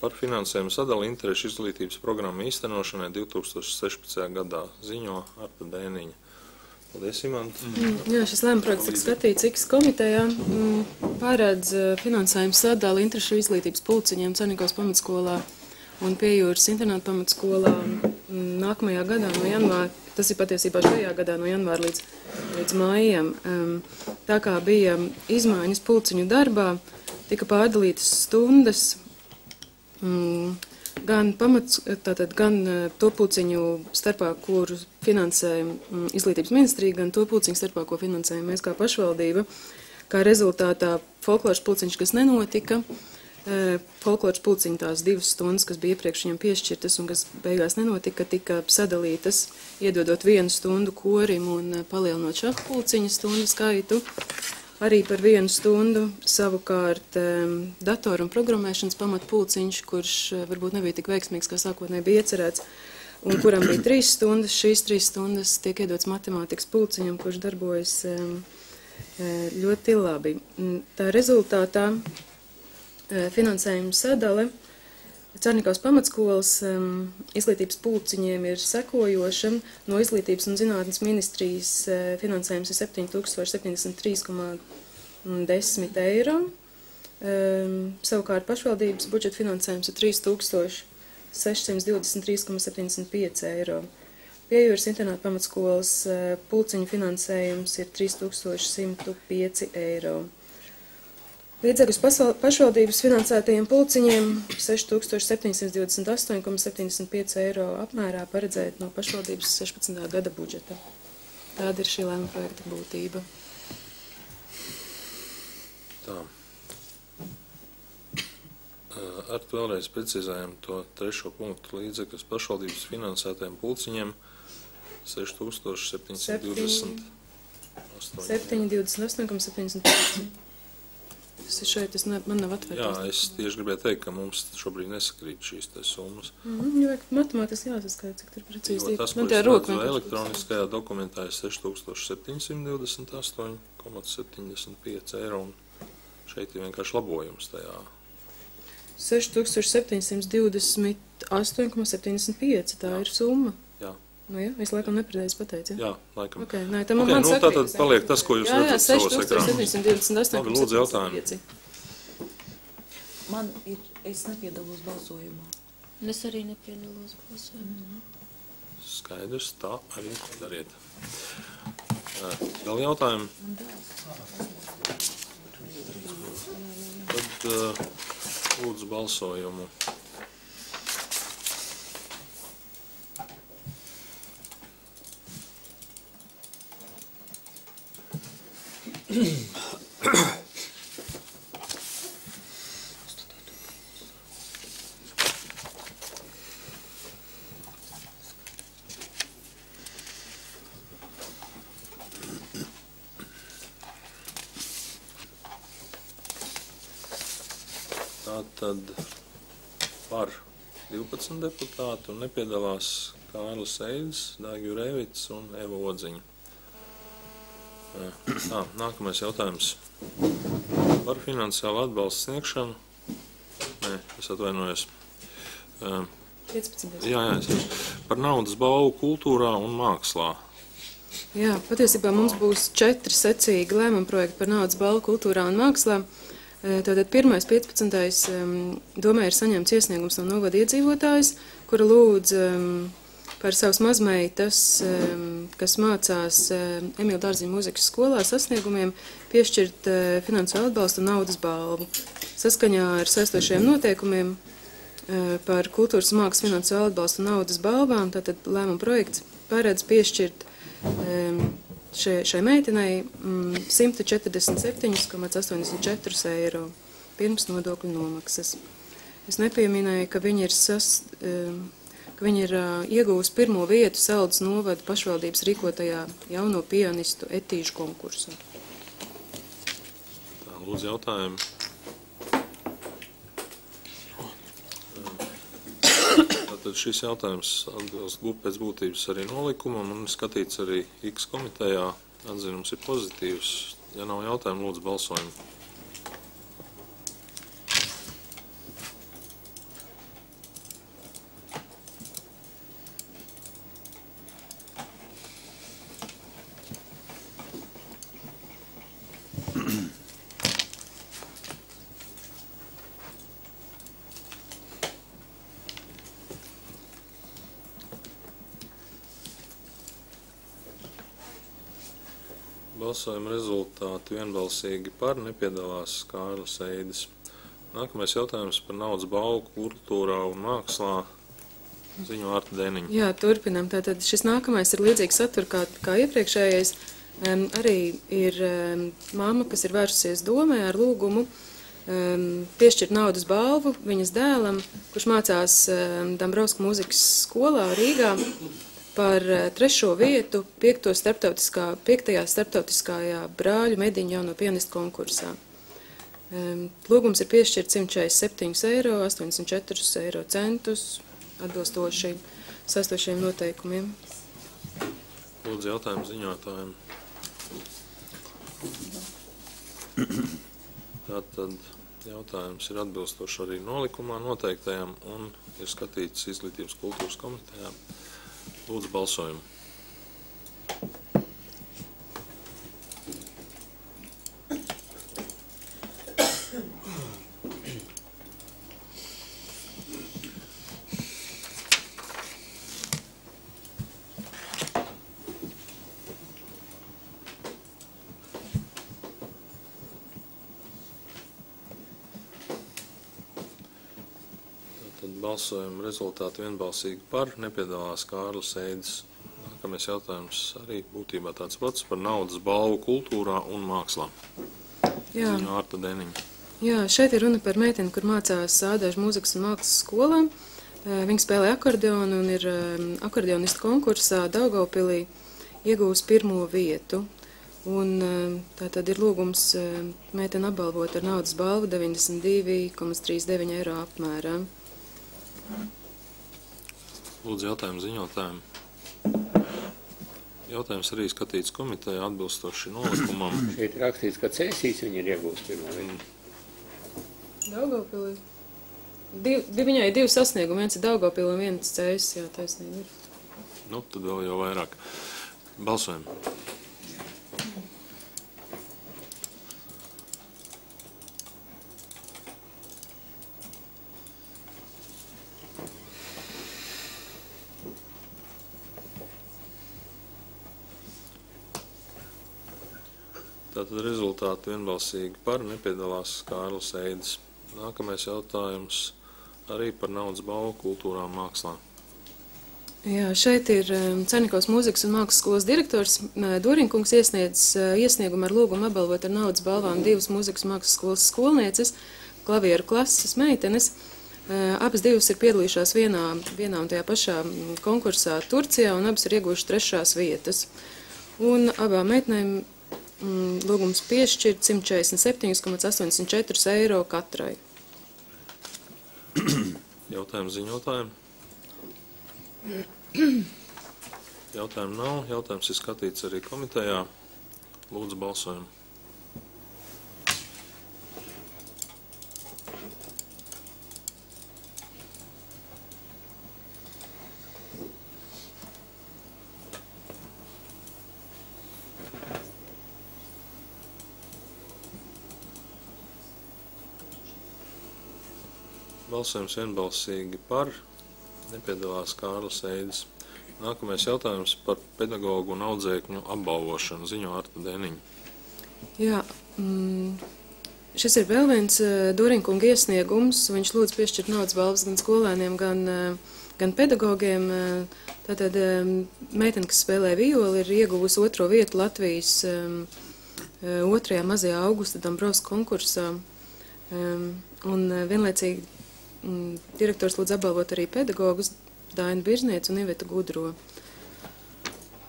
Par finansējumu sadali interešu izglītības programmu īstenošanai divi tūkstoši sešpadsmitajā gadā ziņo Arta Dēniņa. Paldies, Imanta. Mm, jā, šis lēmuma projekts tika skatīts X komitejā. Mm, pārēdz finansējumu sadali interešu izglītības pulciņiem Cernikavas pamatskolā un Piejūras internāta pamatskolā mm, nākamajā gadā no janvāra. Tas ir patiesībā šajā gadā no janvāra līdz, līdz mājiem. Um, tā kā bija izmaiņas pulciņu darbā, tika pārdalītas stundas Mm, gan, pamats, tātad, gan to pulciņu starpā, kuru finansē mm, izglītības ministrija, gan to pulciņu starpā, ko finansējam mēs kā pašvaldība. Kā rezultātā folkloras pulciņš, kas nenotika, e, folkloras pulciņu tās divas stundas, kas bija iepriekš viņam piešķirtas un kas beigās nenotika, tika sadalītas, iedodot vienu stundu korim un palielinot šahu pulciņu stundu skaitu. Arī par vienu stundu savukārt um, datoru un programmēšanas pamatpulciņš, kurš uh, varbūt nebija tik veiksmīgs, kā sākotnēji bija iecerēts, un kuram bija trīs stundas. Šīs trīs stundas tiek iedots matemātikas pulciņam, kurš darbojas um, ļoti labi. Tā rezultātā uh, finansējuma sadale Cernikavas pamatskolas um, izglītības pulciņiem ir sekojoša. No izglītības un zinātnes ministrijas uh, finansējums ir septiņi tūkstoši septiņdesmit trīs komā desmit eiro. Um, savukārt pašvaldības budžeta finansējums ir trīs tūkstoši sešsimt divdesmit trīs komā septiņdesmit pieci eiro. Piejūras internāta pamatskolas uh, pulciņu finansējums ir trīs tūkstoši simt pieci eiro. Līdzekļus pašvaldības finansētajiem pulciņiem seši tūkstoši septiņsimt divdesmit astoņi komā septiņdesmit pieci eiro apmērā paredzēt no pašvaldības sešpadsmitā gada budžeta. Tāda ir šī lēmuma projekta būtība. Tā. Ar to vēlreiz precizējam to trešo punktu līdzekļus pašvaldības finansētajiem pulciņiem seši tūkstoši septiņsimt divdesmit astoņi. septiņi divdesmit astoņi komā septiņdesmit pieci. Tas ir šeit, tas ne, man nav atvērts. Jā, es tieši gribēju teikt, ka mums šobrīd nesakrīt šīs te summas. Mm-hmm, jo matemātiski jāsaskaita, cik tur precīzi. Jo tas, ko es redzu elektroniskajā dokumentā, ir seši tūkstoši septiņsimt divdesmit astoņi komā septiņdesmit pieci eiro, un šeit ir vienkārši labojums tajā. seši tūkstoši septiņsimt divdesmit astoņi komā septiņdesmit pieci, tā jā. Ir summa. Jā. Nu jā, es laikam nepareizi pateicu, jā? Jā, laikam. Okay, nē, tā man okay, man nu, sakrīt. Tātad paliek tas, ko jūs jā, jā, redzat savos ekrānos. seši tūkstoši septiņsimt divdesmit astoņi komā septiņdesmit pieci. Man ir, es nepiedalos balsojumā. Es arī nepiedalos balsojumā. Mm-hmm. Skaidrs, tā arī dariet. Vēl jautājumi? Tad uh, lūdzu balsojumu. Tātad par divpadsmit deputāti un nepiedalās Kārlis Eidis, Daiga Jurēvits un Eva Odziņa. Tā, nākamais jautājums par finansiālu atbalstu sniegšanu. Nē, es atvainojos. piecpadsmit. Jā, jā, es par naudas balvu kultūrā un mākslā. Jā, patiesībā mums būs četri secīgi lēmuma projekti par naudas balvu kultūrā un mākslā. Tātad pirmais piecpadsmitais domē ir saņemts iesniegums no novada iedzīvotājs, kura lūdz par savas mazmeitas, kas mācās Emīla Dārziņa mūzikas skolā sasniegumiem, piešķirt finansiālu atbalstu un naudas balvu. Saskaņā ar saistošajiem noteikumiem par kultūras un mākslas finansiālu atbalstu un naudas balvām, tātad lēmuma projekts paredz piešķirt Šai, šai meitenei simt četrdesmit septiņi komats astoņdesmit četri eiro pirms nodokļu nomaksas. Es nepieminēju, ka viņi ir, sas, ka viņi ir iegūst pirmo vietu Saldus novada pašvaldības rīkotajā jauno pianistu etīžu konkursā. Tā, lūdzu jautājumu. Tad šis jautājums atbilst pēc būtības arī nolikumam un skatīts arī X komitejā. Atzinums ir pozitīvs. Ja nav jautājumu, lūdzu balsojumu. Balsojuma rezultāti vienbalsīgi par, nepiedalās Kārlis Eidis. Nākamais jautājums par naudas balvu kultūrā un mākslā. Ziņo Arta Dēniņa. Jā, turpinam. Tātad šis nākamais ir līdzīgs satur kā, kā iepriekšējais. Um, arī ir um, mamma, kas ir vērsusies domē ar lūgumu um, piešķirt naudas balvu viņas dēlam, kurš mācās um, Dambrauska mūzikas skolā Rīgā, par trešo vietu piekto starptautiskā, piektajā starptautiskajā brāļu mediņu jauno pianistu konkursā. Lūgums ir piešķirt simt četrdesmit septiņi eiro, astoņdesmit četri eiro centus, atbilstoši saistošiem noteikumiem. Lūdzu jautājumu ziņotājiem. Tātad jautājums ir atbilstoši arī nolikumā noteiktajām un ir skatīts Izglītības kultūras komitejā. Lūdzu balsojumu. Tātad balsojuma rezultāti vienbalsīgi par, nepiedalās Kārlis Eidis. Nākamais jautājums arī būtībā tāds pats par naudas balvu kultūrā un mākslā. Jā. Ziņo Arta Dēniņa. Jā, šeit ir runa par meiteni, kur mācās Ādāžu mūzikas un mākslas skolā. Viņa spēlē akordeonu un ir akordeonistu konkursā Daugavpilī iegūs pirmo vietu. Un tā tad ir lūgums meiteni apbalvot ar naudas balvu deviņdesmit divi komats trīsdesmit deviņi eiro apmērā. Lūdzu jautājumu ziņotājiem. Jautājums arī skatīts komiteja atbilstoši nolikumam. Šeit rakstīts, ka Cēsīs viņi ir iegūst pirmo vietu. Daugavpilī. Div, viņai ir divi sasniegumi, viens ir Daugavpilī un viens Cēsis, jā, taisnība ir. Nu, tad vēl jau vairāk. Balsojam. Tātad rezultāti vienbalsīgi par, nepiedalās Kārlis Eidis. Nākamais jautājums arī par naudas balvu kultūrā un mākslā. Jā, šeit ir Cernikovas mūzikas un mākslas skolas direktors Dorinkungs iesniedz iesniegumu ar lūgumu apbalvot ar naudas balvām divas mūzikas mākslas skolas skolnieces, klavieru klases meitenes. Abas divas ir piedalījušās vienā, vienā un tajā pašā konkursā Turcijā, un abas ir ieguvušas trešās vietas. Un abām meitenēm lūgums piešķirt simt četrdesmit septiņi komats astoņdesmit četri eiro katrai. Jautājums ziņotājiem? Jautājumu nav. Jautājums ir skatīts arī komitejā. Lūdzu, balsojumu. Balsojums vienbalsīgi par. Nepiedalās Kārlis Eidis. Nākamais jautājums par pedagogu un audzēkņu apbalvošanu. Ziņo Arta Deniņa. Jā, mm, šis ir vēl viens Dorinkunga iesniegums. Viņš lūdz piešķirt naudas balvas gan skolēniem, gan, gan pedagogiem. Tātad meitene, kas spēlē violi, ir ieguvusi otro vietu Latvijas otrajā mazajā augusta Dombrovska konkursā. Un vienlaicīgi direktors lūdz apbalvot arī pedagogus Dainu Birznieci un Ivetu Gudro.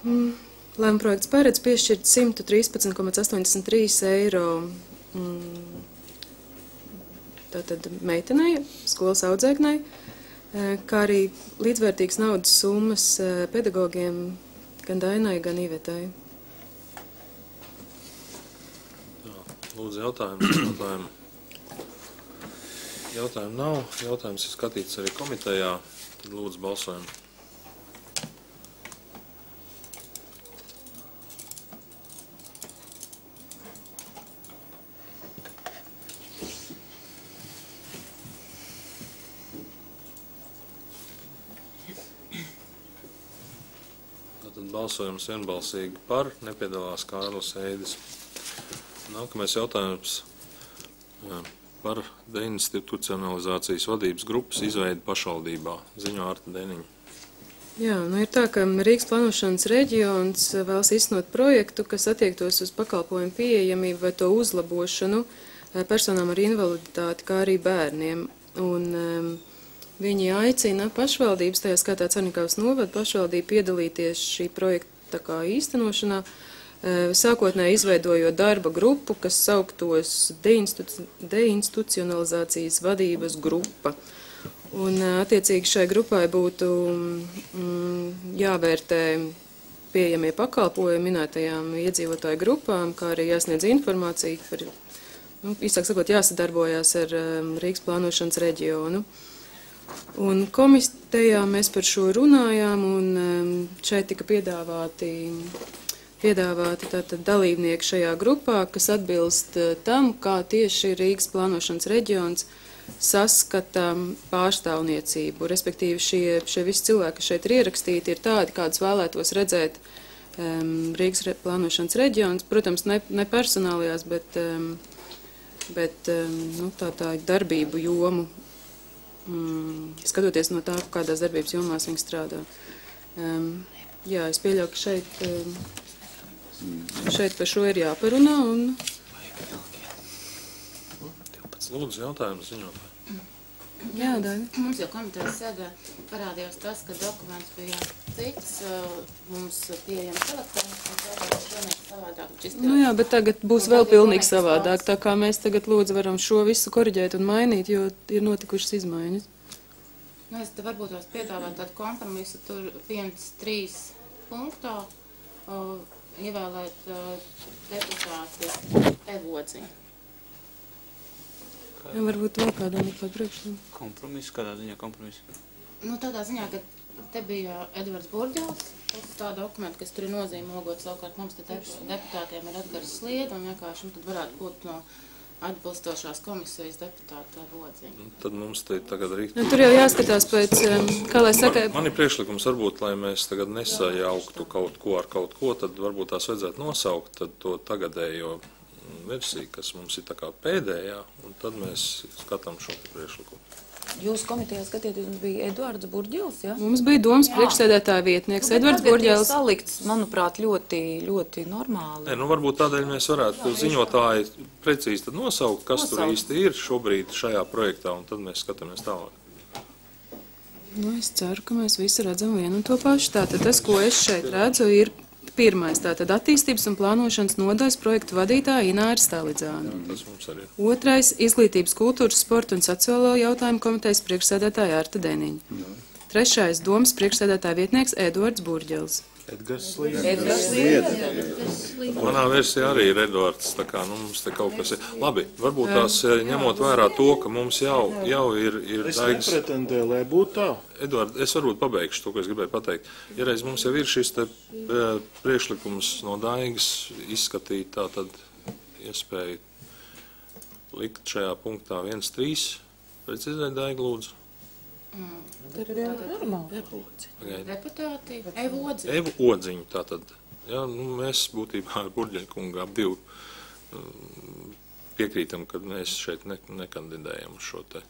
Lēmuma projekts paredz piešķirt simt trīspadsmit komats astoņdesmit trīs eiro tātad meitenei, skolas audzēknei, kā arī līdzvērtīgas naudas summas pedagogiem gan Dainai, gan Ivetai. Jā, lūdzu jautājums, jautājumu. Jautājumu nav. Jautājums ir skatīts arī komitejā. Tad lūdzu balsojumu. Tātad balsojums vienbalsīgi par. Nepiedalās Kārlis Eidis. Nākamais jautājums par deinstitucionalizācijas vadības grupas izveidi pašvaldībā. Ziņo Arta Deniņa. Jā, nu ir tā, ka Rīgas plānošanas reģions vēlas iznot projektu, kas attiektos uz pakalpojumu pieejamību vai to uzlabošanu personām ar invaliditāti, kā arī bērniem. Un um, viņi aicina pašvaldības, tajā skatā Cernikavas novada pašvaldību, piedalīties šī projekta kā īstenošanā, sākotnēji izveidojot darba grupu, kas sauktos deinstitu, deinstitucionalizācijas vadības grupa. Un attiecīgi šai grupai būtu mm, jāvērtē pieejamie pakalpojumi minētajām iedzīvotāju grupām, kā arī jāsniedz informācija par, nu, īsāk sakot, jāsadarbojās ar um, Rīgas plānošanas reģionu. Un komitejā mēs par šo runājām, un um, šeit tika piedāvāti piedāvāti tātad dalībnieki šajā grupā, kas atbilst tam, kā tieši Rīgas plānošanas reģions saskata pārstāvniecību. Respektīvi šie, šie visi cilvēki, kas šeit ir ierakstīti, ir tādi, kādus vēlētos redzēt um, Rīgas re, plānošanas reģions. Protams, ne, ne personālajās, bet, um, bet um, nu, tā, tā darbību jomu, um, skatoties no tā, kādās darbības jomās viņi strādā. Um, jā, es pieļauju, ka šeit... Um, Šeit par šo ir jāparunā. Un... Lūdzu, jautājums ziņotāji. Jā, Daini. Mums jau komitejas sēdē parādījās tas, ka dokuments bija cits, mums pieejams elektroniski savādāk. Nu jā, bet tagad būs vēl pilnīgi savādāk, tā kā mēs tagad lūdzu varam šo visu koriģēt un mainīt, jo ir notikušas izmaiņas. Nu, es te varbūt tās piedāvāt tādu kompromisu, tur viens, trīs punktā, uh, ievēlēt uh, deputāti Evodziņu. Jā, varbūt vēl kādam ir kādu priekšlikumu. Kompromisu, kādā ziņā kompromisu? Nu, tādā ziņā, ka te bija Edvards Burģels, tā dokumenta, kas tur ir nozīmogot, savukārt mums te deputātiem ir Edgars Slieda, un vienkārši tad varētu būt no atbilstošās komisijas deputāta Evodziņa. Tad mums te tagad arī... Nu, tur jau jāskatās pēc, kā lai saka... Man, man ir priekšlikums varbūt, lai mēs tagad nesajauktu kaut ko ar kaut ko, tad varbūt tās vajadzētu nosaukt tad to tagadējo versiju, kas mums ir tā kā pēdējā, un tad mēs skatām šo priekšlikumu. Jūsu komitejā skatieties, jums bija Eduards Burģils, ja? Mums bija domas priekšsēdētāja vietnieks Nu, bet Edvards tagad ir Burģēls. salikts, manuprāt, ļoti, ļoti normāli. Nē, nu varbūt tādēļ mēs varētu ziņotāji precīzi tad nosaukt, kas tur Nosaukt. īsti ir šobrīd šajā projektā, un tad mēs skatāmies tālāk. Nu, es ceru, ka mēs visi redzam vienu un to pašu. Tātad tas, ko es šeit redzu, ir pirmais. Tātad attīstības un plānošanas nodaļas projektu vadītāja Ināra Stalidzāna. Tas mums arī ir. Otrais - izglītības, kultūras, sporta un sociālo jautājumu komitejas priekšsēdētāja Arta Deniņa. Trešais - domas priekšsēdētāja vietnieks Eduards Burģels. Edgars Slīdis. Edgars Slīdis. Manā versijā arī ir Edvards, tā kā nu, mums te kaut kas ir. Labi, varbūt tās eh, ņemot vērā to, ka mums jau, jau ir, ir Es Daigas. nepretendēju, lai būtu tā. Edvard, es varbūt pabeigšu to, ko es gribēju pateikt. Ja reiz mums jau ir šis te eh, priekšlikums no Daigas izskatīt, tā tad iespēju likt šajā punktā viens trīs. Precizēt, Daiga, lūdzu. Tur ir normāli. Deputāti, Evu Odziņu. Evu Odziņu, tātad. Jā, nu, mēs būtībā ar Burģeļa kungu ap divu um, piekrītam, ka mēs šeit ne, nekandidējam uz šo te.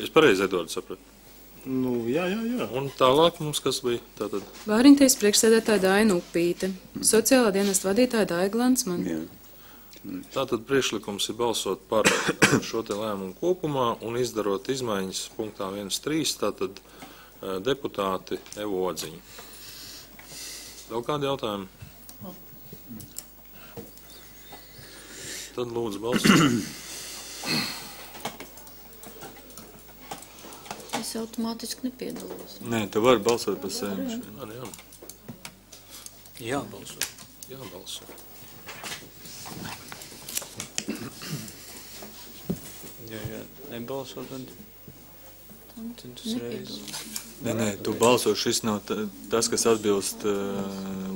Es pareizi, Edvards, sapratu. Nu, jā, jā, jā. Un tālāk mums kas bija? Tātad. Vāriņties priekšsēdētāja Daina Upīte. Sociālā dienesta vadītāja Daiga Landsman. Jā. Tātad priekšlikums ir balsot par šo te lēmumu kopumā un izdarot izmaiņas punktā viens trīs, tātad eh, deputāti Evu Odziņu. Vēl kādi jautājumi? Tad lūdzu balsot. Es automātiski nepiedalos. Nē, tu vari balsot par sevi. Jā, jā. Jā, balso. Jā, balso. Ja, ja nebalso, tad, tad uzreiz. Nē, nē, tu balso, šis nav ta- tas, kas atbilst uh,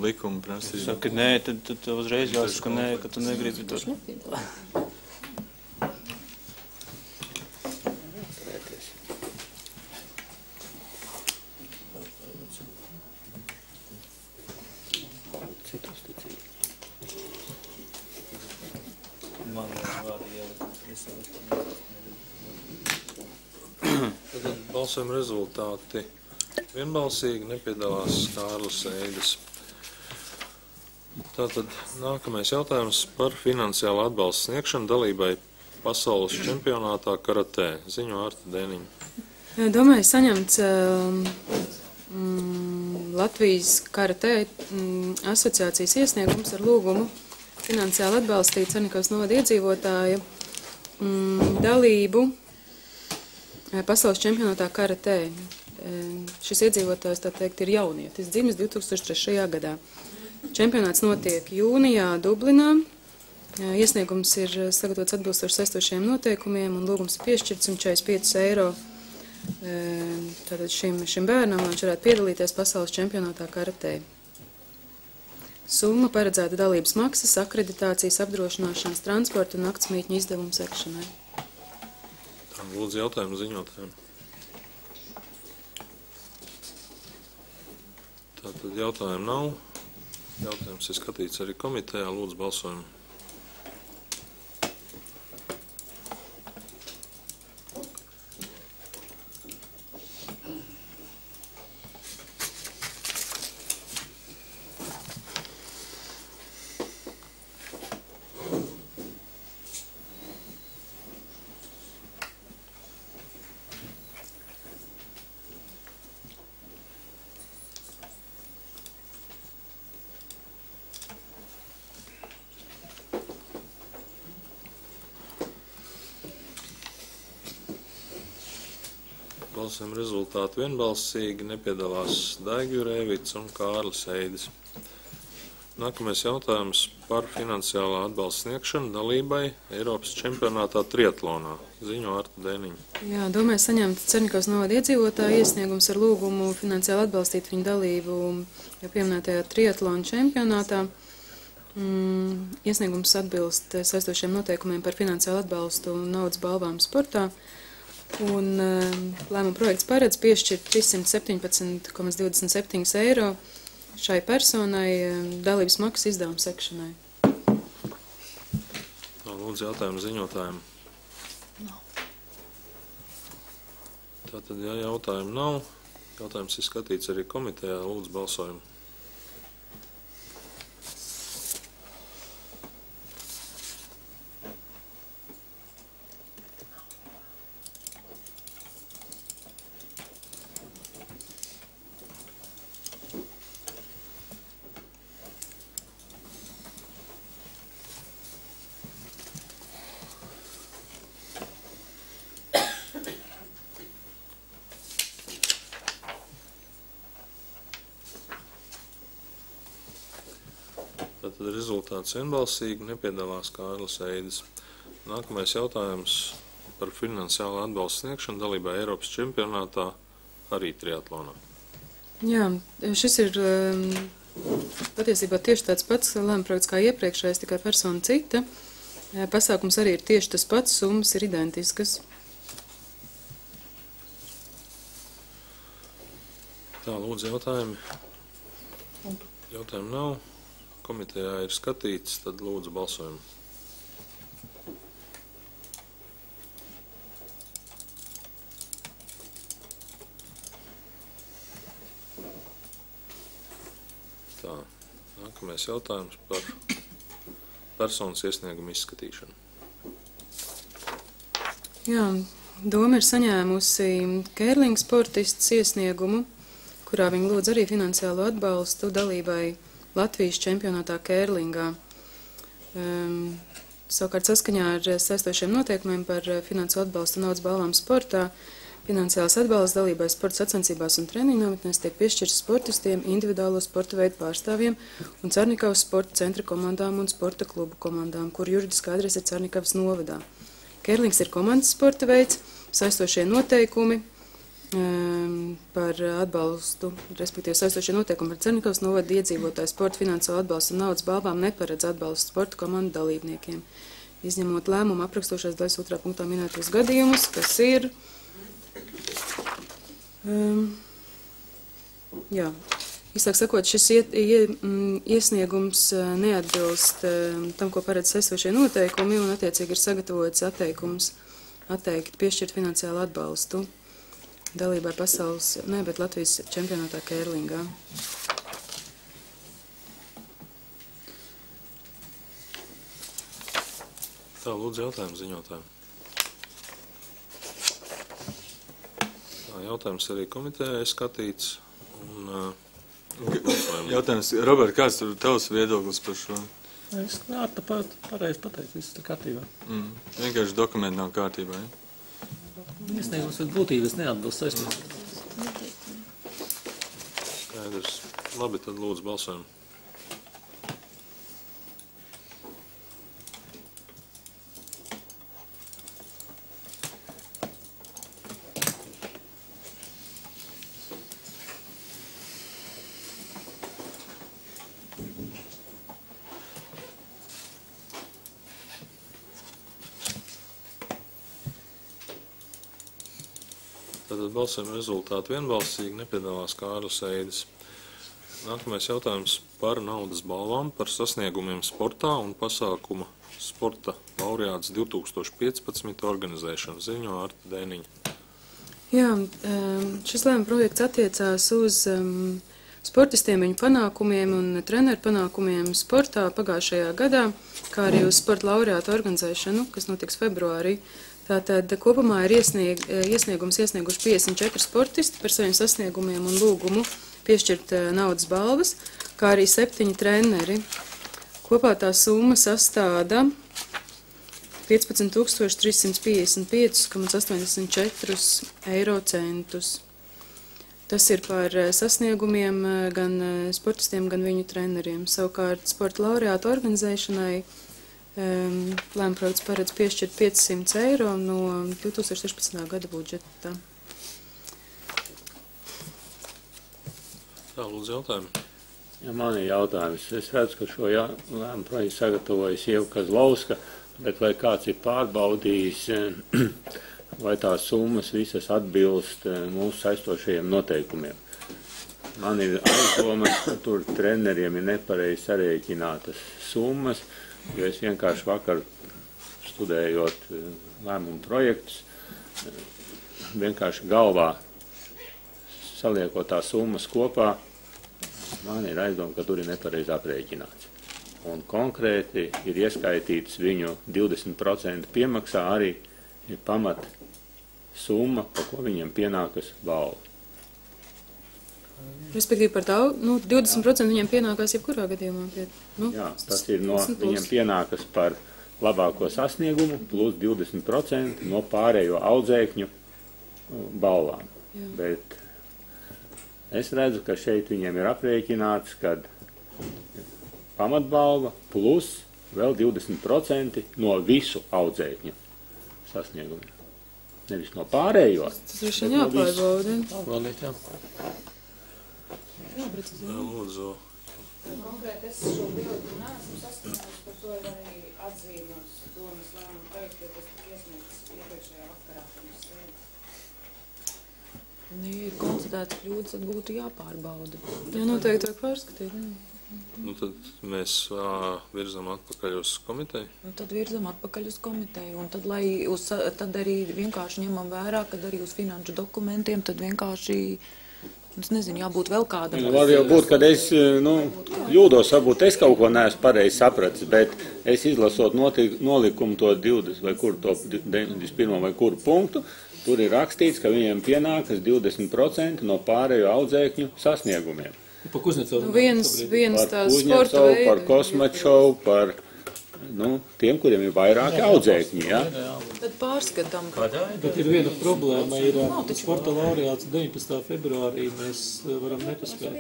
likuma prasībām. Saka, nē, tad, tad tev uzreiz jāsaka, nē, ka tu negribi to. Man var ielikt. Tad balsojuma rezultāti vienbalsīgi nepiedalās Kārlis Eidis. Tātad nākamais jautājums par finansiālu atbalstu sniegšanu dalībai pasaules čempionātā karatē. Ziņo Arta Deniņa. Domāju, saņemts um, mm, Latvijas karatē mm, asociācijas iesniegums ar lūgumu finansiāli atbalstīt Cernikavas novada iedzīvotāju mm, dalību eh, pasaules čempionātā karatē. E, šis iedzīvotājs, tā teikt, ir jaunietis, dzimis divi tūkstoši trešajā gadā. Čempionāts notiek jūnijā Dublinā. E, iesniegums ir sagatavots atbilstoši saistošiem noteikumiem un lūgums ir piešķirts un četrdesmit pieci eiro e, tātad šim, šim bērnam, lai viņš varētu piedalīties pasaules čempionātā karatē. Summa paredzēta dalības maksas, akreditācijas, apdrošināšanas, transporta un naktsmītņu izdevumu sekšanai. Tā lūdzu jautājumu ziņotājiem. Tātad jautājumu nav. Jautājums ir skatīts arī komitejā. Lūdzu balsojumu. Balsojuma rezultāti vienbalsīgi nepiedalās Daiga Jurēvits un Kārlis Eidis. Nākamais jautājums par finansiālā atbalsta sniegšanu dalībai Eiropas čempionātā triatlonā. Ziņo Arta Deniņa. Jā, domāju, saņemt Cernikavas novada iedzīvotāju iesniegums ar lūgumu finansiāli atbalstīt viņu dalību jau pieminētajā triatlona čempionātā. Mm, iesniegums atbilst saistošiem noteikumiem par finansiālu atbalstu un naudas balvām sportā. Un lēmuma projekts paredz piešķirt trīssimt septiņpadsmit komats divdesmit septiņi eiro šai personai dalības maksas izdevumu sekšanai. Lūdzu jautājumu ziņotājiem. Tātad, ja jautājumu nav, jautājums ir skatīts arī komitejā, lūdzu balsojumu. Tātad rezultāts vienbalsīgi, nepiedalās Kārlis Eidis. Nākamais jautājums par finansiālu atbalstu sniegšanu dalībā Eiropas čempionātā arī triatlonā. Jā, šis ir um, patiesībā tieši tāds pats lēma projekts kā iepriekšējais, tikai persona cita. Pasākums arī ir tieši tas pats, summas ir identiskas. Tā, lūdzu jautājumi. Jautājumu nav. Komitejā ir skatīts, tad lūdzu balsojumu. Tā, nākamais jautājums par personas iesniegumu izskatīšanu. Jā, doma ir saņēmusi kērlinga sportists iesniegumu, kurā viņi lūdz arī finansiālo atbalstu dalībai Latvijas čempionātā kērlingā. Um, savukārt saskaņā ar saistošiem noteikumiem par finansu atbalstu naudas balvām sportā, finansiāls atbalsts dalībai sporta sacensībās un treniņu nometnēs tiek piešķirts sportistiem, individuālo sporta veidu pārstāvjiem un Cernikavas sporta centra komandām un sporta klubu komandām, kur juridiskā adrese ir Cernikavas novadā. Kērlings ir komandas sporta veids, saistošie noteikumi par atbalstu, respektīvi saistošie noteikumi par Cernikavas novada iedzīvotāju sporta finansiālo atbalstu un naudas balvām neparedz atbalstu sporta komandu dalībniekiem, izņemot lēmumu aprakstošās daļas otrā punktā minētos gadījumus, kas ir um, jā, īsāk sakot, šis iet, ie, iesniegums neatbilst um, tam, ko paredz saistošie noteikumi, un attiecīgi ir sagatavots atteikums atteikt piešķirt finansiālu atbalstu dalībai pasaules, ne, bet Latvijas čempionātā kērlingā. Tā, lūdzu jautājumu ziņotāju. Tā, jautājums arī komitejā ir skatīts. Un, uh, jautājums, Robert, kāds ir tavs viedoklis par šo? Es jā, tāpat pareizi pateicu, viss ir kārtībā. Mm, vienkārši dokumenti nav kārtībā, ja? Iesniegums ir būtības neatbilst saistības. Skaidrs. Labi, tad lūdzu balsojumu. Tātad balsojuma rezultāti vienbalsīgi, nepiedalās Kārlis Eidis. Nākamais jautājums par naudas balvām, par sasniegumiem sportā un pasākuma sporta laureāts divi tūkstoši piecpadsmit organizēšanu. Ziņo Arta Dēniņa. Jā, šis lēma projekts attiecās uz um, sportistiem, viņu panākumiem un treneru panākumiem sportā pagājušajā gadā, kā arī uz sporta laureātu organizēšanu, kas notiks februārī. Tātad kopumā ir iesnieg, iesniegums iesnieguši piecdesmit četri sportisti par saviem sasniegumiem un lūgumu piešķirt naudas balvas, kā arī septiņi treneri. Kopā tā summa sastāda piecpadsmit tūkstoši trīs simts piecdesmit pieci komats astoņdesmit četri eiro centus. Tas ir par sasniegumiem gan sportistiem, gan viņu treneriem. Savukārt sporta laureātu organizēšanai Um, lēma projekts paredz piešķirt piecsimt eiro no divi tūkstoši sešpadsmitā gada budžeta. Tā, lūdzu jautājumu. Ja man ir jautājums. Es redzu, ka šo jā, lēmu projektu sagatavojas Ieva Kazlauska, bet vai kāds ir pārbaudījis, vai tās summas visas atbilst mūsu saistošajiem noteikumiem? Man ir aizdomas, ka tur treneriem ir nepareizi sarēķinātas summas, jo es vienkārši vakar studējot lēmumu projektus, vienkārši galvā saliekot tās summas kopā, man ir aizdoma, ka tur ir nepareizi aprēķināts. Un konkrēti ir ieskaitīts viņu divdesmit procenti piemaksā arī ir pamat summa, pa ko viņiem pienākas balva. Respektīvi par tā, nu, divdesmit procenti viņiem pienākās jebkurā gadījumā. Pie, nu, Jā, tas ir no, viņiem pienākas par labāko sasniegumu plus divdesmit procenti no pārējo audzēkņu balvām. Jā. Bet es redzu, ka šeit viņiem ir aprēķināts, kad pamatbalva plus vēl divdesmit procenti no visu audzēkņu sasniegumiem. Nevis no pārējo. Tas ir šeit jāpārbauda. Pārbaudīt, jā. Jā, lūdzu. Konkrēti, es šo bildu neesmu saskaņojusi, par to ir arī atzīmos domas lēmumu projektu, jo tas tika iesniegts iepriekšējā vakarā pirms sēdes. Ja ir konstatēts kļūdas, tad būtu jāpārbauda. Jā, noteikti vajag pārskatīt. Jā. Nu, tad mēs ā, virzam atpakaļ uz komiteju. Un tad virzam atpakaļ uz komiteju. Un tad, lai uz, tad arī vienkārši ņemam vērā, kad arī uz finanšu dokumentiem, tad vienkārši, es nezinu, jābūt vēl kādam. Nu, var jau būt, kad es nu, ļūdos, varbūt es kaut ko neesmu pareizi sapratis, bet es izlasot notik, nolikumu to divdesmit vai kur, to deviņdesmit pirmo vai kuru punktu, tur ir rakstīts, ka viņiem pienākas divdesmit procenti no pārējo audzēkņu sasniegumiem. Pa Kuznecovu. Nu, viens, viens Par tās sporta Kuznecovu, veidi. par Kosmačovu, par nu, tiem, kuriem ir vairāki audzēkņi. Ja? Tad pārskatām. Bet ir viena problēma, ir sporta laureāts deviņpadsmitā februārī, mēs varam nepaspēt.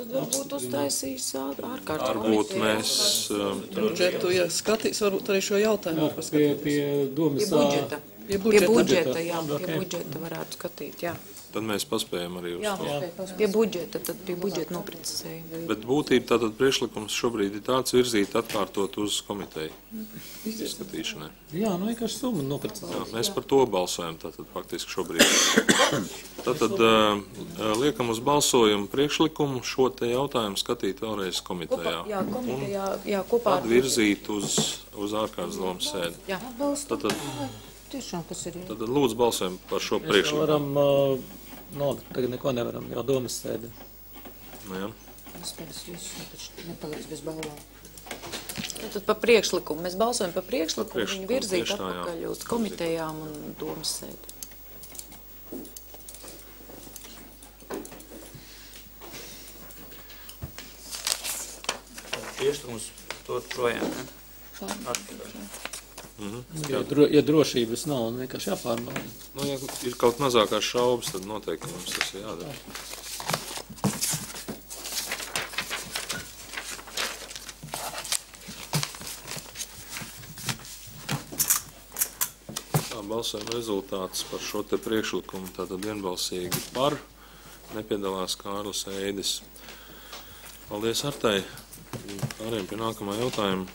Tad varbūt uztaisīs ārkārtas Varbūt mēs um, Budžetu, ja skatīs, varbūt arī šo jautājumu. Jā, pie, pie domas Pie budžeta. Pie Pie budžeta. budžeta, jā, pie Okay. budžeta varētu skatīt, jā. tad mēs paspējam arī uz Jā, to. pie budžeta, tad pie budžeta noprecizēja. Bet būtība tātad priekšlikums šobrīd ir tāds virzīt atkārtot uz komiteju izskatīšanai. Jā, nu vienkārši summa Jā, noprecizēt. mēs par to balsojam tātad faktiski šobrīd. Tātad uh, liekam uz balsojumu priekšlikumu šo te jautājumu skatīt vēlreiz komitejā. Jā, komitejā, jā, kopā Tad virzīt uz, uz ārkārtas domas sēdi. Jā, Tātad, Tiešām tas ir. tātad lūdzu balsojam par šo Mēs priekšlikumu. varam, uh, no, tagad neko nevaram, jau domas sēdi. Nu, jā. Es pēc visu, taču nepaliks bez balvām. Tad par priekšlikumu. Mēs balsojam par priekšlikumu, Par priekšlikumu, viņu virzīt tieši tā, jā. atpakaļ uz komitejām un domas sēdi. Priekšlikums to projām, ne? Mhm. Ja, dro, ja drošības nav, un vienkārši jāpārbauda. Nu, ja ir kaut mazākās šaubas, tad noteikti mums tas ir jādara. Tā, balsojuma rezultāts par šo te priekšlikumu tātad vienbalsīgi par. Nepiedalās Kārlis Eidis. Paldies Artai. Pārējiem pie nākamā jautājuma.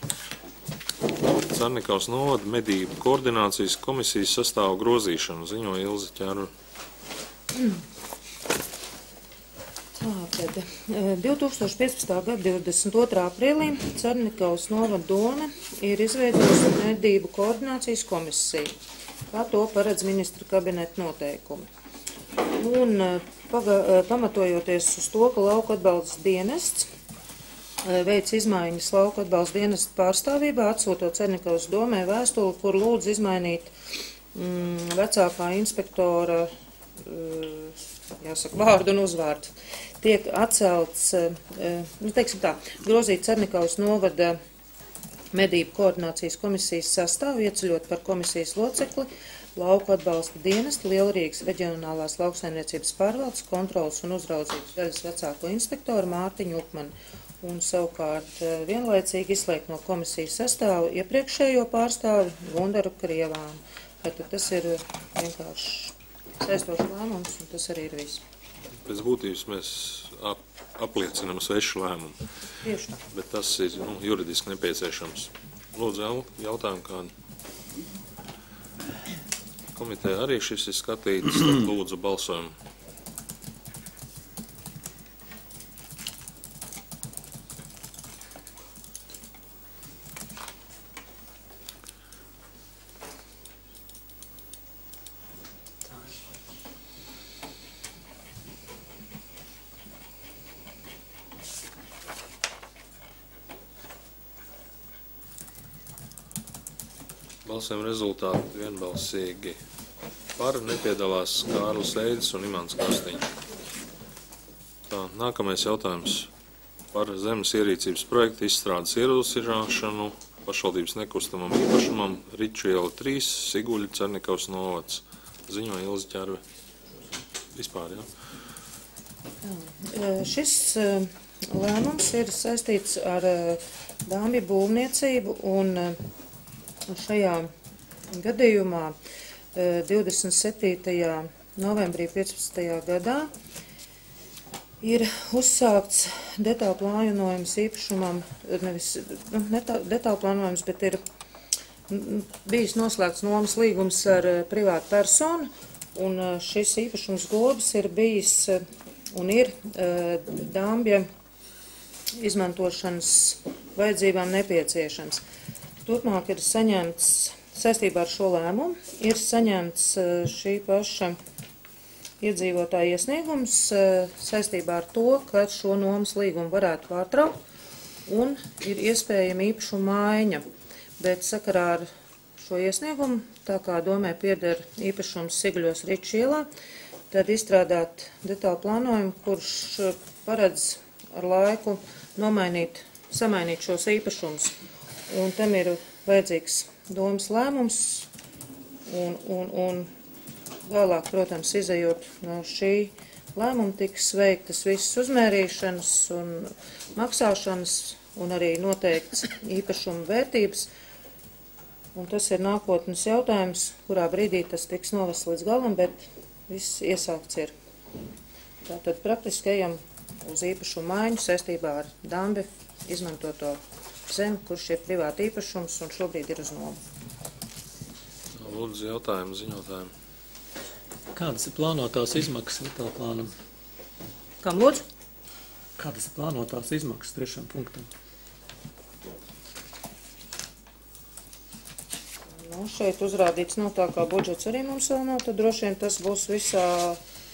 Carnikavas novada medību koordinācijas komisijas sastāvu grozīšanu ziņo Ilze Ķerva. Tātad, divtūkstoš piecpadsmitā gada divdesmit otrā aprīlī Carnikavas novada doma ir izveidojusi medību koordinācijas komisiju, kā to paredz ministra kabineta noteikumi. Un paga, pamatojoties uz to, ka lauka atbalsts dienests veic izmaiņas lauka atbalsta dienesta pārstāvībā, atsūtot Carnikavas domē vēstuli, kur lūdz izmainīt mm, vecākā inspektora uh, jāsaka, vārdu un uzvārdu. Tiek atcelts, uh, nu, teiksim tā, grozīt Carnikavas novada medību koordinācijas komisijas sastāvu, ieceļot par komisijas locekli lauku atbalsta dienesta Lielrīgas reģionālās lauksaimniecības pārvaldes kontrolas un uzraudzības daļas vecāko inspektoru Mārtiņu Upmanu. Un savukārt vienlaicīgi izslēgt no komisijas sastāvu iepriekšējo pārstāvi Gundaru Krievānu. Tātad tas ir vienkārši saistošs lēmums, un tas arī ir viss. Pēc būtības mēs ap, apliecinam svešu lēmumu. Tieši tā. Bet tas ir nu, juridiski nepieciešams. Lūdzu, jautājumu kādu. Komiteja arī šis ir skatīts, tad lūdzu balsojumu. Balsojuma rezultāti vienbalsīgi par, nepiedalās Kārlis Eidis un Imants Krastiņš. Tā, nākamais jautājums par zemes ierīcības projektu izstrādes ierosināšanu pašvaldības nekustamam īpašumam Riču iela trīs, Siguļa, Cernikavas novads. Ziņo Ilze Ķerve. Vispār, jā? Šis lēmums ir saistīts ar dāmbju būvniecību, un šajā gadījumā divdesmit septītajā novembrī piecpadsmitajā gadā ir uzsākts detālu plānojums īpašumam, nevis nu, detālu plānojums, bet ir bijis noslēgts nomas līgums ar privātu personu, un šis īpašums globas ir bijis un ir dāmbja izmantošanas vajadzībām nepieciešams. Turpmāk ir saņemts, saistībā ar šo lēmumu, ir saņemts šī paša iedzīvotāja iesniegums saistībā ar to, ka šo nomas līgumu varētu pārtraukt un ir iespējama īpašuma maiņa. Bet sakarā ar šo iesniegumu, tā kā domē pieder īpašums Sigļos Riču ielā, tad izstrādāt detālu plānojumu, kurš paredz ar laiku nomainīt, samainīt šos īpašumus. Un tam ir vajadzīgs domas lēmums un, un, un vēlāk, protams, izejot no šī lēmuma, tiks veiktas visas uzmērīšanas un maksāšanas un arī noteikts īpašuma vērtības. Un tas ir nākotnes jautājums, kurā brīdī tas tiks novests līdz galam, bet viss iesākts ir. Tātad praktiski ejam uz īpašumu maiņu saistībā ar dambi izmantoto zemi, kurš ir privāti īpašums un šobrīd ir uz nomu. Lūdzu, jautājumu ziņotājiem. Kādas ir plānotās izmaksas detālu plānam? Kam lūdzu? Kādas ir plānotās izmaksas trešam punktam? Nu, šeit uzrādīts nav tā, kā budžets arī mums vēl nav, tad droši vien tas būs visā,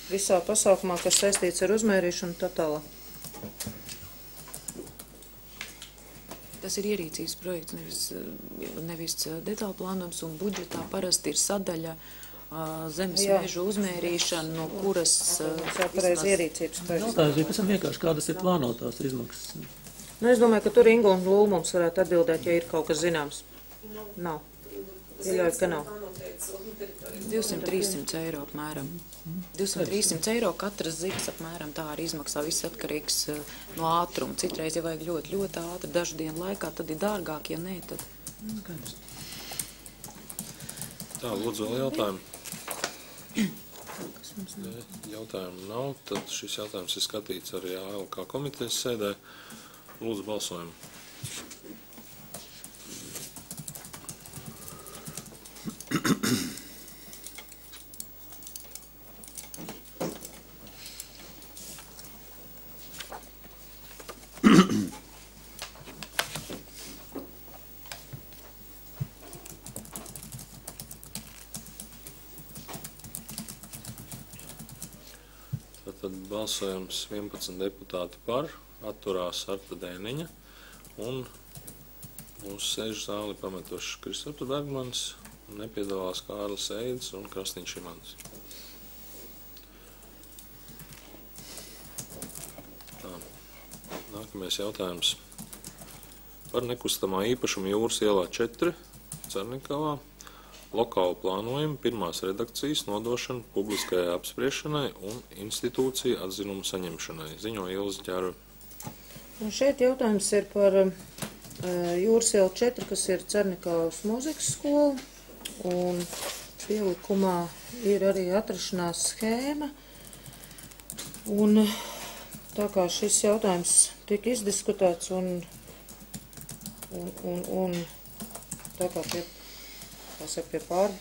visā pasākumā, kas saistīts ar uzmērīšanu tā tālāk. Tas ir ierīcības projekts, nevis, nevis detālu plānojums, un budžetā parasti ir sadaļa zemes mežu uzmērīšana, no kuras... Jāpareiz ierīcības projekts. Tā ir pēc tam vienkārši, kādas ir plānotās izmaksas. Nu, es domāju, ka tur Inga un Lūmums varētu atbildēt, ja ir kaut kas zināms. Nav. Pieļauju, ka nav. divsimt līdz trīssimts eiro apmēram. divsimt līdz trīssimts eiro katras zivis apmēram tā arī izmaksā. Viss atkarīgs no ātruma. Citreiz, ja vajag ļoti, ļoti ātri, dažu dienu laikā, tad ir dārgāk, ja nē, tad... Tā, lūdzu, vēl jautājumu. Jautājumu nav, tad šis jautājums ir skatīts arī A L K komitejas sēdē. Lūdzu, balsojumu. Tad balsojums vienpadsmit deputāti par, atturās Arta Dēniņa un mūsu sēžu zāli pametuši Kristaps Bergmans, nepiedalās Kārlis Eidis un Krastiņš Imants. Tā, nākamais jautājums par nekustamā īpašuma Jūras ielā četri, Cernikavā. Lokālu plānojumu pirmās redakcijas nodošana publiskajai apspriešanai un institūciju atzinumu saņemšanai. Ziņo Ilze Ķerve. Šeit jautājums ir par uh, Jūras ielu četri, kas ir Cernikavas mūzikas skola, un pielikumā ir arī atrašanās schēma. Un tā kā šis jautājums tika izdiskutēts un, un, un, un tā kā pie Saka, pie pār,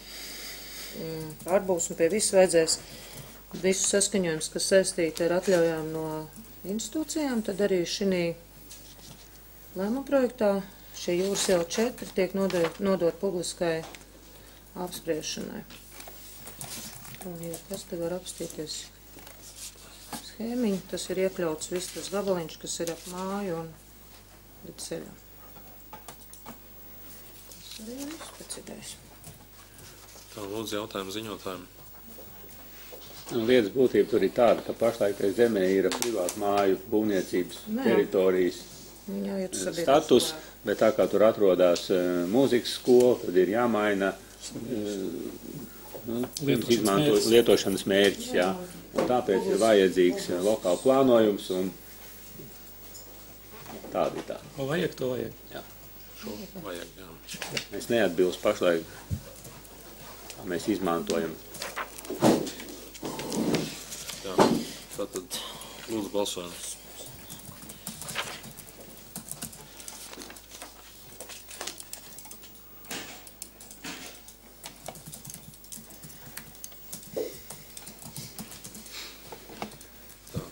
pārbūs un pie visu vajadzēs visu saskaņojums, kas saistīti ar atļaujām no institūcijām, tad arī šī lēmuma projektā šie Jūras iela četri tiek nodot, nodot publiskai apspriešanai. Un, ja kas te var apstīties schēmiņu, tas ir iekļauts viss tas gabaliņš, kas ir ap māju un līdz ceļam. Tas arī ir viss pēc idejas. Tā, lūdzu, jautājumu ziņotājiem. Nu, lietas būtība tur ir tāda, ka pašlaik tai zemē ir privātu māju būvniecības Nē. teritorijas Jā, ir sabiedriskā. status, bet tā kā tur atrodas uh, mūzikas skola, tad ir jāmaina uh, nu, Lietošanas izmanto, mērķis. lietošanas mērķis, jā. Un tāpēc ir vajadzīgs uh, lokāla plānojums un tāda ir tā. Ko vajag, to vajag. Jā. Šo vajag, jā. Mēs neatbilst pašlaik, kā mēs izmantojam. Jā, tātad lūdzu balsojam. Tā.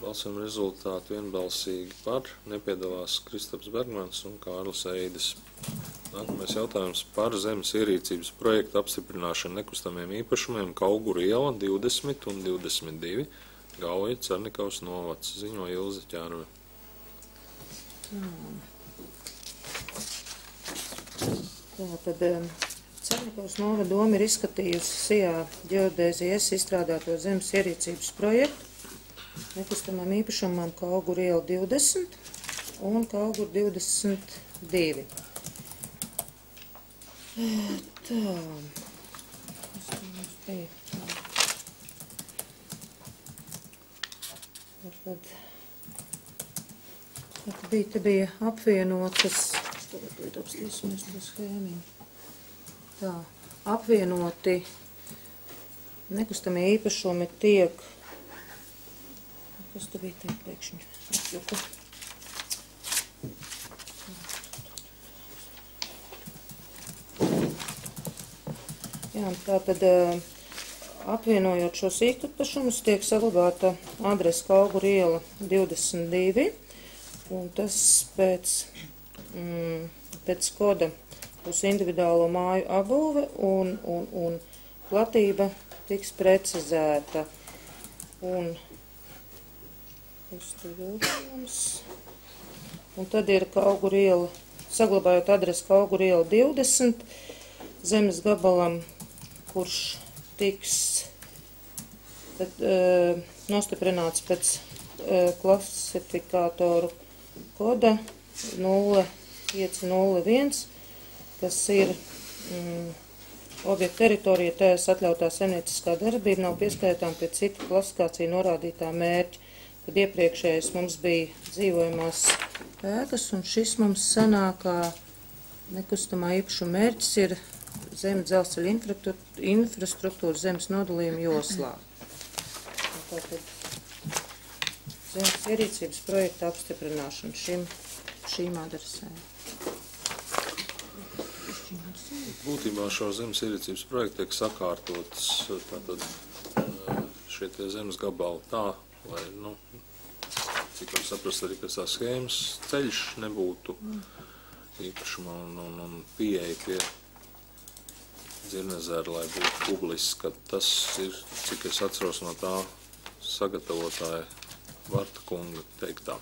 Balsojuma rezultāti vienbalsīgi par, nepiedalās Kristaps Bergmans un Kārlis Eidis. Nākamais jautājums par zemes ierīcības projektu apstiprināšanu nekustamiem īpašumiem Kauguru iela divdesmit un divdesmit divi, Gauja, Cernikavas novads, ziņo Ilze Ķērve. Tā tad um, Cernikavas novada doma ir izskatījusi Sijā ģeodēzijas izstrādāto zemes ierīcības projektu nekustamām īpašumam Kauguru iela divdesmit un Kauguru divdesmit divi. Tā. Kas tā mums bija? Tad, tad bija, te bija apvienotas, tagad apstīsimies to schēmiņu. Tā, apvienoti nekustamie īpašumi tiek, kas te bija te pēkšņi atjuka? Jā, tā tad apvienojot šos īpašumus tiek saglabāta adrese Kauguru iela divdesmit divi, un tas pēc, mm, pēc koda būs individuālo māju apbūve un, un, un platība tiks precizēta. Un, kas te vēl mums? Un tad ir Kauguru iela, saglabājot adresi Kauguru iela divdesmit, zemes gabalam, kurš tiks bet, e, nostiprināts pēc e, klasifikātoru koda nulle pieci nulle viens, kas ir mm, objekta teritorija, tajās atļautā saimnieciskā darbība nav pieskaitām pie citu klasifikāciju norādītā mērķa. Tad iepriekšējais mums bija dzīvojamās ēkas, un šis mums sanākā nekustamā īpašuma mērķis ir zemes dzelzceļa infrastruktūra zemes nodalījuma joslā. Tātad zemes ierīcības projekta apstiprināšana šim, šīm adresēm. Būtībā šo zemes ierīcības projektu tiek sakārtots tātad šie tie zemes gabali tā, lai, nu, cik var saprast arī pēc tā schēmas, ceļš nebūtu īpašumā un, un, un pieeja pie Dzirnezera, lai būtu publiski, ka tas ir, cik es atceros no tā sagatavotāja Varta kunga teiktā.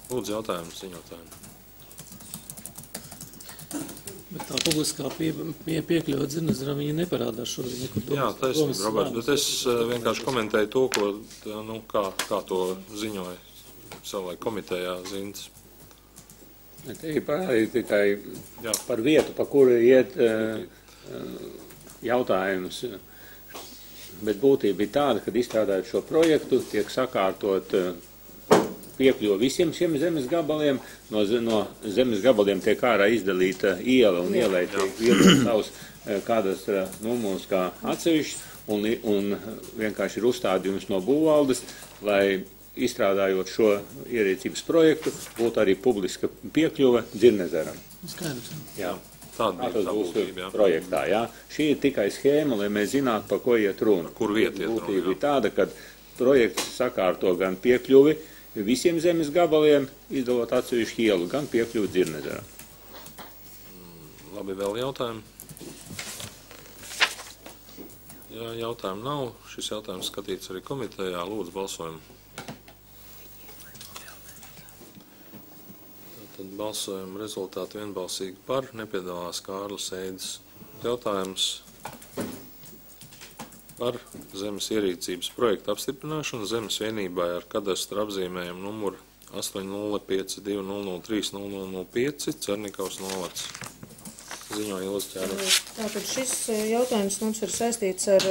Lūdzu jautājumu ziņotājiem. Bet tā publiskā pie, pie, piekļuva Dzirnezeram, viņa neparādās šodien nekur domas. Jā, taisnība, Roberts, bet es vienkārši komentēju to, ko, nu, kā, kā to ziņoja savai komitejā Zintas. Te ir parādīt tikai Jā. par vietu, pa kuru iet uh, jautājums. Bet būtība ir tāda, kad izstrādājot šo projektu, tiek sakārtot uh, piekļuva visiem šiem zemes gabaliem. No, no zemes gabaliem tiek ārā izdalīta iela un ielai tiek vietot savus uh, kādas uh, numurs kā atsevišķi un, un vienkārši ir uzstādījums no būvvaldes, lai izstrādājot šo ierīcības projektu, būtu arī publiska piekļuve Dzirnezeram. Skaidrs. Jā, tāda bija tā būtība, jā. Projektā, jā. Šī ir tikai schēma, lai mēs zinātu, par ko iet runa. Kur vieta iet runa, būtība ir tāda, ka projekts sakārto gan piekļuvi visiem zemes gabaliem, izdalot atsevišķu ielu, gan piekļuvi Dzirnezeram. Labi, vēl jautājumi? Ja jautājumu nav, šis jautājums skatīts arī komitejā. Lūdzu, balsojumu. Tad balsojumu rezultāti vienbalsīgi par. Nepiedalās Kārlis Eidis. Jautājums par zemes ierīcības projektu apstiprināšanu zemes vienībai ar kadastra apzīmējumu numuru astoņi nulle pieci divi nulle nulle trīs nulle nulle nulle pieci Cernikavas novads. Ziņoja Ilza Ķēniņš. Tātad šis jautājums mums ir saistīts ar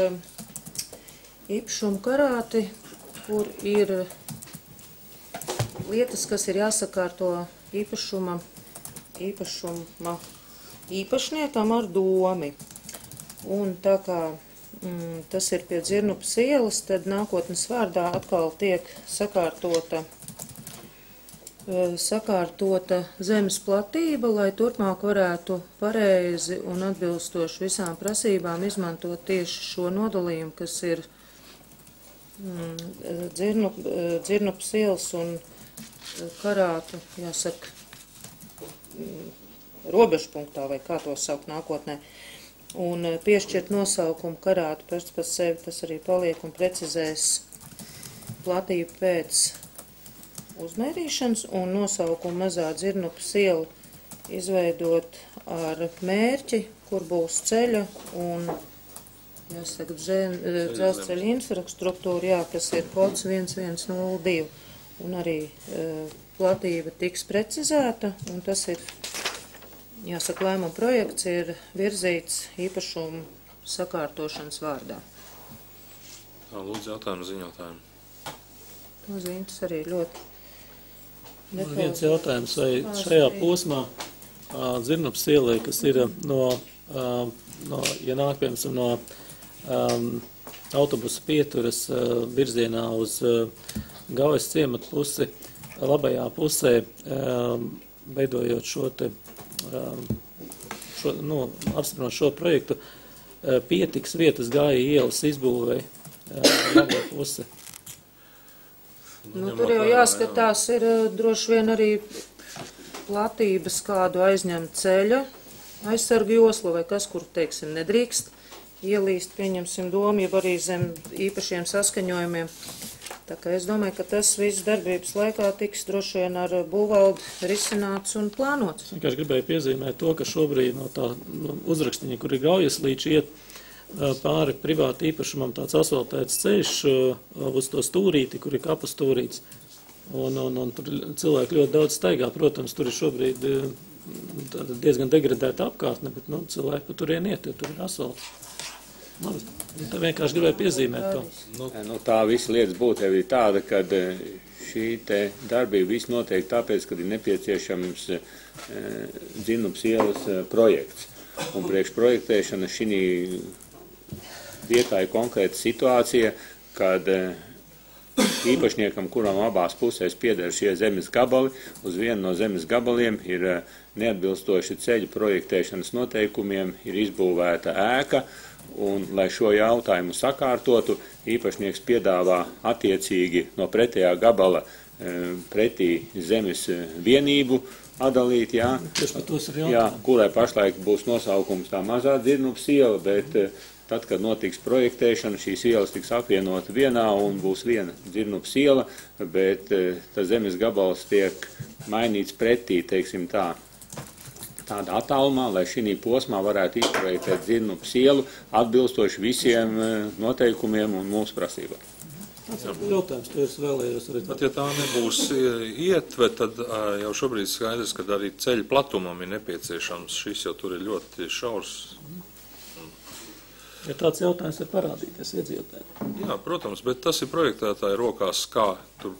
īpašumu karāti, kur ir lietas, kas ir jāsakārto īpašuma, īpašuma īpašniekam ar domi. Un tā kā mm, tas ir pie Dzirnupas ielas, tad nākotnes vārdā atkal tiek sakārtota sakārtota zemes platība, lai turpmāk varētu pareizi un atbilstoši visām prasībām izmantot tieši šo nodalījumu, kas ir mm, dzirnup, Dzirnupas ielas un karātu, jāsaka, mm, robežpunktā, vai kā to saukt nākotnē. Un piešķirt nosaukumu karātu pēc par sevi, tas arī paliek un precizēs platību pēc uzmērīšanas un nosaukumu mazā Dzirnupas ielu izveidot ar mērķi, kur būs ceļa un, jāsaka, dzelzceļa infrastruktūra, jā, kas ir kods viens viens nulle divi. Un arī e, platība tiks precizēta, un tas ir, jāsaka, lēmuma projekts ir virzīts īpašumu sakārtošanas vārdā. Tā, lūdzu, jautājumu ziņotājiem. No Zintas arī ļoti. Man viens jautājums, vai šajā posmā Dzirnupas ielai, kas ir no, no ja nāk, piemēram, no um, autobusa pieturas uh, virzienā uz uh, Gaujas ciematu pusi, labajā pusē, um, veidojot šo te, um, šo, nu, apstiprinot šo projektu, uh, pietiks vietas Gāja ielas izbūvei uh, labajā pusē. Nu, tur jau jāskatās, ir droši vien arī platības kādu aizņemt ceļa aizsargu joslu vai kas, kur, teiksim, nedrīkst ielīst, pieņemsim domu, jau arī zem īpašiem saskaņojumiem. Tā kā es domāju, ka tas viss darbības laikā tiks droši vien ar būvvaldi risināts un plānots. Es vienkārši gribēju piezīmēt to, ka šobrīd no tā uzrakstiņa, kur ir Gaujas līdz iet, pāri privāti īpašumam tāds asfaltēts ceļš uz to stūrīti, kur ir kapu stūrīts. Un, un, un tur cilvēki ļoti daudz staigā. Protams, tur ir šobrīd diezgan degradēta apkārtne, bet nu, cilvēki pa turien iet, jo tur ir asfalts. Nu, tā vienkārši gribēju piezīmēt to. Nu, nu, tā visa lietas būtība ir tāda, ka šī te darbība viss notiek tāpēc, kad ir nepieciešams e, Dzirnupas ielas projekts. Un priekš projektēšana šī vietā ir konkrēta situācija, kad īpašniekam, kuram abās pusēs pieder šie zemes gabali, uz vienu no zemes gabaliem ir neatbilstoši ceļu projektēšanas noteikumiem, ir izbūvēta ēka, un, lai šo jautājumu sakārtotu, īpašnieks piedāvā attiecīgi no pretējā gabala pretī zemes vienību atdalīt, jā, jā, kurai pašlaik būs nosaukums tā mazā Dzirnupas iela, bet tad, kad notiks projektēšana, šīs ielas tiks apvienota vienā un būs viena Dzirnupas iela, bet tas zemes gabals tiek mainīts pretī, teiksim tā, tāda attālumā, lai šī posmā varētu izprojektēt Dzirnupas ielu atbilstoši visiem noteikumiem un mūsu prasībām. Jautājums, to es vēlējos arī. Tad, ja tā nebūs ietve, tad jau šobrīd skaidrs, ka arī ceļa platumam ir nepieciešams. Šis jau tur ir ļoti šaurs. Ja tāds jautājums ir parādīties iedzīvotājiem. Jā, protams, bet tas ir projektētāja rokās, kā tur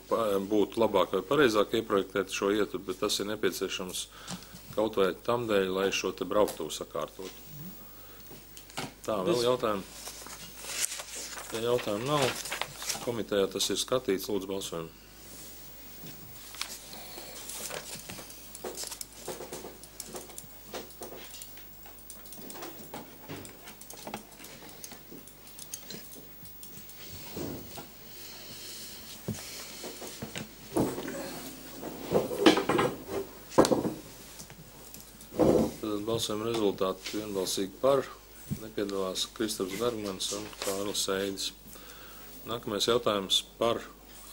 būtu labāk vai pareizāk ieprojektēt šo ietvu, bet tas ir nepieciešams kaut vai tam dēļ, lai šo te brauktuvu sakārtotu. Tā, vēl jautājumu? Ja jautājumu nav, komitejā tas ir skatīts, lūdzu balsojumu. Balsojuma rezultāti vienbalsīgi par, nepiedalās Kristaps Bergmans un Kārlis Eidis. Nākamais jautājums par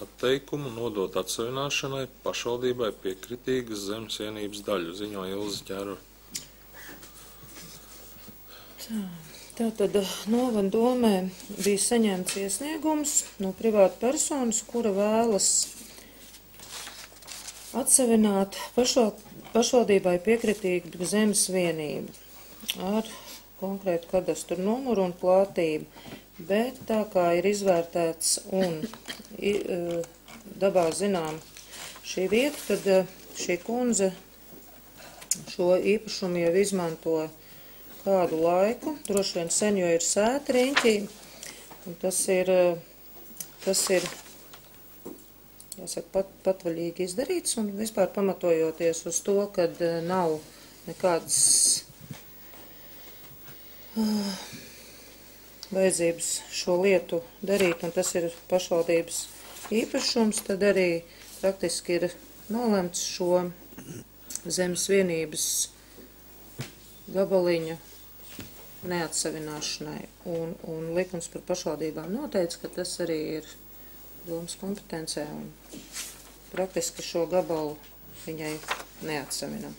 atteikumu nodot atsavināšanai pašvaldībai piekritīgas zemes vienības daļu, ziņo Ilze Ķērva. Tā, tātad novada domē bija saņemts iesniegums no privāta personas, kura vēlas atsavināt pašval, pašvaldībai piekritīgu zemes vienību ar konkrētu kadastru numuru un plātību. Bet tā kā ir izvērtēts un i, dabā zinām šī vieta, tad šī kundze šo īpašumu jau izmanto kādu laiku, droši vien sen, jo ir sēta riņķī, un tas ir, tas ir jāsaka, pat, patvaļīgi izdarīts, un vispār pamatojoties uz to, kad nav nekādas uh, vajadzības šo lietu darīt, un tas ir pašvaldības īpašums, tad arī praktiski ir nolemts šo zemes vienības gabaliņu neatsavināšanai. Un, un likums par pašvaldībām noteica, ka tas arī ir domas kompetencē, un praktiski šo gabalu viņai neatsavinam.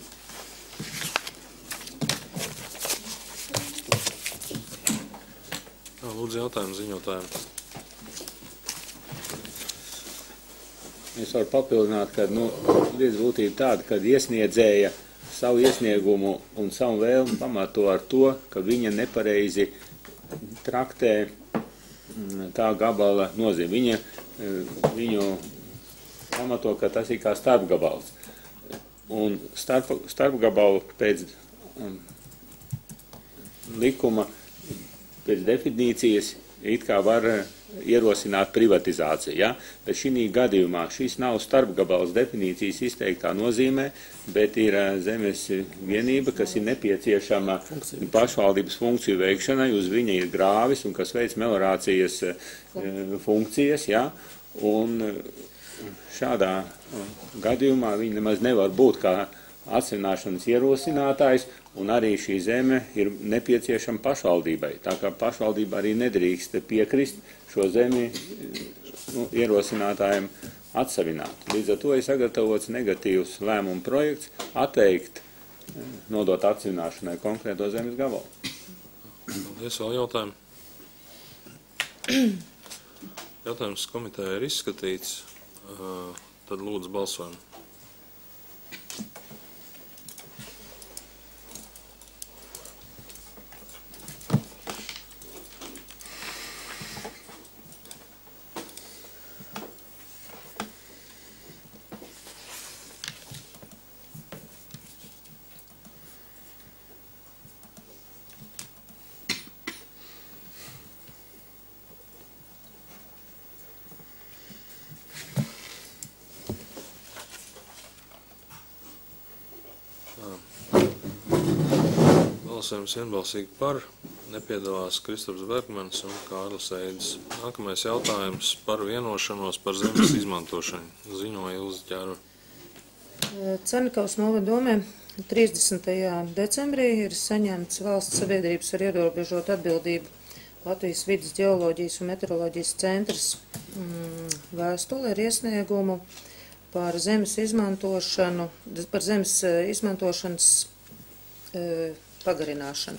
Lūdzu, jautājumu ziņotājiem. Es varu papildināt, ka nu, lietas būtība tāda, ka iesniedzēja savu iesniegumu un savu vēlmu pamato ar to, ka viņa nepareizi traktē tā gabala nozīme. Viņa viņu pamato, ka tas ir kā starpgabals. Un starp, starpgabalu pēc um, likuma pēc definīcijas it kā var ierosināt privatizāciju, ja? Bet šī gadījumā šis nav starpgabals definīcijas izteiktā nozīmē, bet ir zemes vienība, kas ir nepieciešama pašvaldības funkciju veikšanai, uz viņa ir grāvis un kas veic meliorācijas funkcijas, ja? Un šādā gadījumā viņi nemaz nevar būt kā atsavināšanas ierosinātājs, un arī šī zeme ir nepieciešama pašvaldībai. Tā kā pašvaldība arī nedrīkst piekrist šo zemi nu, ierosinātājiem atsavināt. Līdz ar to ir sagatavots negatīvs lēmuma projekts atteikt nodot atsavināšanai konkrēto zemes gabalu. Paldies, vēl jautājumu. Jautājums komiteja ir izskatīts, tad lūdzu balsojumu. Balsojums vienbalsīgi par, nepiedalās Kristaps Bergmans un Kārlis Eidis. Nākamais jautājums par vienošanos par zemes izmantošanu. Ziņoja Ilze Ķērva. Cernikavas novada domē trīsdesmitajā decembrī ir saņemts valsts sabiedrības ar ierobežotu atbildību Latvijas vides ģeoloģijas un meteoroloģijas centrs vēstuli ar iesniegumu par zemes izmantošanu, par zemes izmantošanas pagarināšanu.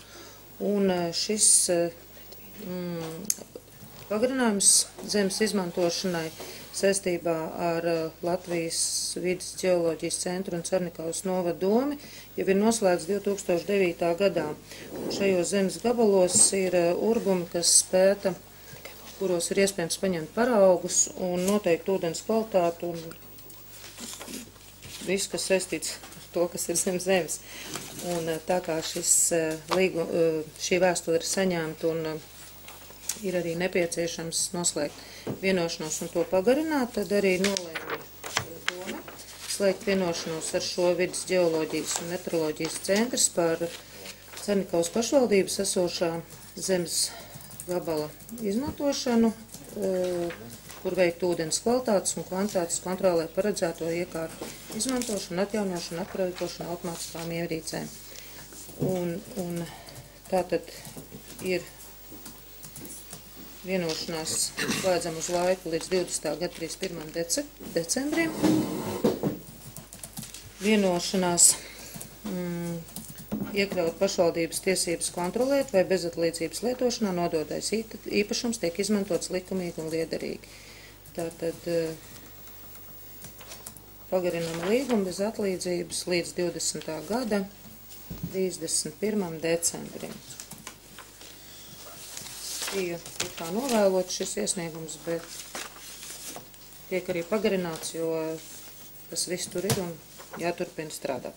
Un šis mm, pagarinājums zemes izmantošanai saistībā ar Latvijas vides ģeoloģijas centru un Cernikavas novada domi jau ir noslēgts divi tūkstoši devītā gadā. Un šajos zemes gabalos ir urbumi, kas pēta, kuros ir iespējams paņemt paraugus un noteikt ūdens kvalitātu un viss, kas saistīts to, kas ir zem zemes. Un tā kā šis, līgu, šī vēstule ir saņemta un ir arī nepieciešams noslēgt vienošanos un to pagarināt, tad arī nolēma doma slēgt vienošanos ar šo vides ģeoloģijas un meteoroloģijas centrs par Cernikavas pašvaldības esošā zemes gabala izmantošanu, kur veikt ūdens kvalitātes un kvantitātes kontrolē paredzēto iekārtu izmantošanu, atjaunošanu, aprīkošanu automātiskām ierīcēm. Un, un tātad ir vienošanās slēdzam uz laiku līdz divdesmitā gada trīsdesmit pirmajam dece, decembrim. Vienošanās mm, iekļaut pašvaldības tiesības kontrolēt, vai bezatlīdzības lietošanā nodotais īpašums tiek izmantots likumīgi un liederīgi. Tātad pagarinam līgumu bez atlīdzības līdz divdesmitā gada trīsdesmit pirmajam decembrim. Bija kā novēlot šis iesniegums, bet tiek arī pagarināts, jo tas viss tur ir un jāturpina strādāt.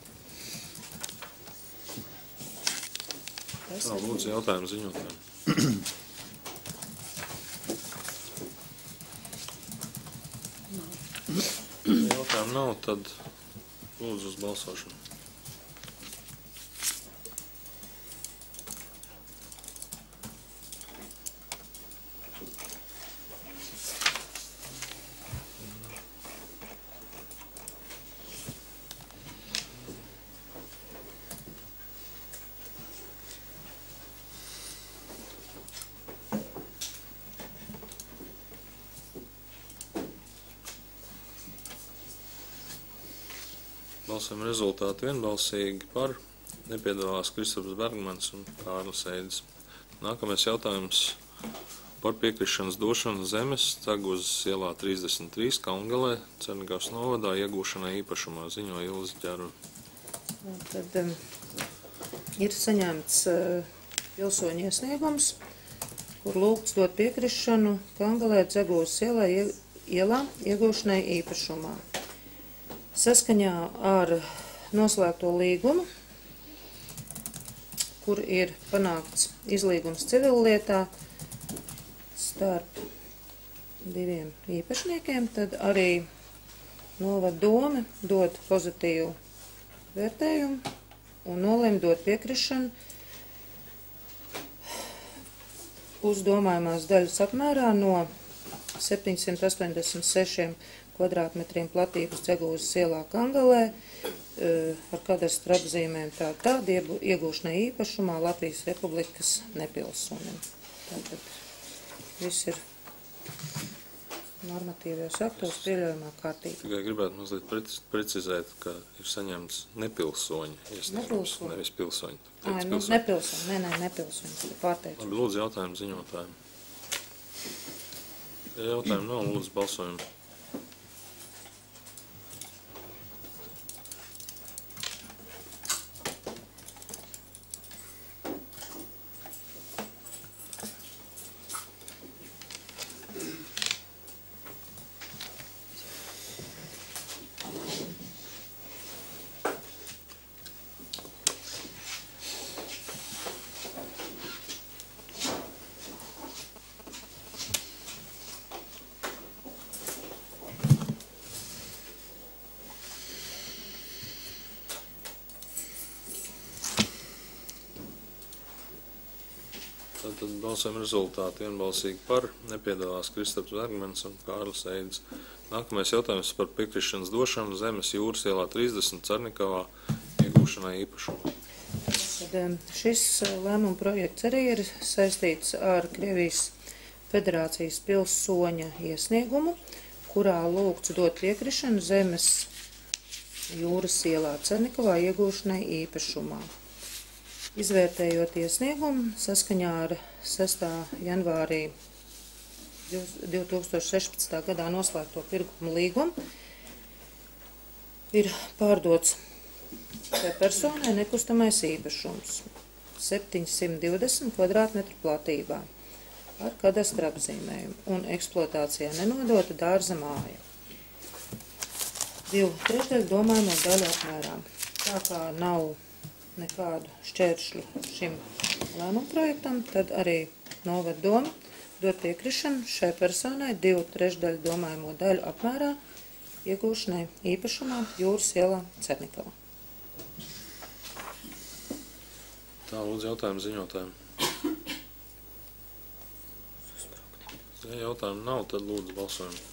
Tā, lūdzu, jautājumu ziņotājiem. Jautājumu nav, tad lūdzu uz balsošanu. Balsojuma rezultāti vienbalsīgi par, nepiedalās Kristaps Bergmans un Kārlis Eidis. Nākamais jautājums par piekrišanas došanu zemes Ceguzes ielā trīsdesmit trīs Kalngalē, Cernigavas novadā iegūšanai īpašumā, ziņo Ilze Ģerve. Tad um, ir saņemts uh, pilsoņu iesniegums, kur lūgts dot piekrišanu Kalngalē Ceguzes ielā, ielā iegūšanai īpašumā. Saskaņā ar noslēgto līgumu, kur ir panākts izlīgums civillietā starp diviem īpašniekiem, tad arī novada dome dod pozitīvu vērtējumu un nolēma dot piekrišanu uz domājumās daļas apmērā no septiņsimt astoņdesmit sešiem kvadrātmetriem platības Ceguzes ielā Kalngalē ar kadastra apzīmēm tā tāda iegūšanai īpašumā Latvijas Republikas nepilsonim. Tātad viss ir normatīvajos aktos pieļaujamā kārtībā. Tikai gribētu mazliet precizēt, ka ir saņemts nepilsoņi iesniegums, nevis pilsoņi. Ai, nu, nepilsoņi, nē, nē, nepilsoņi, pārteicu. Labi, lūdzu jautājumu ziņotājiem. Ja jautājumu nav, lūdzu balsojumu. Tātad balsojuma rezultāti vienbalsīgi par, nepiedalās Kristaps Bergmans un Kārlis Eidis. Nākamais jautājums par piekrišanas došanu zemes Jūras ielā trīsdesmit Cernikavā iegūšanai īpašumā. Tad šis lēmuma projekts arī ir saistīts ar Krievijas Federācijas pilsoņa iesniegumu, kurā lūgts dot piekrišanu zemes Jūras ielā Cernikavā iegūšanai īpašumā. Izvērtējot iesniegumu saskaņā ar sestā janvārī divi tūkstoši sešpadsmitā gadā noslēgto pirkuma līgumu, ir pārdots šai personai nekustamais īpašums septiņsimt divdesmit kvadrātmetru platībā ar kadastra apzīmējumu un eksploatācijā nenodota dārza māja. Divu trešdaļu domājamo daļu apmērā. Tā kā nav nekādu šķēršļu šim lēmumu projektam, tad arī novada doma dot piekrišanu šai personai divu trešdaļu domājamo daļu apmērā iegūšanai īpašumā Jūras ielā Cernikavā. Tā, lūdzu jautājumu ziņotājiem. Ja jautājumu nav, tad lūdzu balsojumu.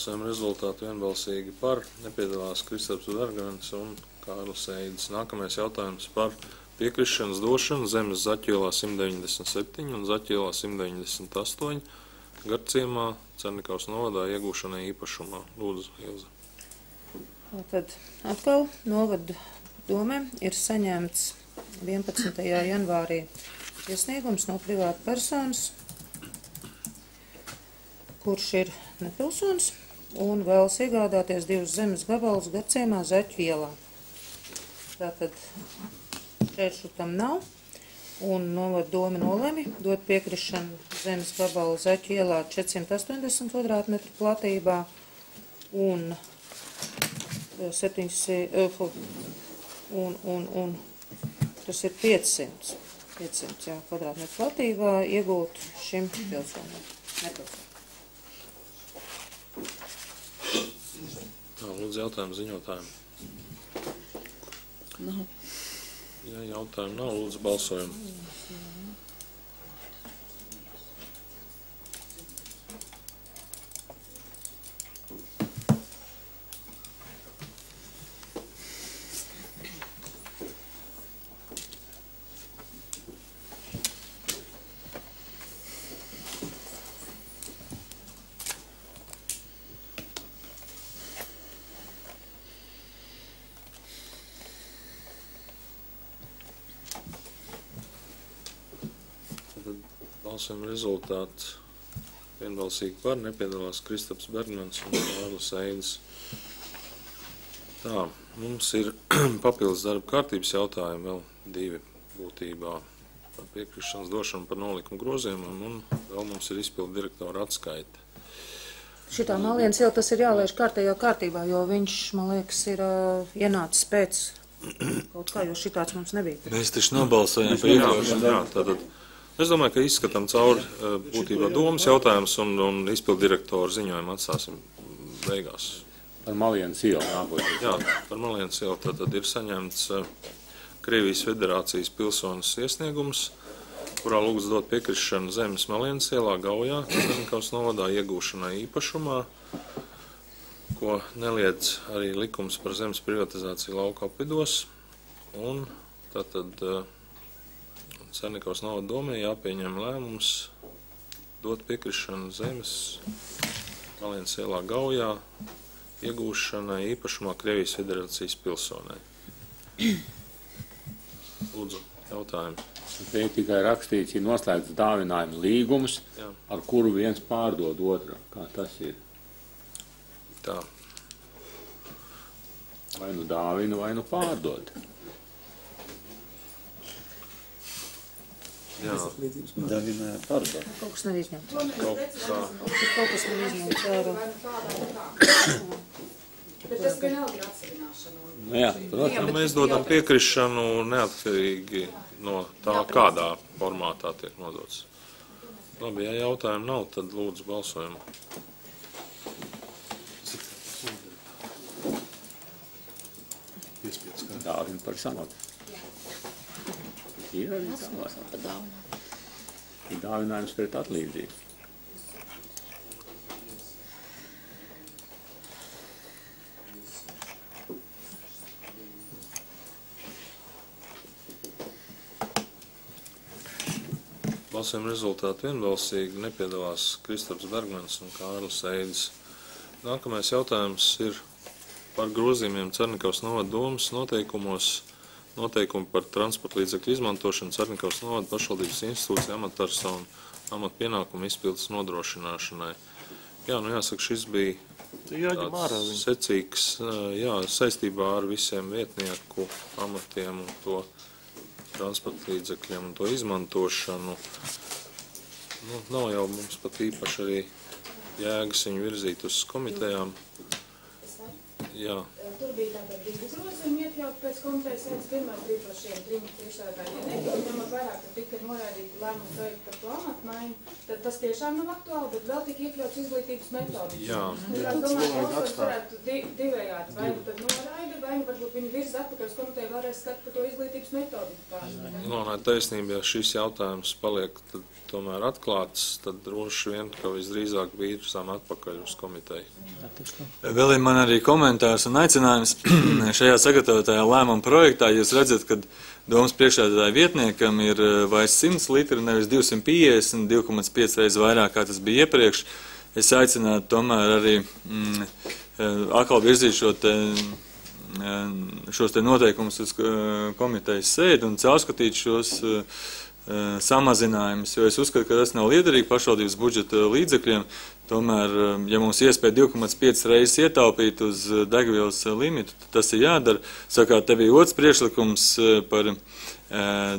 Balsojuma rezultāti vienbalsīgi par, nepiedalās Kristaps Bergmans un Kārlis Eidis. Nākamais jautājums par piekrišanas došanu zemes Zaķielā simt deviņdesmit septiņi un Zaķielā simt deviņdesmit astoņi Garciemā, Cernikavas novadā iegūšanai īpašumā. Lūdzu, Ilze. Tad atkal novada domē ir saņemts vienpadsmitajā janvārī iesniegums no privāta personas, kurš ir nepilsonis un vēlas iegādāties divus zemes gabalus Garciemā Zaķu ielā. Tātad šķēršļu tam nav, un novada doma nolemi dot piekrišanu zemes gabalu Zaķu ielā četrsimt astoņdesmit kvadrātmetru platībā un septiņsimt, un, un, un tas ir piecsimt, piecsimt jā, kvadrātmetru platībā iegūt šim pilsonam. Nepilsonam. Tā, lūdzu, jautājumu ziņotājiem. Nav. Ja jautājumu nav, lūdzu, balsojumu. Balsojuma rezultāts vienbalsīgi par, nepiedalās Kristaps Bergmans un Kārlis Eidis. Tā, mums ir papildus darba kārtības jautājumi, vēl divi būtībā par piekrišanas došanu par nolikumu grozījumam, un vēl mums ir izpildu direktora atskaita. Šitā Malienas iela tas ir jālaiž kārtējā kārtībā, jo viņš, man liekas, ir uh, ienācis pēc kaut kā, jo šitāds mums nebija. Mēs taču nobalsojam par iekļaušanu. Jā, tātad. Es domāju, ka izskatām cauri būtībā domas jautājums un, un izpildu direktoru ziņojumu atstāsim beigās. Par Malienas ielu nākot. Jā, par Malienas ielu tad ir saņemts Krievijas Federācijas pilsonis iesniegums, kurā lūgts dot piekrišanu zemes Malienas ielā Gaujā, Cernikavas novadā iegūšanai īpašumā, ko neliedz arī likums par zemes privatizāciju lauku apvidos. Un tātad Cernikavas novada domē jāpieņem lēmums dot piekrišanu zemes Malienas ielā Gaujā iegūšanai īpašumā Krievijas Federācijas pilsonai. Lūdzu, jautājumi. Te ir tikai rakstīts, ir noslēgts dāvinājuma līgums, jā, ar kuru viens pārdod otru. Kā tas ir? Tā. Vai nu dāvina, vai nu pārdod. Jā. Dāvina pārdod. Kaut kas nav izņemts. Kaut kā. Kaut kas nav izņemts ārā. Bet tas vienalga ir atsevināšana. Jā, protams. Mēs dodam piekrišanu neatkarīgi no tā, kādā formātā tiek nodots. Labi, ja jautājumu nav, tad lūdzu balsojumu. Dāvina par samatu. Ir arī tālāk. Ir dāvinājums pret atlīdzību. Balsojuma rezultāti vienbalsīgi, nepiedalās Kristaps Bergmans un Kārlis Eidis. Nākamais jautājums ir par grozījumiem Cernikavas novada domas noteikumos, noteikumi par transporta līdzekļu izmantošanu Cernikavas novada pašvaldības institūcija amatpersonu amatpienākumu izpildes nodrošināšanai. Jā, nu jāsaka, šis bija tāds secīgs, jā, saistībā ar visiem vietnieku amatiem un to transporta līdzekļiem un to izmantošanu. Nu, nav jau mums pat īpaši arī jēgas viņu virzīt uz komitejām. Jā. Tur bija tātad divi grozījumi iekļaut pēc komitejas sēdes. Pirmais bija par šiem trim priekšsēdētājiem. Netika ņemot vairāk, ka tika noraidīti lēmumu projektu par to amatmaiņu. Tad tas tiešām nav aktuāli, bet vēl tika iekļauts izglītības metodi. Jā. Es domāju, ka balsojums varētu di divējādi. Vai nu tad noraida, vai nu varbūt viņi virza atpakaļ uz komiteju vēlreiz skat par to izglītības metodi. No, nē, taisnība, ja šis jautājums paliek, tad tomēr atklāts, tad droši vien, ka visdrīzāk virzām atpakaļ uz komiteju. Vēl ir man arī komentārs un aicinājums šajā sagatavotajā lēmuma projektā. Jūs redzat, ka domas priekšsēdētāja vietniekam ir vairs simts litri, nevis divsimt piecdesmit, divi komats pieci reizes vairāk, kā tas bija iepriekš. Es aicinātu tomēr arī mm, atkal virzīt šo te, šos te noteikumus uz komitejas sēdi un caurskatīt šos samazinājumus, jo es uzskatu, ka tas nav liederīgi pašvaldības budžeta līdzekļiem. Tomēr, ja mums iespēja divi komats pieci reizes ietaupīt uz degvielas limitu, tad tas ir jādara. Sakārt, te bija otrs priekšlikums par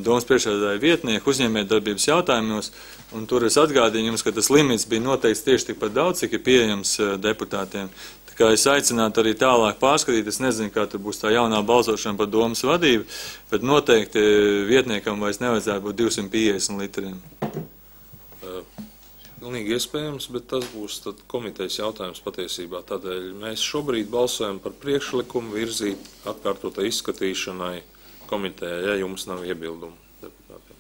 domas priekšsēdētāja vietnieku uzņēmējdarbības jautājumos, un tur es atgādīju jums, ka tas limits bija noteikts tieši tikpat daudz, cik ir pieejams deputātiem. Tā kā es aicinātu arī tālāk pārskatīt, es nezinu, kā tur būs tā jaunā balsošana par domas vadību, bet noteikti vietniekam vairs nevajadzētu būt divsimt piecdesmit litriem. Pilnīgi iespējams, bet tas būs tad komitejas jautājums patiesībā. Tādēļ mēs šobrīd balsojam par priekšlikumu virzīt atkārtotai izskatīšanai komitejā, ja jums nav iebildumu deputātiem.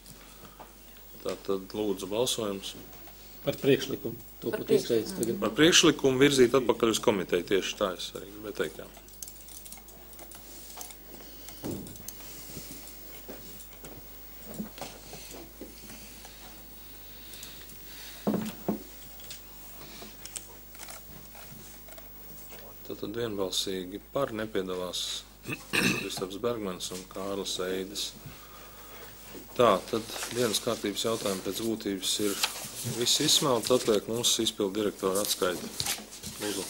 Tātad lūdzu balsojums. Par priekšlikumu. To pat izteicis tagad. Par priekšlikumu virzīt atpakaļ uz komiteju. Tieši tā es arī gribēju teikt, jā. Tātad vienbalsīgi par nepiedalās Kristaps Bergmans un Kārlis Eides. Tā, tad dienas kārtības jautājumi pēc būtības ir visi izsmelti, atliek mums izpildu direktora atskaita. Lūdzu.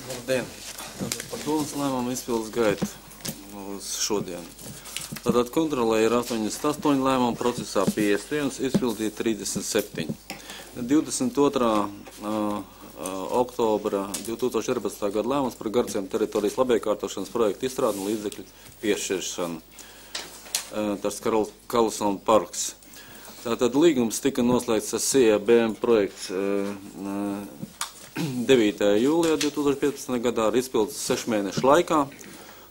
Labdien! Par domas lēmumu izpildes gaitu uz šodien. Tātad kontrolē ir astoņdesmit astoņi lēmumu, procesā piecdesmit viens, izpildīja trīsdesmit septiņi. divdesmit otrā oktobra divi tūkstoši četrpadsmitā gada lēmums par Gardziem teritorijas labiekārtošanas projektu izstrādi un līdzekļu piešķiršanu. Tas Karlsona parks. Tātad līgums tika noslēgts ar C I B M projekts devītajā jūlijā divi tūkstoši piecpadsmitajā gadā ar izpildus sešu mēnešu laikā.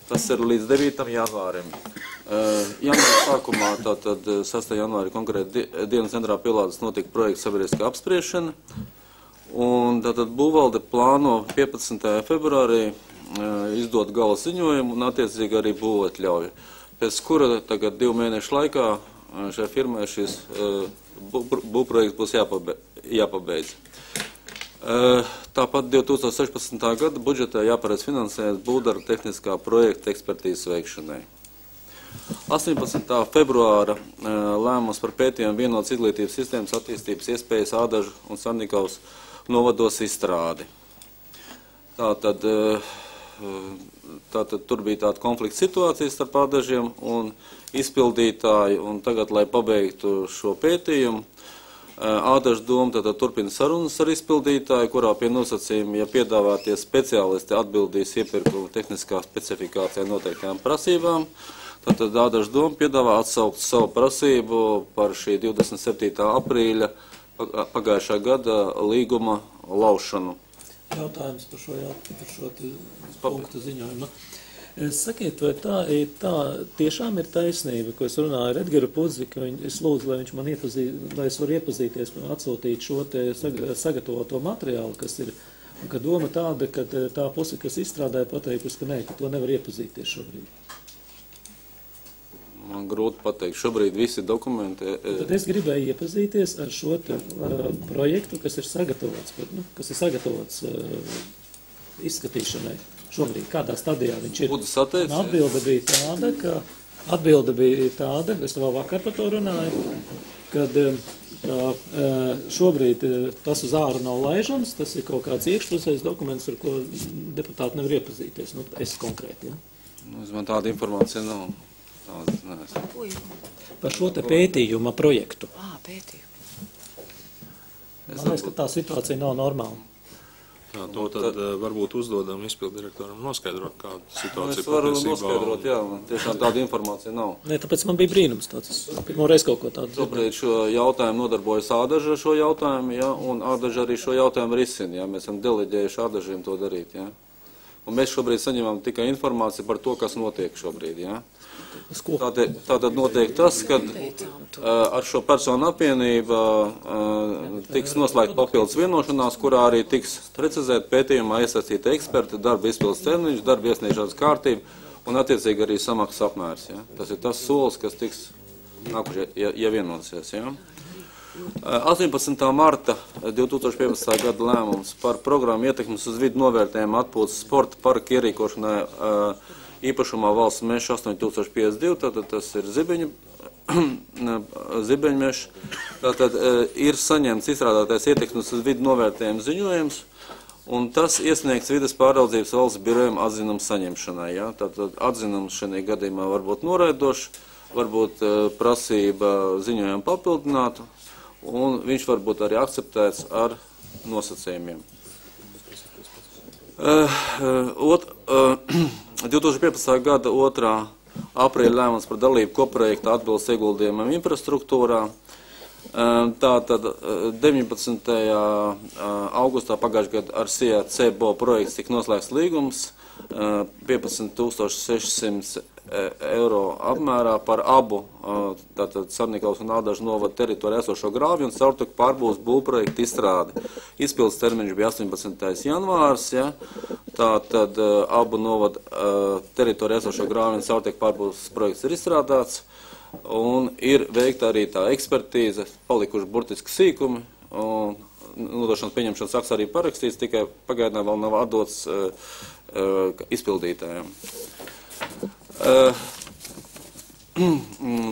Tas ir līdz devītajam janvārim. Janvāra sākumā, tātad sastajā janvāri konkrēti dienas centrā pielādes notika projekta sabiedriskā apspriešana. Un tātad būvvalde plāno piecpadsmitajā februārī izdot gala ziņojumu un attiecīgi arī būvatļauju. Pēc kura tagad divu mēnešu laikā šai firmai šis būvprojekts būs jāpabeidz. Tāpat divi tūkstoši sešpadsmitā gada budžetā jāparedz finansējums būvdarbu tehniskā projekta ekspertīzes veikšanai. astoņpadsmitā februāra lēmums par pētījumu vienotas izglītības sistēmas attīstības iespējas Ādažu un Sarnikavas novados izstrādi. Tātad, tātad tur bija tāda konflikta situācija starp Ādažiem un izpildītāju, un tagad, lai pabeigtu šo pētījumu, Ādažu doma tātad turpina sarunas ar izpildītāju, kurā pie nosacījuma, ja piedāvātie speciālisti atbildīs iepirkuma tehniskā specifikācijā noteiktajām prasībām, tātad Ādažu doma piedāvā atsaukt savu prasību par šī divdesmit septītā aprīļa pagājušā gada līguma laušanu. Jautājums par šo, jā, par šo punktu ziņojumu. Sakiet, vai tā, tā tiešām ir taisnība, ko es runāju ar Edgaru Pudzi, ka viņ, es lūdzu, lai viņš man iepazīst, lai es varu iepazīties, atsūtīt šo te sagatavoto materiālu, kas ir, un ka doma tāda, ka tā puse, kas izstrādāja, pateikusi, ka nē, ka to nevar iepazīties šobrīd. Man grūti pateikt, šobrīd visi dokumenti... Tad es gribēju iepazīties ar šo te, uh, projektu, kas ir sagatavots, nu, kas ir sagatavots uh, izskatīšanai. Šobrīd, kādā stadijā viņš ir. Atbilde bija tāda, ka atbilde bija tāda, es vēl vakar par to runāju, kad tā, šobrīd tas uz āru nav laižams, tas ir kaut kāds iekšpusējs dokuments, ar ko deputāti nevar iepazīties. Nu, es konkrēti, ja? Nu, man tāda informācija nav. Tāda, neesmu. Par šo te pētījuma projektu. Ā, pētījumu. Man liekas, ka tā situācija nav normāla. Jā, to tad, tad varbūt uzdodam izpildu direktoram noskaidrot, kāda situācija es varu patiesībā. noskaidrot, jā, man tiešām tāda informācija nav. Nē, tāpēc man bija brīnums tāds. Pirmo reizi kaut ko tādu. Tobrīd šo jautājumu nodarbojas Ādaža ar šo jautājumu, jā, un Ādaža arī šo jautājumu risina, jā. Mēs esam deleģējuši Ādažiem to darīt, jā. Un mēs šobrīd saņemam tikai informāciju par to, kas notiek šobrīd, jā. Tātad, tātad notiek tas, ka uh, ar šo personu apvienību uh, tiks noslēgt papildus vienošanās, kurā arī tiks precizēt pētījumā iesaistīti eksperti, darba izpildes termiņš, darba iesniegšanas kārtība un attiecīgi arī samaksas apmērs. Ja? Tas ir tas solis, kas tiks nākušie, ja, ja vienosies. Ja? astoņpadsmitā marta divtūkstoš piecpadsmitā gada lēmums par programmu ietekmes uz vidu novērtējumu atpūtas sporta parka ierīkošanai uh, īpašumā valsts meža astoņi tūkstoši piecdesmit divi, tātad tas ir zibeņu, zibeņmežs, tātad ir saņemts izstrādātais ietekmes uz vidu novērtējuma ziņojums, un tas iesniegts vides pāraudzības valsts birojam atzinums saņemšanai. Ja? Tātad atzinums šajā gadījumā var būt noraidošs, varbūt prasība ziņojumu papildināt, un viņš var būt arī akceptēts ar nosacījumiem. Uh, uh, ot, uh, divtūkstoš piecpadsmitā gada otrā aprīļa lēmums par dalību koprojekta atbildes ieguldījumam infrastruktūrā. Tātad deviņpadsmitajā augustā pagājušajā gadā ar C C B O projekts tika noslēgts līgums piecpadsmit tūkstoši sešsimt eiro apmērā par abu tātad Sarnikavas un Ādažu novada teritorijā esošo grāvju un caurteku pārbūves būvprojektu izstrādi. Izpildes termiņš bija astoņpadsmitais janvārs, ja? Tātad abu novada teritorijā esošo grāvju un caurteku pārbūves projekts ir izstrādāts un ir veikta arī tā ekspertīze, palikuši burtiski sīkumi un nodošanas pieņemšanas akts arī parakstīts, tikai pagaidām vēl nav atdots uh, uh, izpildītājiem. Uh,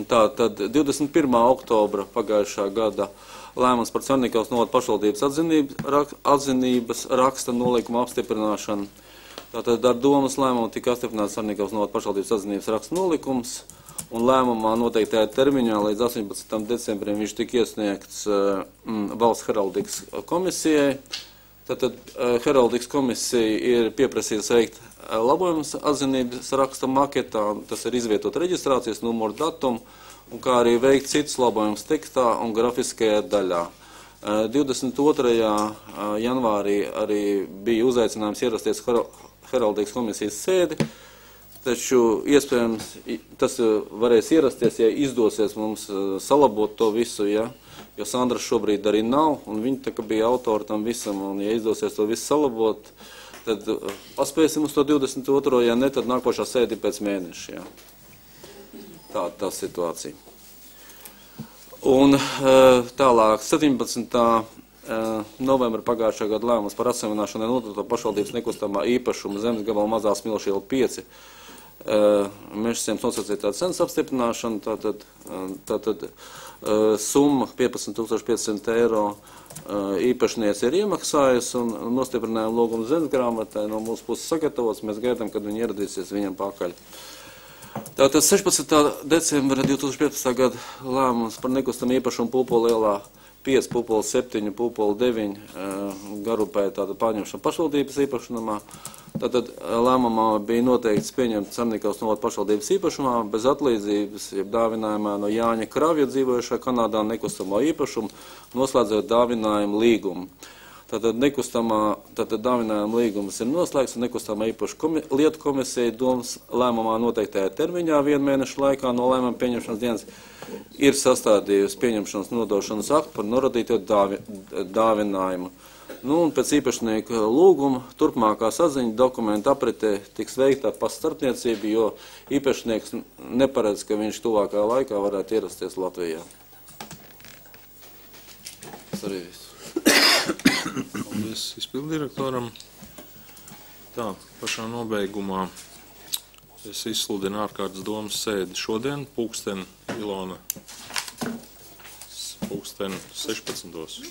tā tad divdesmit pirmā oktobra pagājušā gada lēmums par Sarnikavas novada pašvaldības atzinības, rak, atzinības raksta nolīguma apstiprināšanu. Tātad ar domas lēmumu tika apstiprināts Sarnikavas novada pašvaldības atzinības raksta nolīgums, un lēmumā noteiktajā termiņā līdz astoņpadsmitam decembrim viņš tika iesniegts uh, valsts heraldikas komisijai. Tātad uh, heraldikas komisija ir pieprasījusi veikt uh, labojumus atzinības raksta maketā, tas ir izvietot reģistrācijas numuru datumu, un kā arī veikt citus labojumus tekstā un grafiskajā daļā. Uh, divdesmit otrajā janvārī arī bija uzaicinājums ierasties her heraldikas komisijas sēdi, taču iespējams tas varēs ierasties, ja izdosies mums salabot to visu, ja, jo Sandras šobrīd arī nav, un viņa tā kā bija autori tam visam, un ja izdosies to visu salabot, tad paspēsim uz to divdesmit otro, ja ne, tad nākošā sēdi pēc mēneša, ja. Tā, tā situācija. Un tālāk, septiņpadsmitā novembra pagājušā gada lēmums par atsavienošanai nodoto pašvaldības nekustamā īpašuma zemes gabala mazā Smilšu iela pieci, Uh, mežsiems nosacītā cenas apstiprināšana, tātad, uh, tātad uh, summa piecpadsmit tūkstoši piecsimt eiro uh, īpašniece ir iemaksājusi un nostiprinājuma lūgumu zemes grāmatai no mūsu puses sagatavots, mēs gaidām, kad viņi ieradīsies viņam pakaļ. Tātad sešpadsmitā decembra divtūkstoš piecpadsmitā gada lēmums par nekustamā īpašumu Pūpola ielā pieci, Pūpola septiņi, Pūpola deviņi uh, garupē tāda pārņemšana pašvaldības īpašumā. Tātad lēmumā bija noteikts pieņemt Sarnikavas novada pašvaldības īpašumā bez atlīdzības, jeb dāvinājumā no Jāņa Kravja dzīvojušā Kanādā nekustamo īpašumu, noslēdzot dāvinājumu līgumu. Tātad nekustamā, tātad dāvinājuma līgums ir noslēgts un nekustamā īpašu komi, lietu komisija domas lēmumā noteiktajā termiņā vienu mēnešu laikā no lēmuma pieņemšanas dienas ir sastādījusi pieņemšanas nodošanas aktu par noradīto dāvi, dāvinājumu. Nu, un pēc īpašnieka lūguma turpmākā saziņa dokumenta apritē tiks veikta pa starpniecību, jo īpašnieks neparedz, ka viņš tuvākā laikā varētu ierasties Latvijā. Tas arī viss. Paldies izpilddirektoram. Tā, pašā nobeigumā es izsludinu ārkārtas domas sēdi šodien, pulksten Ilona. Pulksten sešpadsmitos.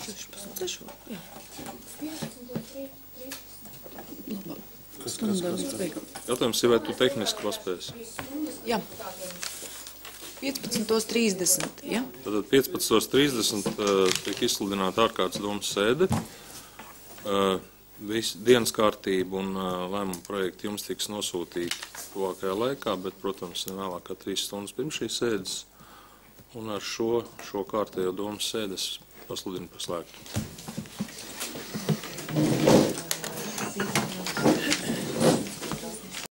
Jautājums ir, vai tu tehniski paspēsi? Jā. piecpadsmit trīsdesmit, ja? Tātad piecpadsmit trīsdesmit uh, tiek izsludināta ārkārtas domas sēde. Uh, visu dienas kārtību un uh, lēmumu projektu jums tiks nosūtīti tuvākajā laikā, bet, protams, ne vēlāk kā trīs stundas pirms šīs sēdes. Un ar šo, šo kārtējo domas sēdes pasludinu par slēgtu.